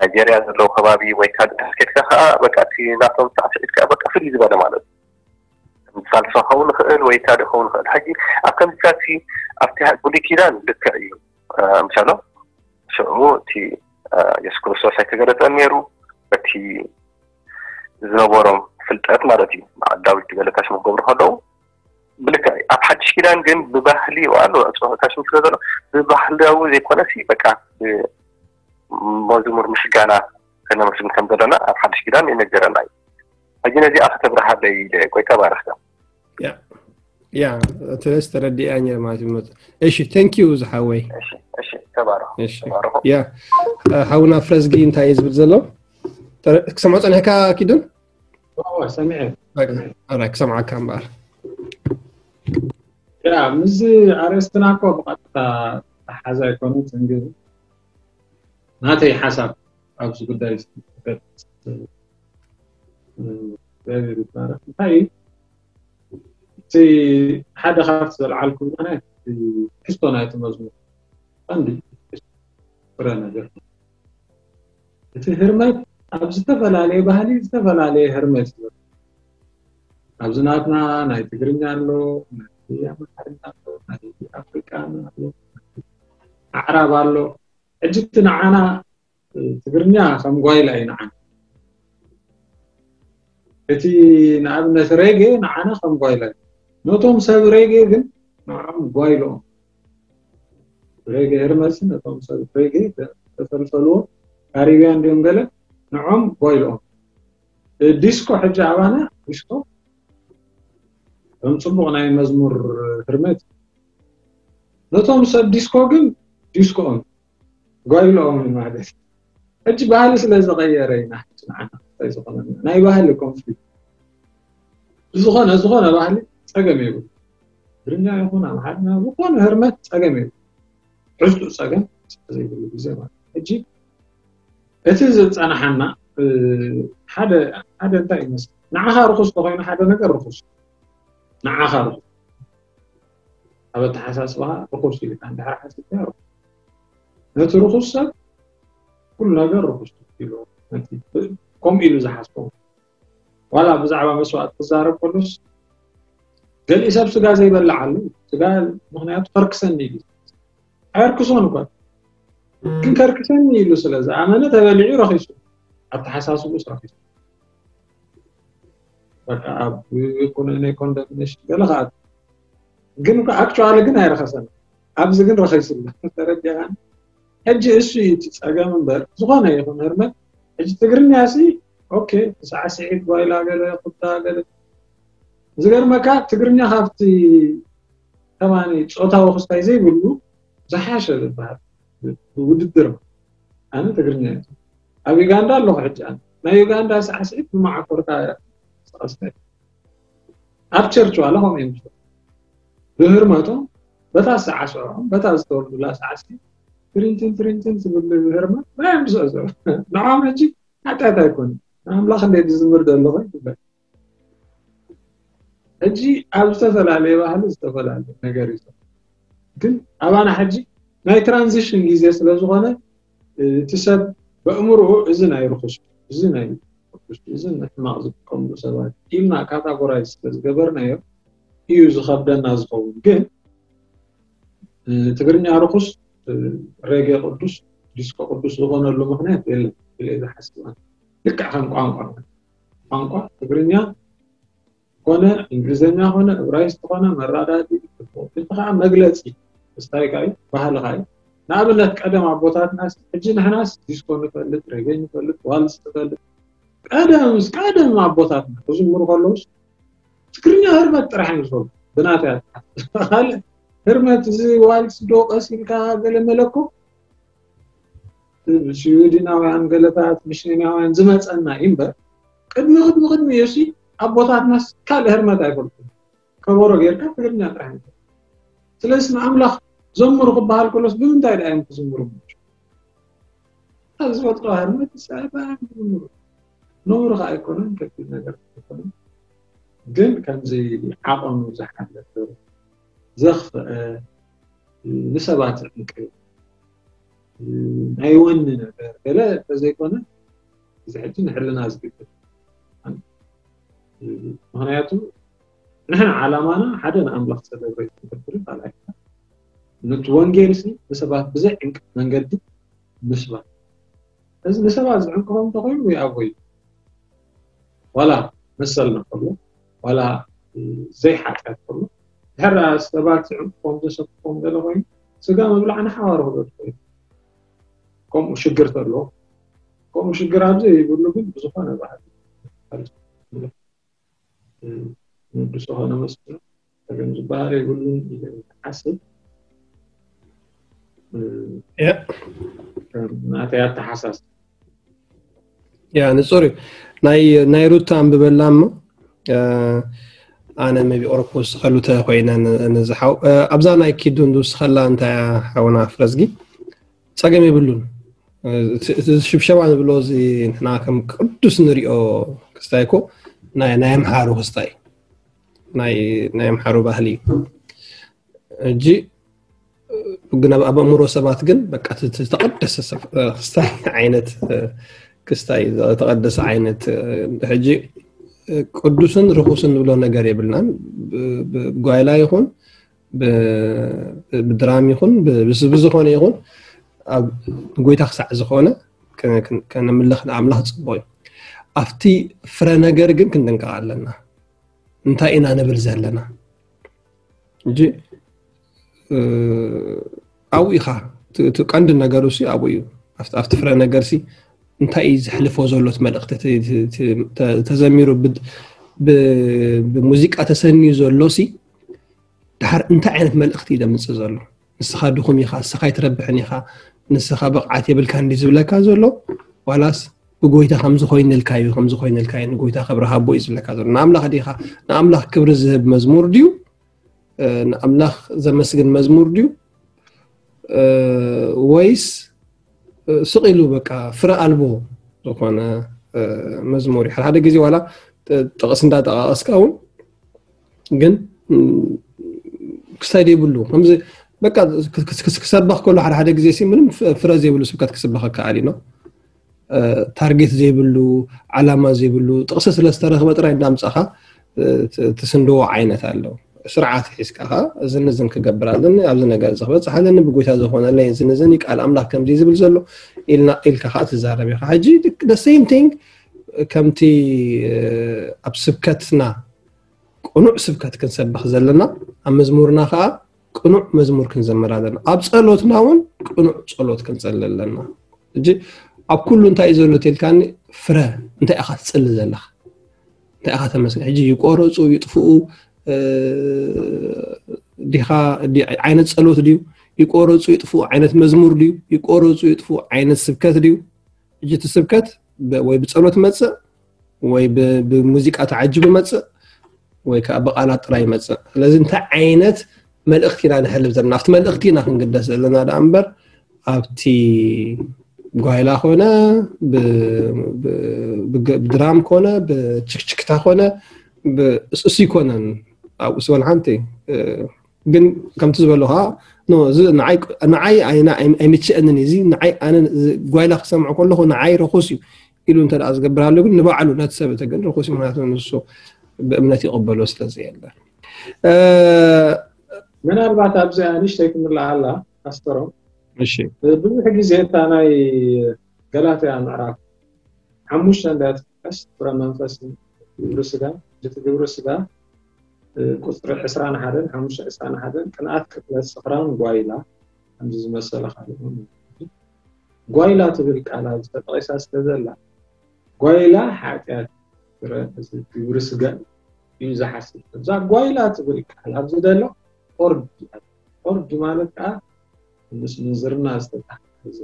ናይጀርያ ዘለዉ ከባቢ ወይ ካልእ ኬድካ ከዓ በቃ እቲ ናቶም ሳዕስዒት ከዓ በቃ ፍልይ ዝበለ ማለት እዩ ሳልሳ ክኸውን ይኽእል ወይ ካልእ ክኸውን ይኽእል ሕጂ ኣብ ከምዚታት ኣብቲ ብሉይ ኪዳን ልክዕ እዩ ምሻሎ ሽዑ እቲ የሱስ ክርስቶስ ኣይተገለፀን ነይሩ በቲ ዝነበሮም ፍልጠት ማለት እዩ በዓል ዳዊት ገለታሽ መገብሩ ከለዉ ብልክዕ ኣብ ሓድሽ ኪዳን ግን ብባህሊ ኣሎ ጾታሽ ስለ ዘሎ ብባህላዊ ዘይኮነሲ በቃ መዝሙር ምስጋና ከነመስግን ከም ዘለና ኣብ ሓድሽ ኪዳን ይነገረና እዩ ሕጂ ነዚኣ ከተብርሃለይ ኢለ ቆይ ተባረኽካ ያ ተለስ ተረዲኣ ማለት እዩ እሺ thank you ዝሓወይ እሺ ተባረኹ ያ ሓውና ፍረዝጊ እንታይ እዩ ዝብል ዘሎ ክሰምዖ ፀኒሕካ ኪዱን ሰሚዐ ክሰምዓካ እምበኣር ያ ምስዚ ኣርእስትና እኮ ብቐጥታ ተሓዛ ኣይኮነትን ግን ናተይ ሓሳብ ኣብዚ ጉዳይ እግዚኣብሔር ይባረክ እንታይ እዩ እቲ ሓደ ካብቲ ዘልዓልኩም ናይ ትሕዝቶ ናይቲ መዝሙር ቀንዲ ፍረ ነገር እቲ ህርመት ኣብ ዝተፈላለየ ባህሊ ዝተፈላለየ ህርመት እዩ ኣብዚ ናትና ናይ ትግርኛ ኣሎ ናይ ኣምሓርኛ ኣሎ ናይ ኣፍሪቃ ኣሎ ኣዕራብ ኣሎ ሕጂ እቲ ንዓና ትግርኛ ከም ጓይላ እዩ ንዓና እቲ ንኣብነት ሬጌ ንዓና ከም ጓይላ እዩ ነቶም ሰብ ሬጌ ግን ንዖም ጓይልኦም ሬጌ ህርመሲ ነቶም ሰብ ሬጌ ተፈልፈልዎ ካሪብያን ድዮም ገለ ንዖም ጓይልኦም ዲስኮ ሕጂ ኣባና ዲስኮ ከም ፅቡቅ ናይ መዝሙር ህርመት ነቶም ሰብ ዲስኮ ግን ዲስኮኦም ጓይልኦም ማለት ሕጂ ባህሊ ስለ ዝቀየረ ኢና ናይ ባህሊ ኮንፍሊክት ብዝኾነ ዝኾነ ባህሊ ፀገም የብሉ ትግርኛ ይኹን ኣምሓርኛ ዝኾነ ህርመት ፀገም የብሉ ትሕዝትኡ ፀገም ዘይብሉ ግዜ ማለት ሕጂ እቲ ዝፀናሓና ሓደ ሓደ እንታይ ይመስል ንዓኻ ርኹስ ተኮይኑ ሓደ ነገር ርኹስ ንዓኻ ርኹስ ኣብ ኣተሓሳስባኻ ርኹስ ኢልካ እንድሕር ሓሲብካ ርኹስ ነቲ ርኹስ ሰብ ኩሉ ነገር ርኹስ ኢሉ ነቲ ከምኡ ኢሉ ዝሓስቦም። ዋላ ብዛዕባ መስዋእቲ ክዛረብ ከሎስ፣ ገሊኡ ሰብ ስጋ ዘይበልዕ ኣሎ። ስጋ ምኽንያቱ ከርክሰኒ ኢሉ። ኣይርክሶን እኳ፣ ግን ከርክሰኒ ኢሉ ስለ ዝኣመነ ተበሊዑ ረኺሱ። ኣተሓሳስቡስ ረኺሱ። በቃ ኣብ ኩነኔ ኮንደምኔሽን ገለ ከኣ፣ ግን እኮ ኣክቹዋሊ ግን ኣይረኸሰን። ኣብዚ ግን ረኺሱ ኣሎ። ተረዲኻን? ሕጂ እሱ እዩ እቲ ጸገም እምበር፣ ዝኾነ ይኹን ህርመት። ሕጂ ትግርኛ ሲ፣ ኦኬ፣ ሳዕስዒት፣ ጓይላ፣ ገለ፣ ኩታ፣ ገለ። ዝገርመካ፣ ትግርኛ ካብቲ ከማኒ ጾታዊ ክስታይ ዘይብሉ ዝሓሸ ዝበሃል ውድድር። ኣነ ትግርኛ እየ። ኣብ ዩጋንዳ ኣለኹ ሕጂ ኣነ። ናይ ዩጋንዳ ሳዕስዒት ብመዓኮርካ ዝቐስተ። ኣብ ቸርች ዋላ ከምኡ እዮም ዝሰርሑ። ብህርመቶም፣ በታ ሳዕስዖም፣ በታ ዝተወልዱላ ሳዕስዒት፣ ትሪንትን ትሪንትን ትብል ህርመት፣ ናይ እዮም ዝስዕስዑ። ንዖም ሕጂ ሓጢኣት ኣይኮኑን። ንኣምላኽ እንደ ዝዝምር ዘሎ ኮይኑ ይብለካ። ሕጂ ኣብ ዝተፈላለየ ባህሊ ዝተፈላለየ ነገር እዩ ዘሎ። ግን ኣባና ሕጂ ናይ ትራንዚሽን ግዜ ስለ ዝኾነ፣ እቲ ሰብ በእምርኡ እዚ ናይ ርኹስ፣ እዚ ናይ ርኹስ፣ እዚ ንሕማቕ ዝጥቀምሉ ሰባት ኢልና ካታጎራይዝ ስለ ዝገበርናዮ እዩ ዝኸብደና ዝኸውን። ግን፣ እ፣ ትግርኛ ርኹስ፣ እ፣ ሬጌ ቅዱስ፣ ዲስኮ ቅዱስ ዝኾነሉ ምኽንያት የለን ኢለ እየ ዝሓስብ ኣነ። ልክዕ ከም ቋንቋ፣ ቋንቋ ትግርኛ ኮነ፣ እንግሊዝኛ ኮነ፣ እብራይስጥ ኮነ፣ መረዳድኢ፣ እቲ ኸዓ መግለጺ ስታይልካ እዩ፣ ባህልኻ እዩ። ንኣብነት ቀደም ኣቦታትናስ፣ ሕጂ ንሕናስ ዲስኮ ንፈልጥ፣ ሬጌ ንፈልጥ፣ ዋልስ ንፈልጥ። ቀደምስ፣ ቀደም ኣቦታትና ክዝምሩ ከለውስ ትግርኛ ህርመት ጥራሕ እዮም ዝፈልጡ። ብናተይ ኣተሓሳስባ። ካልእ ህርመት እዚ ዋልስ ዶ ቀስ ኢልካ ገለ መለኮ ስዊድናውያን ገለታት ሚሽነናውያን ዝመጸና እዩ እምበር፣ ቅድሚ፣ ቅድሚ፣ ቅድሚ የሲ ኣቦታትናስ ካልእ ህርመት ኣይፈልጡን። ከበሮ ጌርካ ትግርኛ ጥራሕ እዩ። ስለዚ ንኣምላኽ ዘምሩ ክበሃል ከሎስ ብምንታይ ደኣ እዮም ክዝምሩ? ካብ ዝፈልጥዋ ህርመት ሰዓት እዮም ክዝምሩ። ነውሪ ኸዓ ኣይኮነን፣ ከቢድ ነገር ኣይኮነን። ግን ከምዚ ዓቐኑ ዝሓለፈ፣ ዘኽፍአ፣ ንሰባት ዝዕንቅፍ፣ ናይ ወኒ ነገር ገለ እንተዘይኮነ፣ እዚ ሕጂ ንሕልና ዝግድፍ። ምኽንያቱ ንሕና ዓላማና ሓደ ንኣምላኽ ሰለብሬት ክንገብርን ካልኣይ ነቲ ወንጌል ሲ ንሰባት ብዘይ ዕንቅፍ መንገዲ ምስባክ። እዚ ንሰባት ዝዕንቅፎም እንተኾይኑ ይኣቦዩ። ዋላ መሰልና ከሎ፣ ዋላ ዘይሓጢኣት ከሎ፣ ድሕር ሰባት ዝዕንቅፎም ዘሰክፎም ገለ ኮይኑ፣ ስጋ ምብላዕ ንሓዋሩ ክበድ ኮይኑ። ከምኡ ሽግር ተሎ፣ ከምኡ ሽግር ኣብ ዘይብሉ ግን ብዝኾነ ባህሊ ንግዲ ዝኾነ መስሎ ጸገም ዝበሃል የብሉን ኢለ እየ ዝሓስብ። እ፣ ያ። ከም ናተይ ኣተሓሳስባ። ያ፣ ንጹር እዩ። ናይ፣ ናይ ሩታ ኣንብበላ እሞ፣ እ፣ ኣነ maybe ኦሮፖ ዝኸሉ ተኾይነ ን-፣ ንዝሓው፣ እ፣ ኣብዛ ናይ ኪዱ ንዝውስኸላ እንታይ እያ ሓውና ፍረዝጊ? ጸገም የብሉን። እ፣ እቲ፣ እቲ ሽብሸባ ንብሎ እዚ ንሕና ከም ቅዱስ ንሪኦ ክስታይ እኮ ናይ፣ ናይ ኣምሓሩ ክስታይ፣ ናይ፣ ናይ ኣምሓሩ ባህሊ እዩ። ሕጂ ግን ኣብ፣ ኣብ ኣእምሮ ሰባት ግን በቃ እቲ፣ እቲ ዝተቐደሰ ሰብ፣ እ፣ ክስታይ ዓይነት፣ እ፣ ክስታይ ዝተቐደሰ ዓይነት፣ እ፣ ሕጂ፣ እ፣ ቅዱስን ርኹስን ንብሎ ነገር የብልናን። ብ-፣ ብ-፣ ብጓይላ ይኹን ብ-፣ ብድራም ይኹን ብ-፣ ብስ-፣ ብዝኾነ ይኹን ኣብ ጎይታ ክሳዕ ዝኾነ ከ-፣ ከ-፣ ከነምልኽ ንኣምላኽ ጽቡቕ እዩ። ኣብቲ ፍረ ነገር ግን ክንጥንቀቕ ኣለና። እንታይ ኢና ንብል ዘለና? እንጂ፣ እ፣ ኣብኡ ኢኻ። እቲ፣ እቲ ቀንዲ ነገሩ ሲ ኣብኡ እዩ። ኣብቲ፣ ኣብቲ ፍረ ነገር ሲ እንታይ እዩ ዘሕልፎ ዘሎ እቲ መልእኽቲ? እቲ፣ እቲ፣ እቲ ተ-፣ ተዘሚሩ ብ-፣ ብ-፣ ብሙዚቃ ተሰንዩ ዘሎ ሲ ድሓር እንታይ ዓይነት መልእኽቲ እዩ ዘምጽእ ዘሎ? ንስኻ ድኹም ኢኻ፣ ንስኻ ኣይትረብሕን ኢኻ፣ ንስኻ ብቕዓት የብልካን ድዩ ዝብለካ ዘሎ? ዋላስ ብጎይታ ከምዚ ኮይንልካ እዩ፣ ከምዚ ኮይንልካ እዩ፣ ንጎይታ ክብሪ ሃቦ እዩ ዝብለካ ዘሎ? ንኣምላኽ ዲኻ፣ ንኣምላኽ ክብሪ ዝህብ መዝሙር ድዩ? እ፣ ንኣምላኽ ዘመስግን መዝሙር ድዩ? እ፣ ወይስ፣ እ፣ ስቕ ኢሉ በቃ ፍረ ኣልቦ ዝኾነ፣ እ፣ መዝሙር እዩ? ሓደ፣ ሓደ ግዜ ዋላ ጥ-፣ ጥቕስ እንዳጠቓቐስካ እውን ግን፣ ም፣ ክስታይ ዘይብሉ፣ ከምዚ በቃ ክስ-፣ ክስ-፣ ክስ-፣ ክሰበኽ ከሎ ሓደ፣ ሓደ ግዜ ሲ ምንም ፍ-፣ ፍረ ዘይብሉ ስብከት ክስበኸካ ኣሊ ነው። ታርጌት ዘይብሉ፣ ዓላማ ዘይብሉ ጥቕሲ ስለ ዝተረኽበ ጥራይ እንዳምጻኻ ትስንድዎ ዓይነት ኣሎ። ስርዓት ሒዝካ ኸዓ እዝን እዝን ክገብር ኣለኒ፣ ኣብዚ ነገር እዚ ክበፅሕ ኣለኒ፣ ብጎይታ ዝኾነለይ እዝን እዝን እዩ፣ ቃል ኣምላኽ ከምዚ ዝብል ዘሎ ኢልና ኢልካ ኸዓ ትዛረብ ኢኻ። ሕጂ the same thing ከምቲ ኣብ ስብከትና ቅኑዕ ስብከት ክንሰብኽ ዘለና፣ ኣብ መዝሙርና ኸዓ ቅኑዕ መዝሙር ክንዘምር ኣለና። ኣብ ጸሎትና እውን ቅኑዕ ጸሎት ክንጸሊ ኣለና። ሕጂ ኣብ ኩሉ እንታይ እዩ ዘሎ ተልካኒ፣ ፍረ እንታይ ኢኻ ትጽሊ ዘለኻ? እንታይ ኢኻ ተመስገን? ሕጂ ይቆረጹ ይጥፍኡ ዲኻ? ዓይነት ጸሎት ድዩ? ይቆረጹ ይጥፍኡ ዓይነት መዝሙር ድዩ? ይቆረጹ ይጥፍኡ ዓይነት ስብከት ድዩ? ሕጂ እቲ ስብከት ወይ ብጸሎት መጽእ ወይ ብሙዚቃ ተዓጅቡ መጽእ ወይ ከዓ ብቓላት ጥራይ ይመጽእ። ስለዚ እንታይ ዓይነት መልእኽቲ ኢና ንሕልፍ ዘለና? ኣብቲ መልእኽቲ ኢና ክንግደስ ዘለና ደኣ እምበር ኣብቲ ጓይላ ኮነ ብድራም ኮነ ብችክችክታ ኮነ እሱ ይኮነን። ኣብኡ ስበል ሓንቲ ግን ከምቲ ዝበልኻ ንዓይ ኣይምችአንን እዚ ንዓይ ኣነ ጓይላ ክሰምዖ ከለኹ ንዓይ ረኹስ እዩ ኢሉ እንተ ዝገብር ኣሎ ግን ንባዕሉ ነቲ ሰብ እቲ ግን ርኩስ እዩ። ምክንያቱ ንሱ ብእምነት ይቕበሎ ስለ ዘየለ። ምናልባት ኣብዚኣ ንእሽተይ ክምልኣላ ፓስተሮም፣ እሺ፣ ብዙሕ ግዜ እታ ናይ ገላትያ ምዕራፍ ሓሙሽተ እንዳትጥቀስ ፍረ መንፈስ ግብሪ ስጋ፣ እቲ ግብሪ ስጋ ቁፅሪ ዕስራን ሓደን ሓሙሽተ ዕስራን ሓደን ቅንኣት፣ ቅትለት፣ ስኽራን፣ ጓይላ ከምዚ ዝመሰለ ካልእ ጓይላ ትብል ቃል ኣብዚ ተጠቒሳ ስለ ዘላ ጓይላ ሓጢኣት ግብሪ ስጋ እዩ ዝሓስብ። እዛ ጓይላ ትብል ቃል ኣብዚ ዘሎ ኦርድ ኦርድ ማለት ከዓ ምስ ምንዝርና ዝተታሓዘ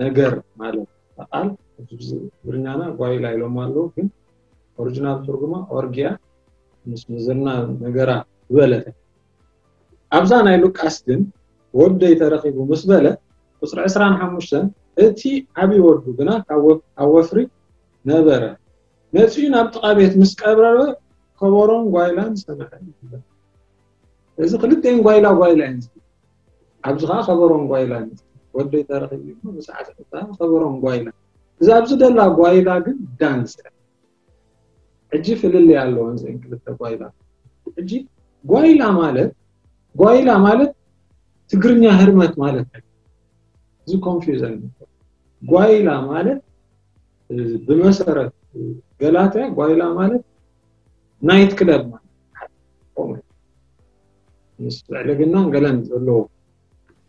ነገር ማለት ቃል ትግርኛና ጓይላ ኢሎም ኣለዉ ግን ኦሪጂናል ትርጉማ ኦርጊያ ምስ ምንዝርና ነገራ ዝበለተ ኣብዛ ናይ ሉቃስ ግን ወደይ ተረኺቡ ምስ በለ ቁፅሪ ዕስራን ሓሙሽተን እቲ ዓብዪ ወዱ ግና ካብ ወፍሪ ነበረ መፅኡ ናብ ጥቓ ቤት ምስ ቀረበ ከበሮን ጓይላን ሰምዐ ይብል። እዚ ክልተን ጓይላ ጓይላ እየን ኣብዚ ከዓ ከበሮን ጓይላን ወደይ ተረኺቡ ብሰዓት ከበሮን ጓይላ እዛ ኣብዚ ደላ ጓይላ ግን ዳንስ ሕጂ ፍልልይ ኣለወን ዘን ክልተ ጓይላ። ሕጂ ጓይላ ማለት ጓይላ ማለት ትግርኛ ህርመት ማለት እዩ። እዚ ኮንፊውዘን ጓይላ ማለት ብመሰረት ገላትያ ጓይላ ማለት ናይት ክለብ ማለት ምስ ዕልግናን ገለን ዘለዎ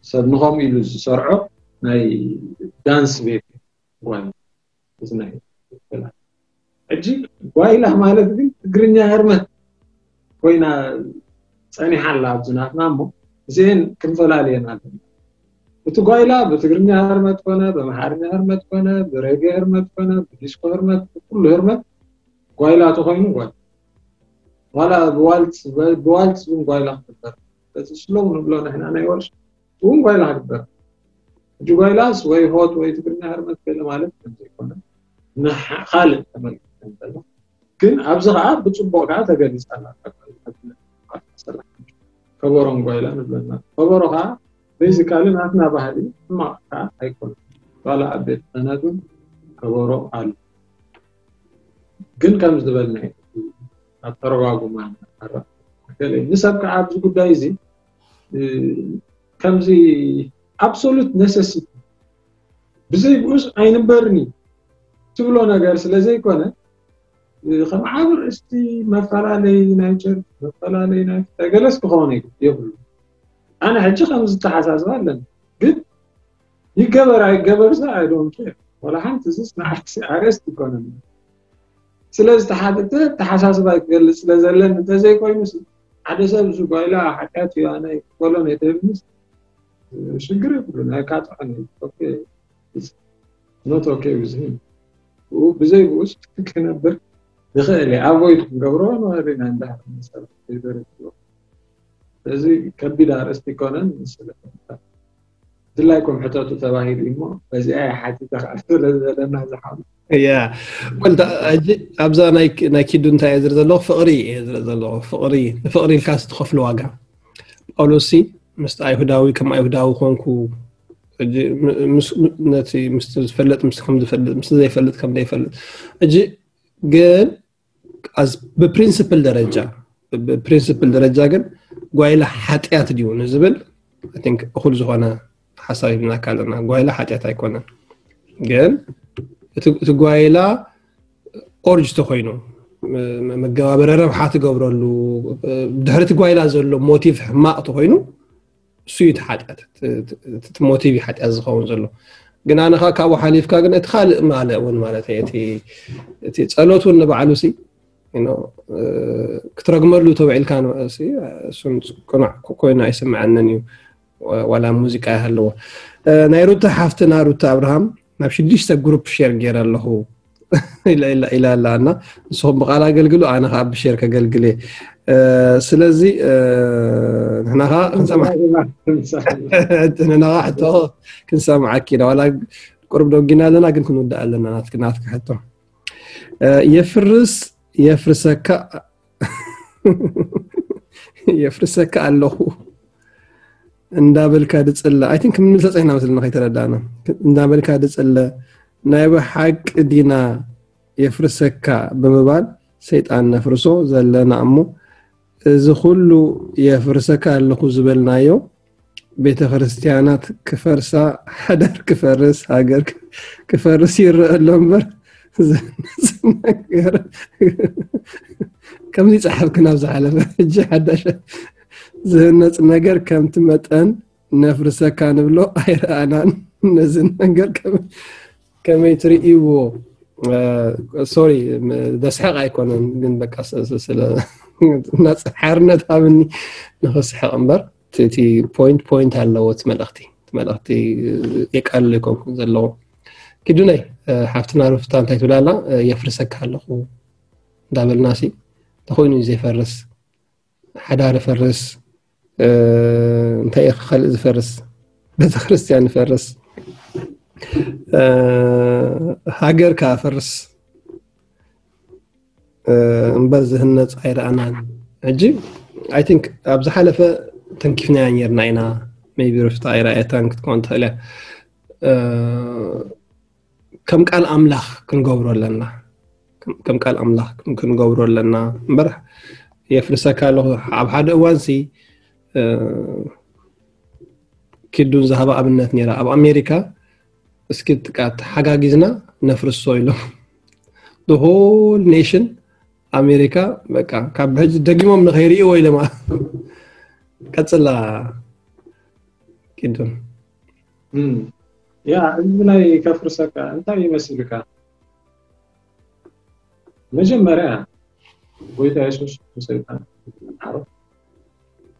ሰብ ንኸምኡ ኢሉ ዝሰርዖ ናይ ዳንስ ቤት ጓይላ። ሕጂ ጓይላ ማለት ግን ትግርኛ ህርመት ኮይና ፀኒሓ ኣላ ኣብዚ ናትና እሞ እዚአን ክንፈላልየን ኣለና። እቲ ጓይላ ብትግርኛ ህርመት ኮነ ብኣምሓርኛ ህርመት ኮነ ብሬጌ ህርመት ኮነ ብዲስኮ ህርመት ብኩሉ ህርመት ጓይላ ተኮይኑ ጓይላ ዋላ ብዋልትስ እውን ጓይላ ክግበር በዚ ስሎው ንብሎ ንሕና ናይ ወርሽ እውን ጓይላ ክግበር ሕጂ ጓይላስ ወይ ሆት ወይ ትግርኛ ህርመት ገለ ማለት ከምዘይኮነ ንካልእ ተመልክት እንተሎ ግን ኣብዚ ከዓ ብፅቡቅ ከዓ ተገሊፃ ከበሮን ጓይላ ንብለና ከበሮ ከዓ ቤዚካሊ ናትና ባህሊ ሕማቅ ከዓ ኣይኮነ ዋላ ኣብ ቤት ክህነት እውን ከበሮ ኣሎ ግን ከም ዝበልና ኣተረጓጉማ ንሰብ ከዓ ኣብዚ ጉዳይ እዚ ከምዚ absolute necessity ብዘይ ብኡስ ኣይንበርን እዩ ትብሎ ነገር ስለ ዘይኮነ ከም ዓብ ርእስቲ መፈላለይ ናይ ቸርች መፈላለይ ናይ ገለስ ክኾነ የብሉ ኣነ ሕጂ ከም ዝተሓሳስብ ኣለኒ ግን ይገበር ኣይገበር ሳ I don't care ዋላ ሓንቲ እዚስ ንዓርሲ ኣርእስቲ ይኮነኒ ስለዚ ተሓተሓሳስባ ክገልፅ ስለ ዘለኒ እንተዘይኮይኑ ሓደ ሰብ እዚ ጓይላ ሓጢኣት እዩ ኣነ ክበሎ ነይተብልስ ሽግር የብሉ ናይ ካጥዖን not okay with him ብኡ ብዘይ ብኡስ ክነብር ይኽእል እዩ ኣቮይድ ክንገብሮ ንኽእል ኢና እንዳ እዚ ከቢድ ኣርእስቲ ይኮነን ስለ ድላይኩም ሕተቱ ተባሂሉ እሞ በዚኣ ሓቲተ ክኣል ስለ ዘለና ዝሓሉ ያ ወልታ ሕጂ ኣብዛ ናይ ኪዱ እንታይ እየ ዝርኢ ዘለኹ ፍቕሪ እየ ዝርኢ ዘለኹ ፍቕሪ ንፍቕሪ ኢልካ ዝተኸፍሉ ዋጋ ጳውሎስ ሲ ምስቲ ኣይሁዳዊ ከም ኣይሁዳዊ ኮንኩ ሕጂ ም- ምስ- ም- ነቲ ምስቲ ዝፈልጥ ምስ ከም ዝፈልጥ ምስቲ ዘይፈልጥ ከም ዘይፈልጥ ሕጂ ግን as ብፕሪንስፕል ደረጃ ብፕሪንስፕል ደረጃ ግን ጓይላ ሓጢኣት ድዩ ንዝብል I think እኹል ዝኾነ ሓሳብ ሂብናካ ኣለና። ጓይላ ሓጢኣት ኣይኮነን፣ ግን እቲ እቲ ጓይላ ኦርጅ ተኮይኑ ም- መገባበሪ ረብሓ ትገብረሉ ድሕሪ እቲ ጓይላ ዘሎ ሞቲቭ ሕማቕ ተኮይኑ እሱ እዩ እቲ ሓጢኣት፣ እቲ- እቲ- እቲ ሞቲቭ እዩ ሓጢኣት ዝኸውን ዘሎ። ግን ኣነ ከዓ ካብኡ ሓሊፍካ ግን እቲ ካልእ ማለ እውን ማለት እዩ እቲ እቲ ጸሎት እውን ንባዕሉ ሲ you know፣ እ፣ ክትረግመሉ ተውዒልካ ንበ- ሲ እሱን ቅኑዕ ኮይኑ ኣይስምዐንን እዩ። ዋላ ሙዚቃ ይሃለዎ። እ፣ ናይ ሩታ ሓፍትና ሩታ ኣብርሃም ናብ ሽዱሽተ ግሩፕ ሼር ገይረ ኣለኹ ኢላ ኢላ ኢላ ኣላ እና ንስኹም ብቓል ኣገልግሉ ኣነ ከዓ ብሼር ከገልግል እየ። እ፣ ስለዚ እ፣ ንሕና ከዓ ክንሰማ ንሕና ከዓ ሕቶ ክንሰምዓኪ ኢና ዋላ ቁሩብ ደጊና ኣለና ግን ክንውዳእ ኣለና ናትኪ ናትኪ ሕቶ እ፣ የፍርስ የፍርሰካ የፍርሰካ ኣለኹ እንዳበልካ ድጽለ I think ምንልተ ጸይና መስለና ከይተረዳእና እንዳበልካ ድጽለ ናይ ብሓቂ ዲና የፍርሰካ ብምባል ሰይጣን ነፍርሶ ዘለና እሞ እዚ ኩሉ የፍርሰካ ኣለኹ ዝበልናዮ ቤተ ክርስቲያናት ክፈርሳ ሓዳር ክፈርስ ሃገር ክፈርስ ይረአ ኣሎ እምበር ዝህነፅ ነገር ከምዚ ፀሓፍክና ኣብ ዝሓለፈ ሕጂ ሓዳሽ ዝህነፅ ነገር ከምቲ መጠን ነፍርሰካ ንብሎ ኣይረኣናን ነዚ ነገር ከመይ ትርእይዎ sorry ዘስሕቕ ኣይኮነን ግን በቃ ስለ ሓርነት ሃብኒ ንኽስሕቕ እምበር እቲ point point ኣለዎ እቲ መልእኽቲ እቲ መልእኽቲ የቃልል ኣይኮንኩን ዘለዎ ኪዱነይ ሓፍትና ሩፍታ እንታይ ትብላላ የፍርሰካ ኣለኹ እንዳበልና ሲ ተኮይኑ እዩ ዘይፈርስ ሓዳር ፈርስ እንታይ እዩ ካልእ ዝፈርስ ቤተክርስትያን ፈርስ ሃገር ከኣ ፈርስ እምበር ዝህነፅ ኣይረኣናን ሕጂ I think ኣብ ዝሓለፈ ተንኪፍናያ ነርና ኢና maybe ሩፍታ ኣይረኣየታን ክትከውን ትኽእል እያ ከም ቃል ኣምላኽ ክንገብሮ ኣለና ከም ቃል ኣምላኽ ክንገብሮ ኣለና እምበር የፍርሰካ ኣለኹ ኣብ ሓደ እዋን ሲ ኪዱን ዝሃባ ኣብነት ነራ ኣብ ኣሜሪካ እስኪ ጥቃ ተሓጋጊዝና ነፍርሶ ኢሎም the whole nation ኣሜሪካ በቃ ካብ ሕጂ ደጊሞም ንኸይርእይዎ ኢለማ ቀፅላ ኪዱን ያ እዚ ናይ ከፍርሰካ እንታይ ይመስልካ መጀመርያ ጎይታ የሱስ ንሰይጣን ምሓሮ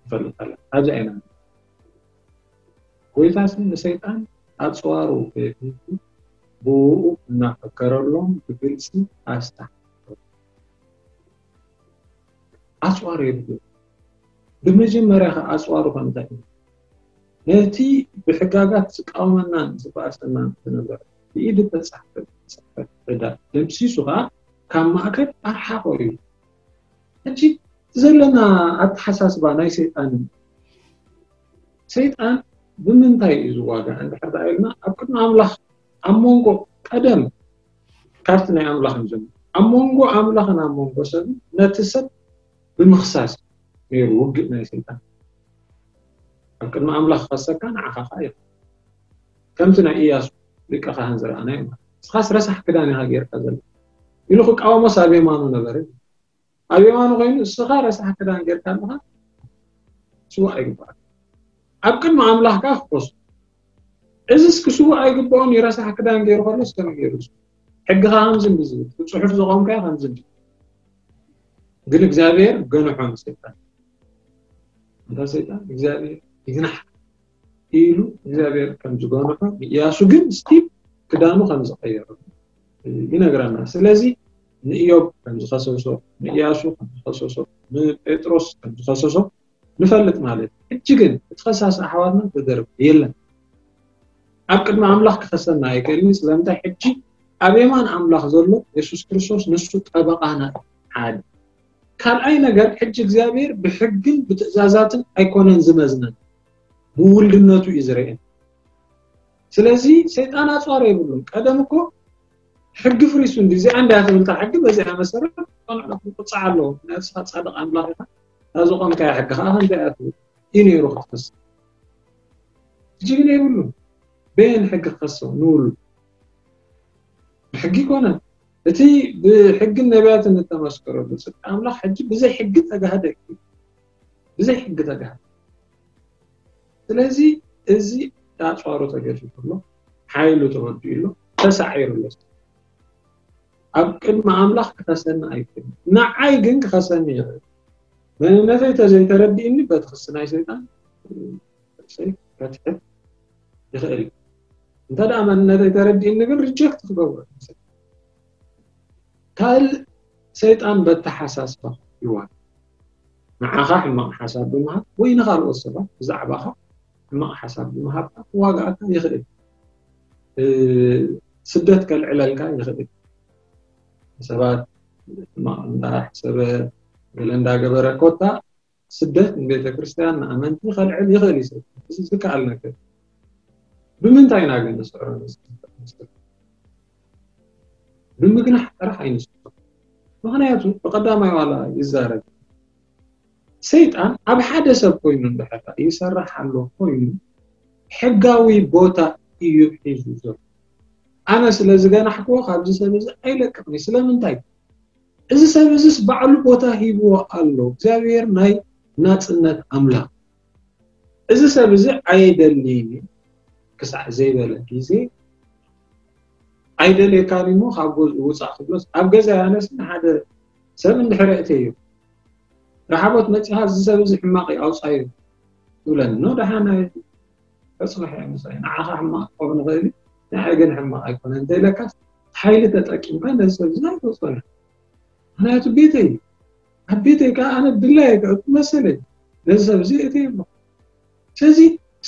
ንፈልጥ ኣለና ኣብዚ ኣይና ጎይታሲ ንሰይጣን ኣፅዋሩ ከየፍልጡ ብኡ እናፈከረሎም ብግልፂ ኣስታ ኣፅዋር የብሉ ብመጀመርያ ከ ኣፅዋሩ ከምታይ እዩ ነቲ ብሕጋጋት ዝቃወመናን ዝበኣሰናን ዝነበረ ብኢድ ተፃሕፈ ፅሕፈት ዕዳ ደምሲሱ ከዓ ካብ ማእከል ኣርሓቆ እዩ ሕጂ ዘለና ኣተሓሳስባ ናይ ሰይጣን ሰይጣን ብምንታይ እዩ ዝዋጋእ እንድሕር ደኣ ኢልና ኣብ ቅድሚ ኣምላኽ ኣብ መንጎ ቀደም ካብቲ ናይ ኣምላኽ ንጀምር ኣብ መንጎ ኣምላኽን ኣብ መንጎ ሰብን ነቲ ሰብ ብምኽሳስ ነይሩ ውግእ ናይ ሰይጣን ኣብ ቅድሚ ኣምላኽ ክኸሰካ ንዓኻ ከዓ ይኽእል ከምቲ ናይ ኢያሱ ሊቀ ካህን ዝረኣናዮ ማለት ንስኻስ ረሳሕ ክዳን ኢኻ ጌርካ ዘሎ ኢሉ ክቃወሞስ ኣብ የማኑ ነበረ ኣብ የማኑ ኮይኑ እስኻ ረሳሕ ክዳን ጌርካ ኣለኻ ስዋ ኣይግባኣካ ኣብ ቅድሚ ኣምላኽ ከዓ ክኮሱ እዚስ ክስዋእ ኣይግብኦን እዩ ረሳሕ ክዳን ገይሩ ከሎስ ከመይ ገይሩ ሕግኻ ከምዚ እንዲ ዝብል ብፅሑፍ ዘቆምካዮ ከምዚ እንዲ ግን እግዚኣብሔር ገንሖ ንሰይጣን እንታ ሰይጣን እግዚኣብሔር ይግናሕ ኢሉ እግዚኣብሔር ከም ዝገንሖ ንእያሱ ግን ስቲል ክዳኑ ከም ዝቀየሩ ይነግረና ስለዚ ንእዮብ ከም ዝኸሰሶ ንእያሱ ከም ዝኸሰሶ ንጴጥሮስ ከም ዝኸሰሶ ንፈልጥ ማለት እዩ። ሕጂ ግን እቲ ከሳሲ ኣሕዋትና ተደርበ የለን። ኣብ ቅድሚ ኣምላኽ ክኸሰና ኣይክእልን እዩ። ስለምንታይ? ሕጂ ኣብ የማን ኣምላኽ ዘሎ የሱስ ክርስቶስ ንሱ ጠበቓና እዩ። ሓደ ካልኣይ ነገር ሕጂ እግዚኣብሔር ብሕግን ብትእዛዛትን ኣይኮነን ዝመዝነን፣ ብውልድነቱ እዩ ዝርእየን። ስለዚ ሰይጣን ኣፅዋር የብሉን። ቀደም እኮ ሕጊ ፍሪሱ እንዲ እዚኣ እንዳ ትብል እታ ሕጊ በዚኣ መሰረት ቆልዑ ክቁፃዕ ኣለዎ። ምክንያቱ ንስኻ ፃድቕ ኣምላኽ ኢኻ፣ እታ ዝቆምካያ ሕጊ ከዓ ከምዚኣ እያ ትብል እዩ ነይሩ ክትከስ። ሕጂ ግን የብሉን። በየን ሕጊ ክኸሶ ንውሉ? ብሕጊ ይኮነን። እቲ ብሕግን ነቢያትን እተመስከረሉ ጽድቂ ኣምላኽ ሕጂ ብዘይ ሕጊ ተጋህደ እዩ። ብዘይ ሕጊ ተጋህደ። ስለዚ እዚ ኣጽዋሩ ተገፊፉ ኣሎ፣ ሓይሉ ተወዲኡ ኣሎ፣ ተሳዒሩ ኣሎ። ኣብ ቅድሚ ኣምላኽ ክኸሰኒ ኣይክእልን። ንዓይ ግን ክኸሰኒ ይኽእል። መንነተይ ተዘይተረዲእኒ በቲ ክሲ ናይ ሰይጣን ርእሰይ ከትሕት ይኽእል እዩ። እንተ ደኣ መንነተይ ተረዲእኒ ግን ሪጀክት ክገብሮ እዩ። ካልእ ሰይጣን በተሓሳስባ ይዋጋእ። ንዓኻ ሕማቕ ሓሳብ ብምሃብ ወይ ንኻልኦት ሰባት ብዛዕባኻ ሕማቕ ሓሳብ ብምሃብ ክዋግኣካ ይኽእል። እ፣ ስደት ከልዕለልካ ይኽእል። ሰባት ሕማቕ እንዳሕሰበ ገለ እንዳገበረ ኮታ ስደት ንቤተ ክርስቲያን ንኣመንቲ ከልዕል ይኽእል እዩ። ሰብ እዚ ዝከኣል ነገር። ብምንታይ ኢና ግን ንስዕሮ? ንምግናሕ ጥራሕ ኣይንስዕሮ። ምኽንያቱ ብቐዳማይ ዋላ ይዛረብ። ሰይጣን ኣብ ሓደ ሰብ ኮይኑ እንድሕር ይሰርሕ ኣሎ ኮይኑ ሕጋዊ ቦታ እዩ ሒዙ ዘሎ። ኣነ ስለ ዝገናሕክዎ ካብዚ ሰብ እዚ ኣይለቅቕን። ስለምንታይ? እዚ ሰብ እዚስ ባዕሉ ቦታ ሂብዎ ኣሎ። እግዚኣብሔር ናይ ናጽነት ኣምላኽ። እዚ ሰብ እዚ ኣይደልይን እዩ ክሳዕ ዘይበለ ግዜ ኣይደልየካን እሞ ካብ ገዝኡ ውጻእ ክብሎስ ኣብ ገዛ ያነስ ሓደ ሰብ እንድሕር እተዮ ረሓቦት መጺኻ እዚ ሰብ እዚ ሕማቕ እዩ ኣውጻዮ ትብለኒ። ኖ ደሓን ኣይ ተጽንሕ እየ ምሳይ። ንዓኻ ሕማቕ ክኸውን ይኽእል እዩ፣ ንዓይ ግን ሕማቕ ኣይኮነን እንተኢለካስ ሓይሊ ተጠቂምካ ነዚ ሰብ እዚ ኣይተውጽኦን። ምኽንያቱ ቤተይ እዩ። ኣብ ቤተይ ከዓ ኣነ ድላየ ክዕቁ መሰለይ ነዚ ሰብ እዚ እተየሎ። ስለዚ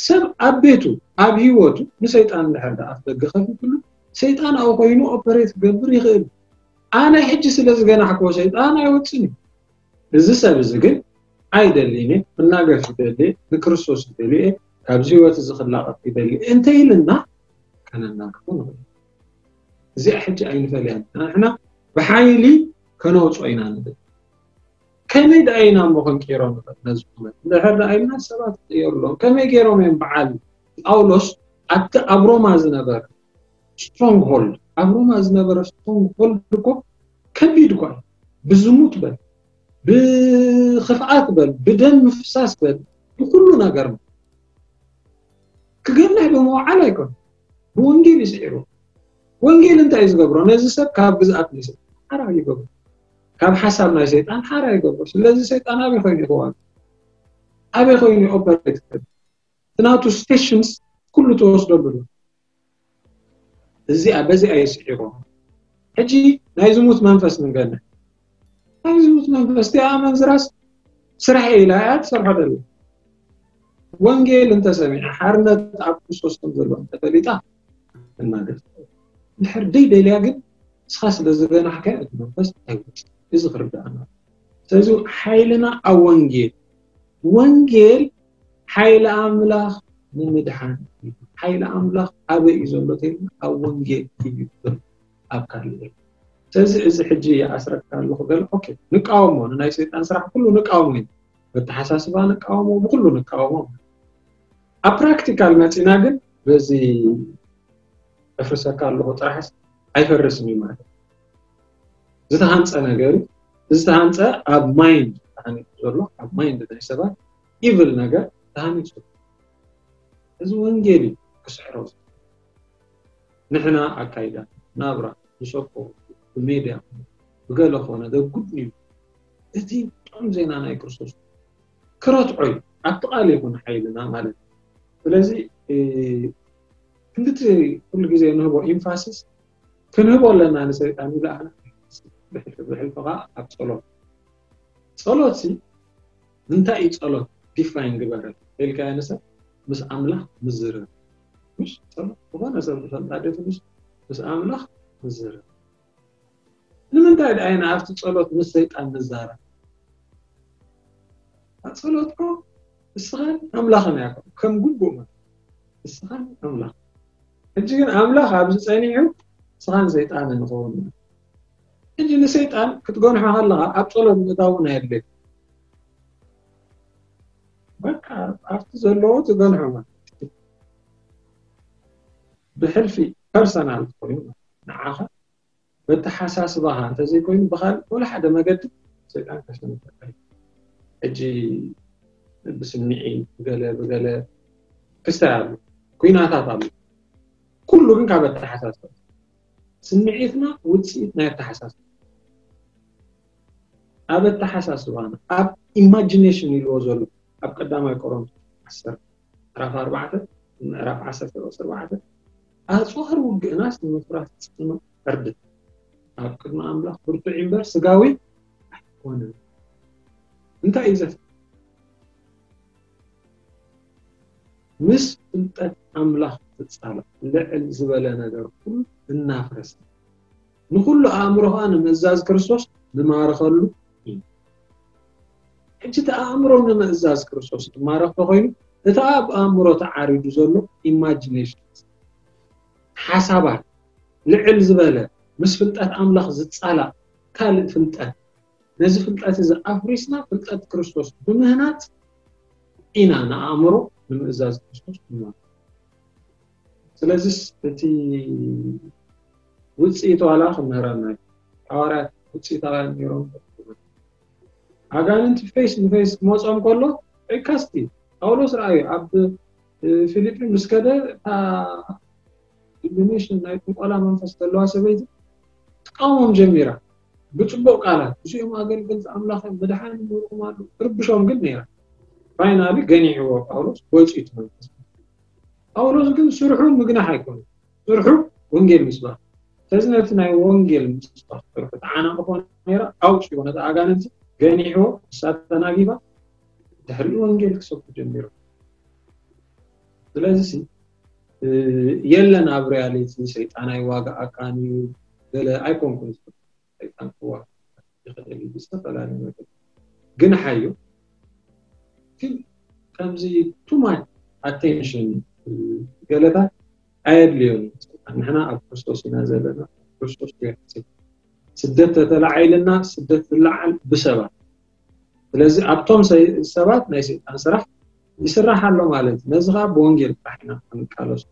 ሰብ ኣብ ቤቱ ኣብ ህይወቱ ንሰይጣን እንድሕር ደኣ ኣፍ ደገ ከፊትሉ ሰይጣን ኣብኡ ኮይኑ ኦፐሬት ክገብር ይኽእል። ኣነ ሕጂ ስለ ዝገናሕክዎ ሰይጣን ኣይወፅን እዩ። እዚ ሰብ እዚ ግን ኣይደልይን እየ፣ ክናገፍ ይደሊ እየ፣ ንክርስቶስ ይደሊ እየ፣ ካብዚ ህይወት እዚ ክላቐቕ ይደሊ እየ እንተ ኢልና ከነናግፎ ንኽእል። እዚኣ ሕጂ ኣይንፈልያን። ንሕና ብሓይሊ ከነውፅኦ ኢና ንብል። ከመይ ደኣ ኢና እሞ ክንቅይሮ ንኽእል ነዚ ኩነት? እንድሕር ደኣ ኢልና ሰባት ይቕየሩ ኣለዉ። ከመይ ገይሮም እዮም በዓል ጳውሎስ ኣብቲ ኣብ ሮማ ዝነበረ ስትሮንግሆልድ፣ ኣብ ሮማ ዝነበረ ስትሮንግሆልድ እኮ ከቢድ እኳ እዩ። ብዝሙት በል፣ ብኽፍኣት በል፣ ብደም ምፍሳስ በል፣ ብኩሉ ነገር ክገንሕ ብምውዓል ኣይኮነ፣ ብወንጌል እዩ ስዒሩ። ወንጌል እንታይ እዩ ዝገብሮ? ነዚ ሰብ ካብ ግዝኣት ናይ ሰይጣን ሓራ ይገብሮ፣ ካብ ሓሳብ ናይ ሰይጣን ሓራ ይገብሮ። ስለዚ ሰይጣን ኣበይ ኮይኑ ይኸዋል? ኣበይ ኮይኑ ኦፐሬት? እቲ ናቱ ስቴሽንስ ኩሉ ተወስደሉ ኣሎ። እዚኣ በዚኣ ይስዒሮ። ሕጂ ናይ ዝሙት መንፈስ ንገንሕ። ናይ ዝሙት መንፈስ እቲኣ ኣመንዝራስ ስራሕ ኢላ እያ ትሰርሖ ደላ። ወንጌል እንተሰሚዓ ሓርነት ኣብ ክርስቶስ ከም ዘሎ እንተፈሊጣ ትናገር። ድሕር ደይ ደልያ ግን ንስኻ ስለ ዝገናሕካዮ እቲ መንፈስ ኣይወፅእ። እዚ ክርዳእና። ስለዚ ሓይልና ኣብ ወንጌል፣ ወንጌል ሓይሊ ኣምላኽ ንምድሓን እዩ። ሓይሊ ኣምላኽ ኣበይ እዩ ዘሎ ተይልና ኣብ ወንጌል እዩ ዘሎ፣ ኣብ ካልእ የለን። ስለዚ እዚ ሕጂ ይኣስረካ ኣለኹ ገለ ኦኬ ንቃወሞ፣ ንናይ ሰይጣን ስራሕ ኩሉ ንቃወሞ እዩ። በተሓሳስባ ንቃወሞ፣ ብኩሉ ንቃወሞ። ኣብ ፕራክቲካል መፂና ግን በዚ እፍርሰካ ኣለኹ ጥራሕስ ኣይፈርስን እዩ ማለት እዩ። ዝተሃንፀ ነገር እዩ። ዝተሃንፀ ኣብ ማይንድ ተሃኒፁ ዘሎ ኣብ ማይንድ ናይ ሰባት ኢቭል ነገር ተሃኒፁ። እዚ ወንጌል እዩ ክስዕሮ። ንሕና ኣካይዳ ናብራ ንሰብኮ ብሜድያ ብገለ ኮነ ደጉድ እዩ። እቲ ጥዑም ዜና ናይ ክርስቶስ ክረትዖ እዩ። ኣብቲ ቃል ይኹን ሓይልና ማለት እዩ። ስለዚ ክንድቲ ኩሉ ግዜ ንህቦ ኢንፋሲስ ክንህቦ ኣለና ንሰይጣን ኢሉ ኣነ ብሕልፊ ከዓ ኣብ ጸሎት ጸሎት ሲ እንታይ እዩ ጸሎት ዲፋይን ግበረ ኢልካ ንሰብ ምስ ኣምላኽ ምዝርር ምሽ ጸሎት ዝኾነ ሰብ ዝፈልጣ ደት ምሽ ምስ ኣምላኽ ምዝርር ንምንታይ ደኣ ኢና ኣብቲ ጸሎት ምስ ሰይጣን ንዛረብ ጸሎት እኮ እስኻን ኣምላኽን እያ ከም ግቡእ ማለት እስኻን ኣምላኽ ሕጂ ግን ኣምላኽ ኣብዚ ጸኒሑ ንስኻን ሰይጣንን ንኸውን። ሕጂ ንሰይጣን ክትገንሖ ከለኻ ኣብ ጸሎት ምእታው እውን ኣየድልየካ። በቃ ኣብቲ ዘለዎ ትገንሖ ማለት እዩ። ብሕልፊ ፐርሰናል ኮይኑ ንዓኻ በተሓሳስባኻ እንተዘይኮይኑ ብኻልእ ወላ ሓደ መገዲ ሰይጣን ከሸንፈካ እዩ። ሕጂ ብስምዒት ብገለ ብገለ ክስታይ ኣሎ፣ ኩናታት ኣሎ። ኩሉ ግን ካብ ኣተሓሳስባ። ስምዒትና ውፅኢት ናይ ኣተሓሳስባ። ኣብ ኣተሓሳስባና፣ ኣብ ኢማጂኔሽን ኢልዎ ዘሎ ኣብ ቀዳማይ ቆሮንቶስ ዓሰርተ ምዕራፍ ኣርባዕተ ምዕራፍ ዓሰርተ ቁፅሪ ኣርባዕተ ኣፅዋር ውግእናስ ንምፍራስ ጽኑዕ ዕርድት ኣብ ቅድሚ ኣምላኽ ብርቱዕ እምበር ስጋዊ ኣይኮነን። እንታይ እዩ ዘፍ ምስ ፍልጠት ኣምላኽ ትጻላእ ልዕል ዝበለ ነገር ኩሉ እናፍረሰ ንኹሉ ኣእምሮ ኸዓ ንምእዛዝ ክርስቶስ ንማርኸሉ እዩ። ሕጂ እቲ ኣእምሮ ንምእዛዝ ክርስቶስ ዝማረኽ ተኾይኑ እቲ ኣብ ኣእምሮ ተዓሪዱ ዘሎ ኢማጂኔሽን ሓሳባት ልዕል ዝበለ ምስ ፍልጠት ኣምላኽ ዝጻላእ ካልእ ፍልጠት ነዚ ፍልጠት እዚ ኣፍሪስና ፍልጠት ክርስቶስ ብምህናጽ ኢና ንኣእምሮ ንምእዛዝ ክርስቶስ ንማርኽ። ስለዚስ እቲ ውፅኢት ዋላ ክምህረና እዩ። ሓዋርያት ውፅኢት ኣላ ነይሮም ኣጋንንቲ ፌስ ንፌስ ክመፆም ከሎ ዒካስቲ ጳውሎስ ረኣዩ ኣብ ፊልጲ ምስ ከደ እታ ዲሚኒሽን ናይ ጥንቆላ መንፈስ ዘለዋ ሰበይቲ ትቃወሞም ጀሚራ ብፅቡቅ ቃላት እዚኦም ኣገልገልቲ ኣምላኽ እዮም መድሓኒ ይምህርኩም ኣሎ ትርብሾም ግን ነይራ ፋይናሊ ገኒሕዎ ጳውሎስ ወፂኡ እቲ መንፈስ ጳውሎስ ግን ስርሑ ምግናሕ ኣይኮነን ስርሑ ወንጌል ምስባኽ ስለዚ ነቲ ናይ ወንጌል ምስባኽ ስርሑ ተዓናቕፎ ነይራ ኣውፂዎ ነቲ ኣጋንንቲ ገኒሕዎ ንሳ ተናጊፋ ድሕሪኡ ወንጌል ክሰብኩ ጀሚሩ ስለዚ የለን ኣብ ሪያሊቲ ሰይጣን ኣይዋጋኣካን እዩ ገለ ኣይኮንኩን ሰይጣን ክዋጋ ይኽእል እዩ ብዝተፈላለዩ ነገር ግን ሓዩ ግን ከምዚ ቱማች ኣቴንሽን ገለታት ኣየድልዮን ንሕና ኣብ ክርስቶስ ኢና ዘለና ክርስቶስ ስደት ተተላዓይልና ስደት ዝለዓል ብሰባት ስለዚ ኣብቶም ሰባት ናይ ሰይጣን ስራሕ ይስራሕ ኣሎ ማለት እዩ ነዚ ከዓ ብወንጌል ጥራሕ ኢና ክንቃለሱ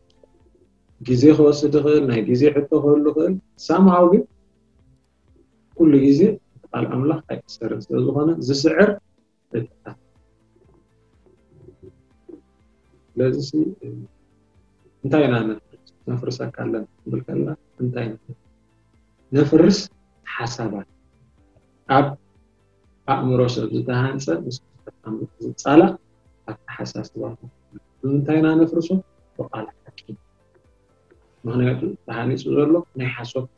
ግዜ ክወስድ ይኽእል ናይ ግዜ ሕቶ ክህሉ ይኽእል ሳምሃው ግን ኩሉ ግዜ ቃል ኣምላኽ ኣይክሰርር ስለ ዝኾነ ዝስዕር ስለዚ እንታይ ኢና ነፍርስ ነፍርሰካ ኣለና ክንብል ከለና እንታይ ነፍርስ ሓሳባት ኣብ ኣእምሮ ሰብ ዝተሃንፀ ምስ ዝፃላእ ኣተሓሳስባታት ብምንታይ ኢና ነፍርሶ ብቃል ሓቂ ምክንያቱ ተሃኒፁ ዘሎ ናይ ሓሶት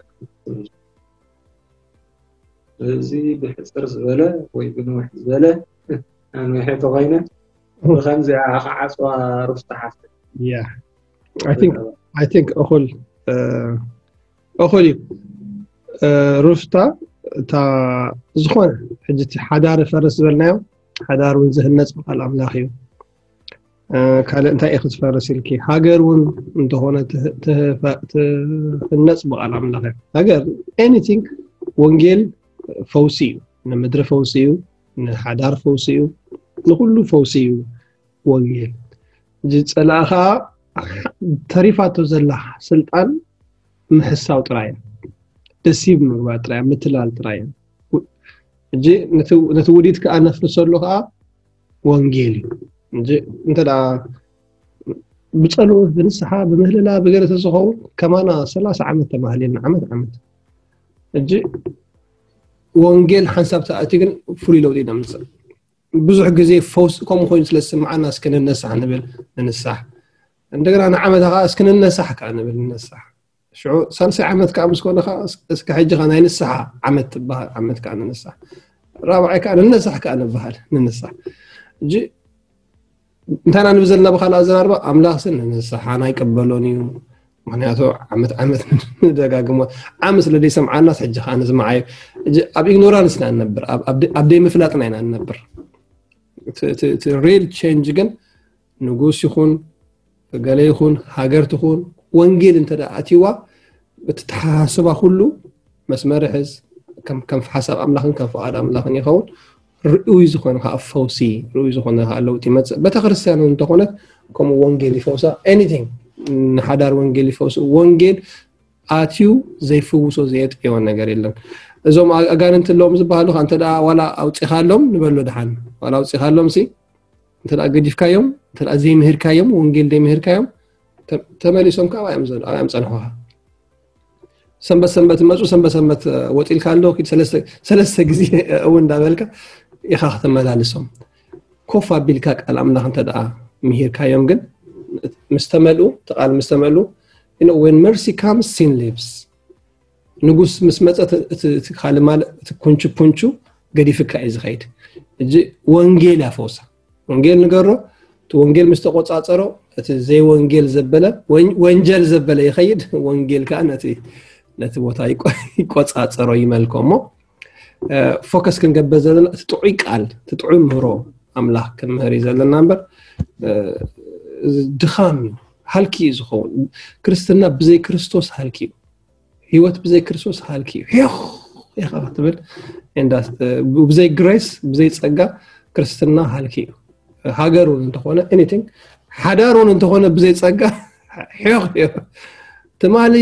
እዚ ብሕፅር ዝበለ ወይ ብንውሕ ዝበለ ኣንውሐ ተኮይነ ብከምዚኣ ክዓፅዋ ሩፍታ ሓፍተ Yeah. I think I think እኹል እኹል እዩ ሩፍታ እታ ዝኾነ ሕጂ እቲ ሓዳር ፈርስ ዝበልናዮ ሓዳር እውን ዝህነፅ ብቃል ኣምላኽ እዩ ካልእ እንታይ ኢኺ ዝፈርስ ኢልኪ ሃገር እውን እንተኾነ ትህነፅ ብቃል ኣምላኽ እያ ሃገር anything ወንጌል ፈውሲ እዩ ንምድሪ ፈውሲ እዩ ንሓዳር ፈውሲ እዩ ንኩሉ ፈውሲ እዩ ወንጌል እዚ ፀላእ ከዓ ተሪፋቶ ዘላ ስልጣን ምሕሳው ጥራይ እዩ ደሲብ ምግባር ጥራይ ምትላል ጥራይ እዩ ሕጂ ነቲ ውዲት ከዓ ነፍርሰሉ ከዓ ወንጌል እዩ እንተ ብፀሎት ብንስሓ ብምህልላ ብገለ ተዝኸውን ከማና ሰላሳ ዓመት ተማህሊልና ዓመት ዓመት ሕጂ ወንጌል ሓንሳብ ተኣቲ ግን ፍሉይ ለውጢ ነምፅእ ብዙሕ ግዜ ፈውስ ከምኡ ኮይኑ ስለ ዝስምዓና እስኪ ንነሳሕ ንብል ንንሳሕ እንደገና ንዓመታ ከዓ እስኪ ንነሳሕ ከዓ ንብል ንነሳሕ ሽዑ ሳልሳይ ዓመት ከዓ ምስ ኮነ ከዓ እስኪ ሕጂ ከዓ ናይ ንስሓ ዓመት ትበሃል ዓመት ከዓ ንንሳሕ ራብዓይ ከዓ ንነሳሕ ከዓ ንበሃል ንንሳሕ እጂ እንታይ ኢና ንብል ዘለና ብካልእ ኣዘራርባ ኣምላኽ ስን ንንስሓ ናይ ቀበሎን እዩ ምክንያቱ ዓመት ዓመት ንደጋግሞ ዓመት ስለ ዘይሰምዓናስ ሕጂ ከዓ ንስምዓዮ ኣብ ኢግኖራንስ ኢና ንነብር ኣብ ዘይምፍላጥና ኢና ንነብር እቲ ሪል ቸንጅ ግን ንጉስ ይኹን ገለ ይኹን ሃገር ትኹን ወንጌል እንተ ኣትይዋ፣ እቲ ተሓሳስባ ኩሉ መስመር ይሕዝ። ከም ከም ሓሳብ ኣምላኽን ከም ፍቓድ ኣምላኽን ይኸውን። ርኡይ ዝኾነ ከዓ ፈውሲ፣ ርኡይ ዝኾነ ከዓ ለውጢ ይመፅእ። ቤተክርስትያን እንተኾነት ከምኡ ወንጌል ይፈውሳ። Anything፣ ንሓዳር ወንጌል ይፈውሱ። ወንጌል ኣትዩ ዘይፍውሶ ዘየጥዕዮ ነገር የለን። እዞም ኣጋንንቲ ኣለዎም ዝበሃሉ ከ እንተ ዋላ ኣውፂኻሎም ንበሎ ድሓን፣ ዋላ ኣውፂኻሎም ሲ እንተ ገዲፍካዮም፣ እንተ ዘይምህርካዮም፣ ወንጌል ዘይምህርካዮም፣ ተመሊሶም ከዓ ኣብኣዮም ፀንሖኻ። ሰንበት ሰንበት መፁ፣ ሰንበት ሰንበት ወፂልካ ኣሎ ኪድ ሰለስተ ግዜ እውን እንዳበልካ ኢኻ ክትመላልሶም። ኮፍ ኣቢልካ ቃል ኣምላኽ እንተ ደኣ ምሂርካዮም ግን፣ ምስ ተመልኡ፣ እቲ ቃል ምስ ተመልኡ፣ when mercy comes, sin leaves። ንጉስ ምስ መፀ፣ እቲ ካልእ ማለት እቲ ኩንቹ ኩንቹ ገዲፍካ እዩ ዝኸይድ። እጂ ወንጌል ያፈውሳ። ወንጌል ንገሮ፣ እቲ ወንጌል ምስ ተቆፃፀሮ፣ እቲ ዘይወንጌል ዘበለ፣ ወንጀል ዘበለ ይኸይድ። ወንጌል ከዓ ነቲ ነቲ ቦታ ይቆፃፀሮ፣ ይመልኮ። እሞ ፎከስ ክንገብር ዘለና እቲ ጥዑይ ቃል፣ እቲ ጥዑይ ምህሮ ኣምላኽ ክንምህር እዩ ዘለና እምበር፣ ድኻም እዩ፣ ሃልኪ እዩ ዝኸውን። ክርስትና ብዘይ ክርስቶስ ሃልኪ እዩ። ህይወት ብዘይ ክርስቶስ ሃልኪ እዩ። ሄኽ ኢኻ ክትብል፣ ብዘይ ግሬስ፣ ብዘይ ፀጋ ክርስትና ሃልኪ እዩ። ሃገር እውን እንተኾነ፣ anything፣ ሓዳር እውን እንተኾነ ብዘይ ፀጋ ሄኽ እዩ። ትማሊ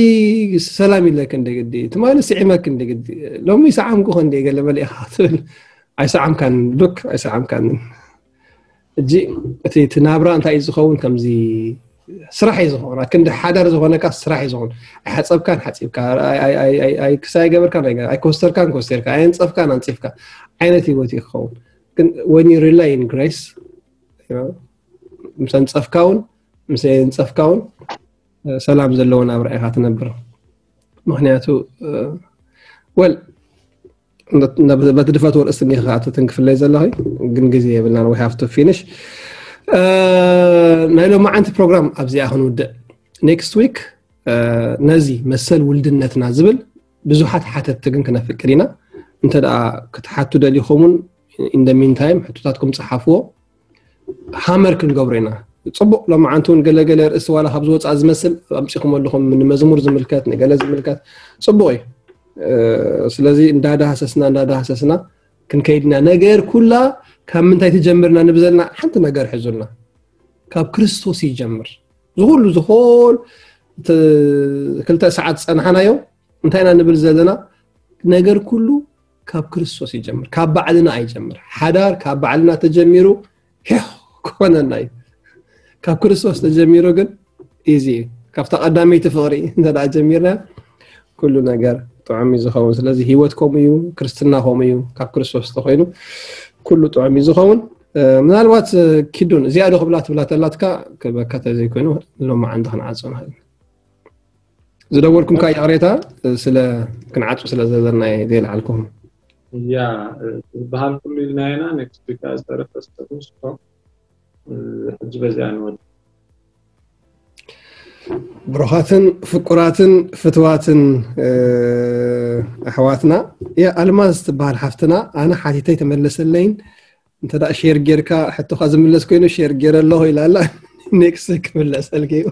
ሰላም ኢለክ እንደ ግዲ፣ ትማሊ ስዒመክ እንደ ግዲ፣ ሎሚ ሰዓምኩ እንደ ገለ መለ ኢኻ ክትብል፣ ኣይሰዓምካን ሉክ፣ ኣይሰዓምካን። እጂ እቲ እቲ ናብራ እንታይ እዩ ዝኸውን? ከምዚ ስራሕ እዩ ዝኸውን። ኣክንዲ ሓዳር ዝኾነካ ስራሕ እዩ ዝኸውን። ኣይሓፀብካን ሓፂብካ፣ ኣይ- ኣይ- ኣይ- ኣይ- ኣይ ክሳይ ገበርካን ኣይገ- ኣይኮስተርካን ኮስተርካ፣ ኣየንፀፍካን ኣንፂፍካ ዓይነት ህይወት እዩ ክኸውን። ግን when you rely in grace፣ you know፣ ምስ ኣንፀፍካ እውን ምስ ኣየንፀፍካ እውን ሰላም ዘለዎ ናብራ ኢኻ ትነብር። ምክንያቱ ወል በቲ ድፈት ወርእስ እኒኻ ክትትን ክፍለይ ዘለኺ፣ ግን ግዜ የብልናን፣ we have to finish። ናይ ሎማዓንቲ ፕሮግራም ኣብዚኣ ክንውድእ። Next week ነዚ መሰል ውልድነትና ዝብል ብዙሓት ሓተትቲ ግን ክነፍቅድ ኢና። እንተ ደኣ ክትሓቱ ደሊኹም እውን፣ in the meantime ሕቶታትኩም ጸሓፍዎ፣ ሃመር ክንገብሮ ኢና። ጽቡቕ፣ ሎማዓንቲ እውን ገለገለ ርእሲ ዋላ ካብ ዝወፅኣ ዝመስል ኣምጺኹም ኣለኹም፣ ንመዝሙር ዝምልከት፣ ንገለ ዝምልከት። ጽቡቕ እዩ። ስለዚ እንዳዳሃሰስና እንዳዳሃሰስና ክንከይድና፣ ነገር ኩላ ካብ ምንታይ ትጀምርና ንብዘልና ሓንቲ ነገር ሕዙልና፣ ካብ ክርስቶስ ይጀምር። ዝኹሉ ዝኾል ክልተ ሰዓት ዝፀናሓናዮ እንታይ ኢና ንብል ዘለና? ነገር ኩሉ ካብ ክርስቶስ ይጀምር፣ ካብ ባዕልና ኣይጀምር። ሓዳር ካብ ባዕልና ተጀሚሩ ሄ ክኾነና እዩ። ካብ ክርስቶስ ተጀሚሩ ግን ኢዚ እዩ። ካብታ ቀዳመይቲ ፍቕሪ እንተ ደኣ ጀሚርና ኩሉ ነገር ጥዑም እዩ ዝኸውን። ስለዚ ህይወት ከምኡ እዩ፣ ክርስትና ከምኡ እዩ። ካብ ክርስቶስ ተኾይኑ ኩሉ ጥዑም እዩ ዝኸውን። ምናልባት ኪዱን እዚኣ ዶ ክብላ ትብላ ተላትካ ክበካ ተዘይኮይኑ ሎማዓንቲ ክንዓጾ ንኽእል። ዝደወልኩም ካ ይቕሬታ፣ ስለ ክንዓጹ ስለ ዘለና እየ ዘይልዓልኩም። ያ ዝበሃል ኩሉ ኢልና ኢና። Next week ዝተረፈ ስተኩም ስቶ ሕጂ በዚኣ ንወድ ብሩኻትን ፍቁራትን ፍትዋትን ኣሕዋትና። ያ ኣልማዝ ትበሃል ሓፍትና፣ ኣነ ሓቲተይ ተመለሰለይን። እንተ ሼር ጌርካ ሕቶኻ ዝምለስ ኮይኑ ሼር ጌረ ኣለኹ ኢላ ኣላ። Next ክምለሰልኪ እዩ።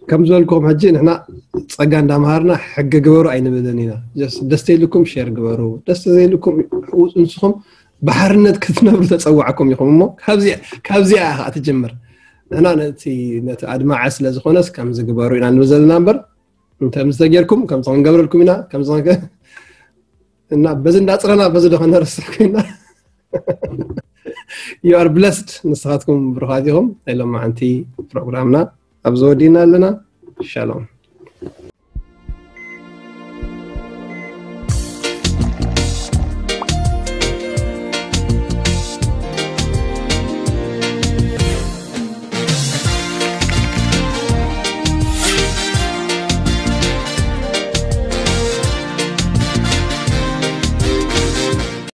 ከም ዝበልኩም ሕጂ ንሕና ጸጋ እንዳምሃርና ሕጊ ግበሩ ኣይንብልን ኢና። ደስ ተይልኩም ሼር ግበሩ፣ ደስ ዘይልኩም ንስኹም ብሓርነት ክትነብሩ ተጸዋዕኩም ኢኹም። እሞ ካብዚኣ ኢኻ ትጅምር። ንሕና ነቲ ኣድማዐ ስለ ዝኾነስ ከምዚ ግበሩ ኢና ንብል ዘለና እምበር፣ እንተ ምስ ተጌርኩም ከምዚ ክንገብረልኩም ኢና፣ ከምዚ እና በዚ እንዳጽረና በዚ ዶ ከነርስዕ ኮይና። You are blessed። ንስኻትኩም ብሩኻት ኢኹም። ናይ ሎማዓንቲ ፕሮግራምና ኣብዚ ወዲእና ኣለና። ሻሎም።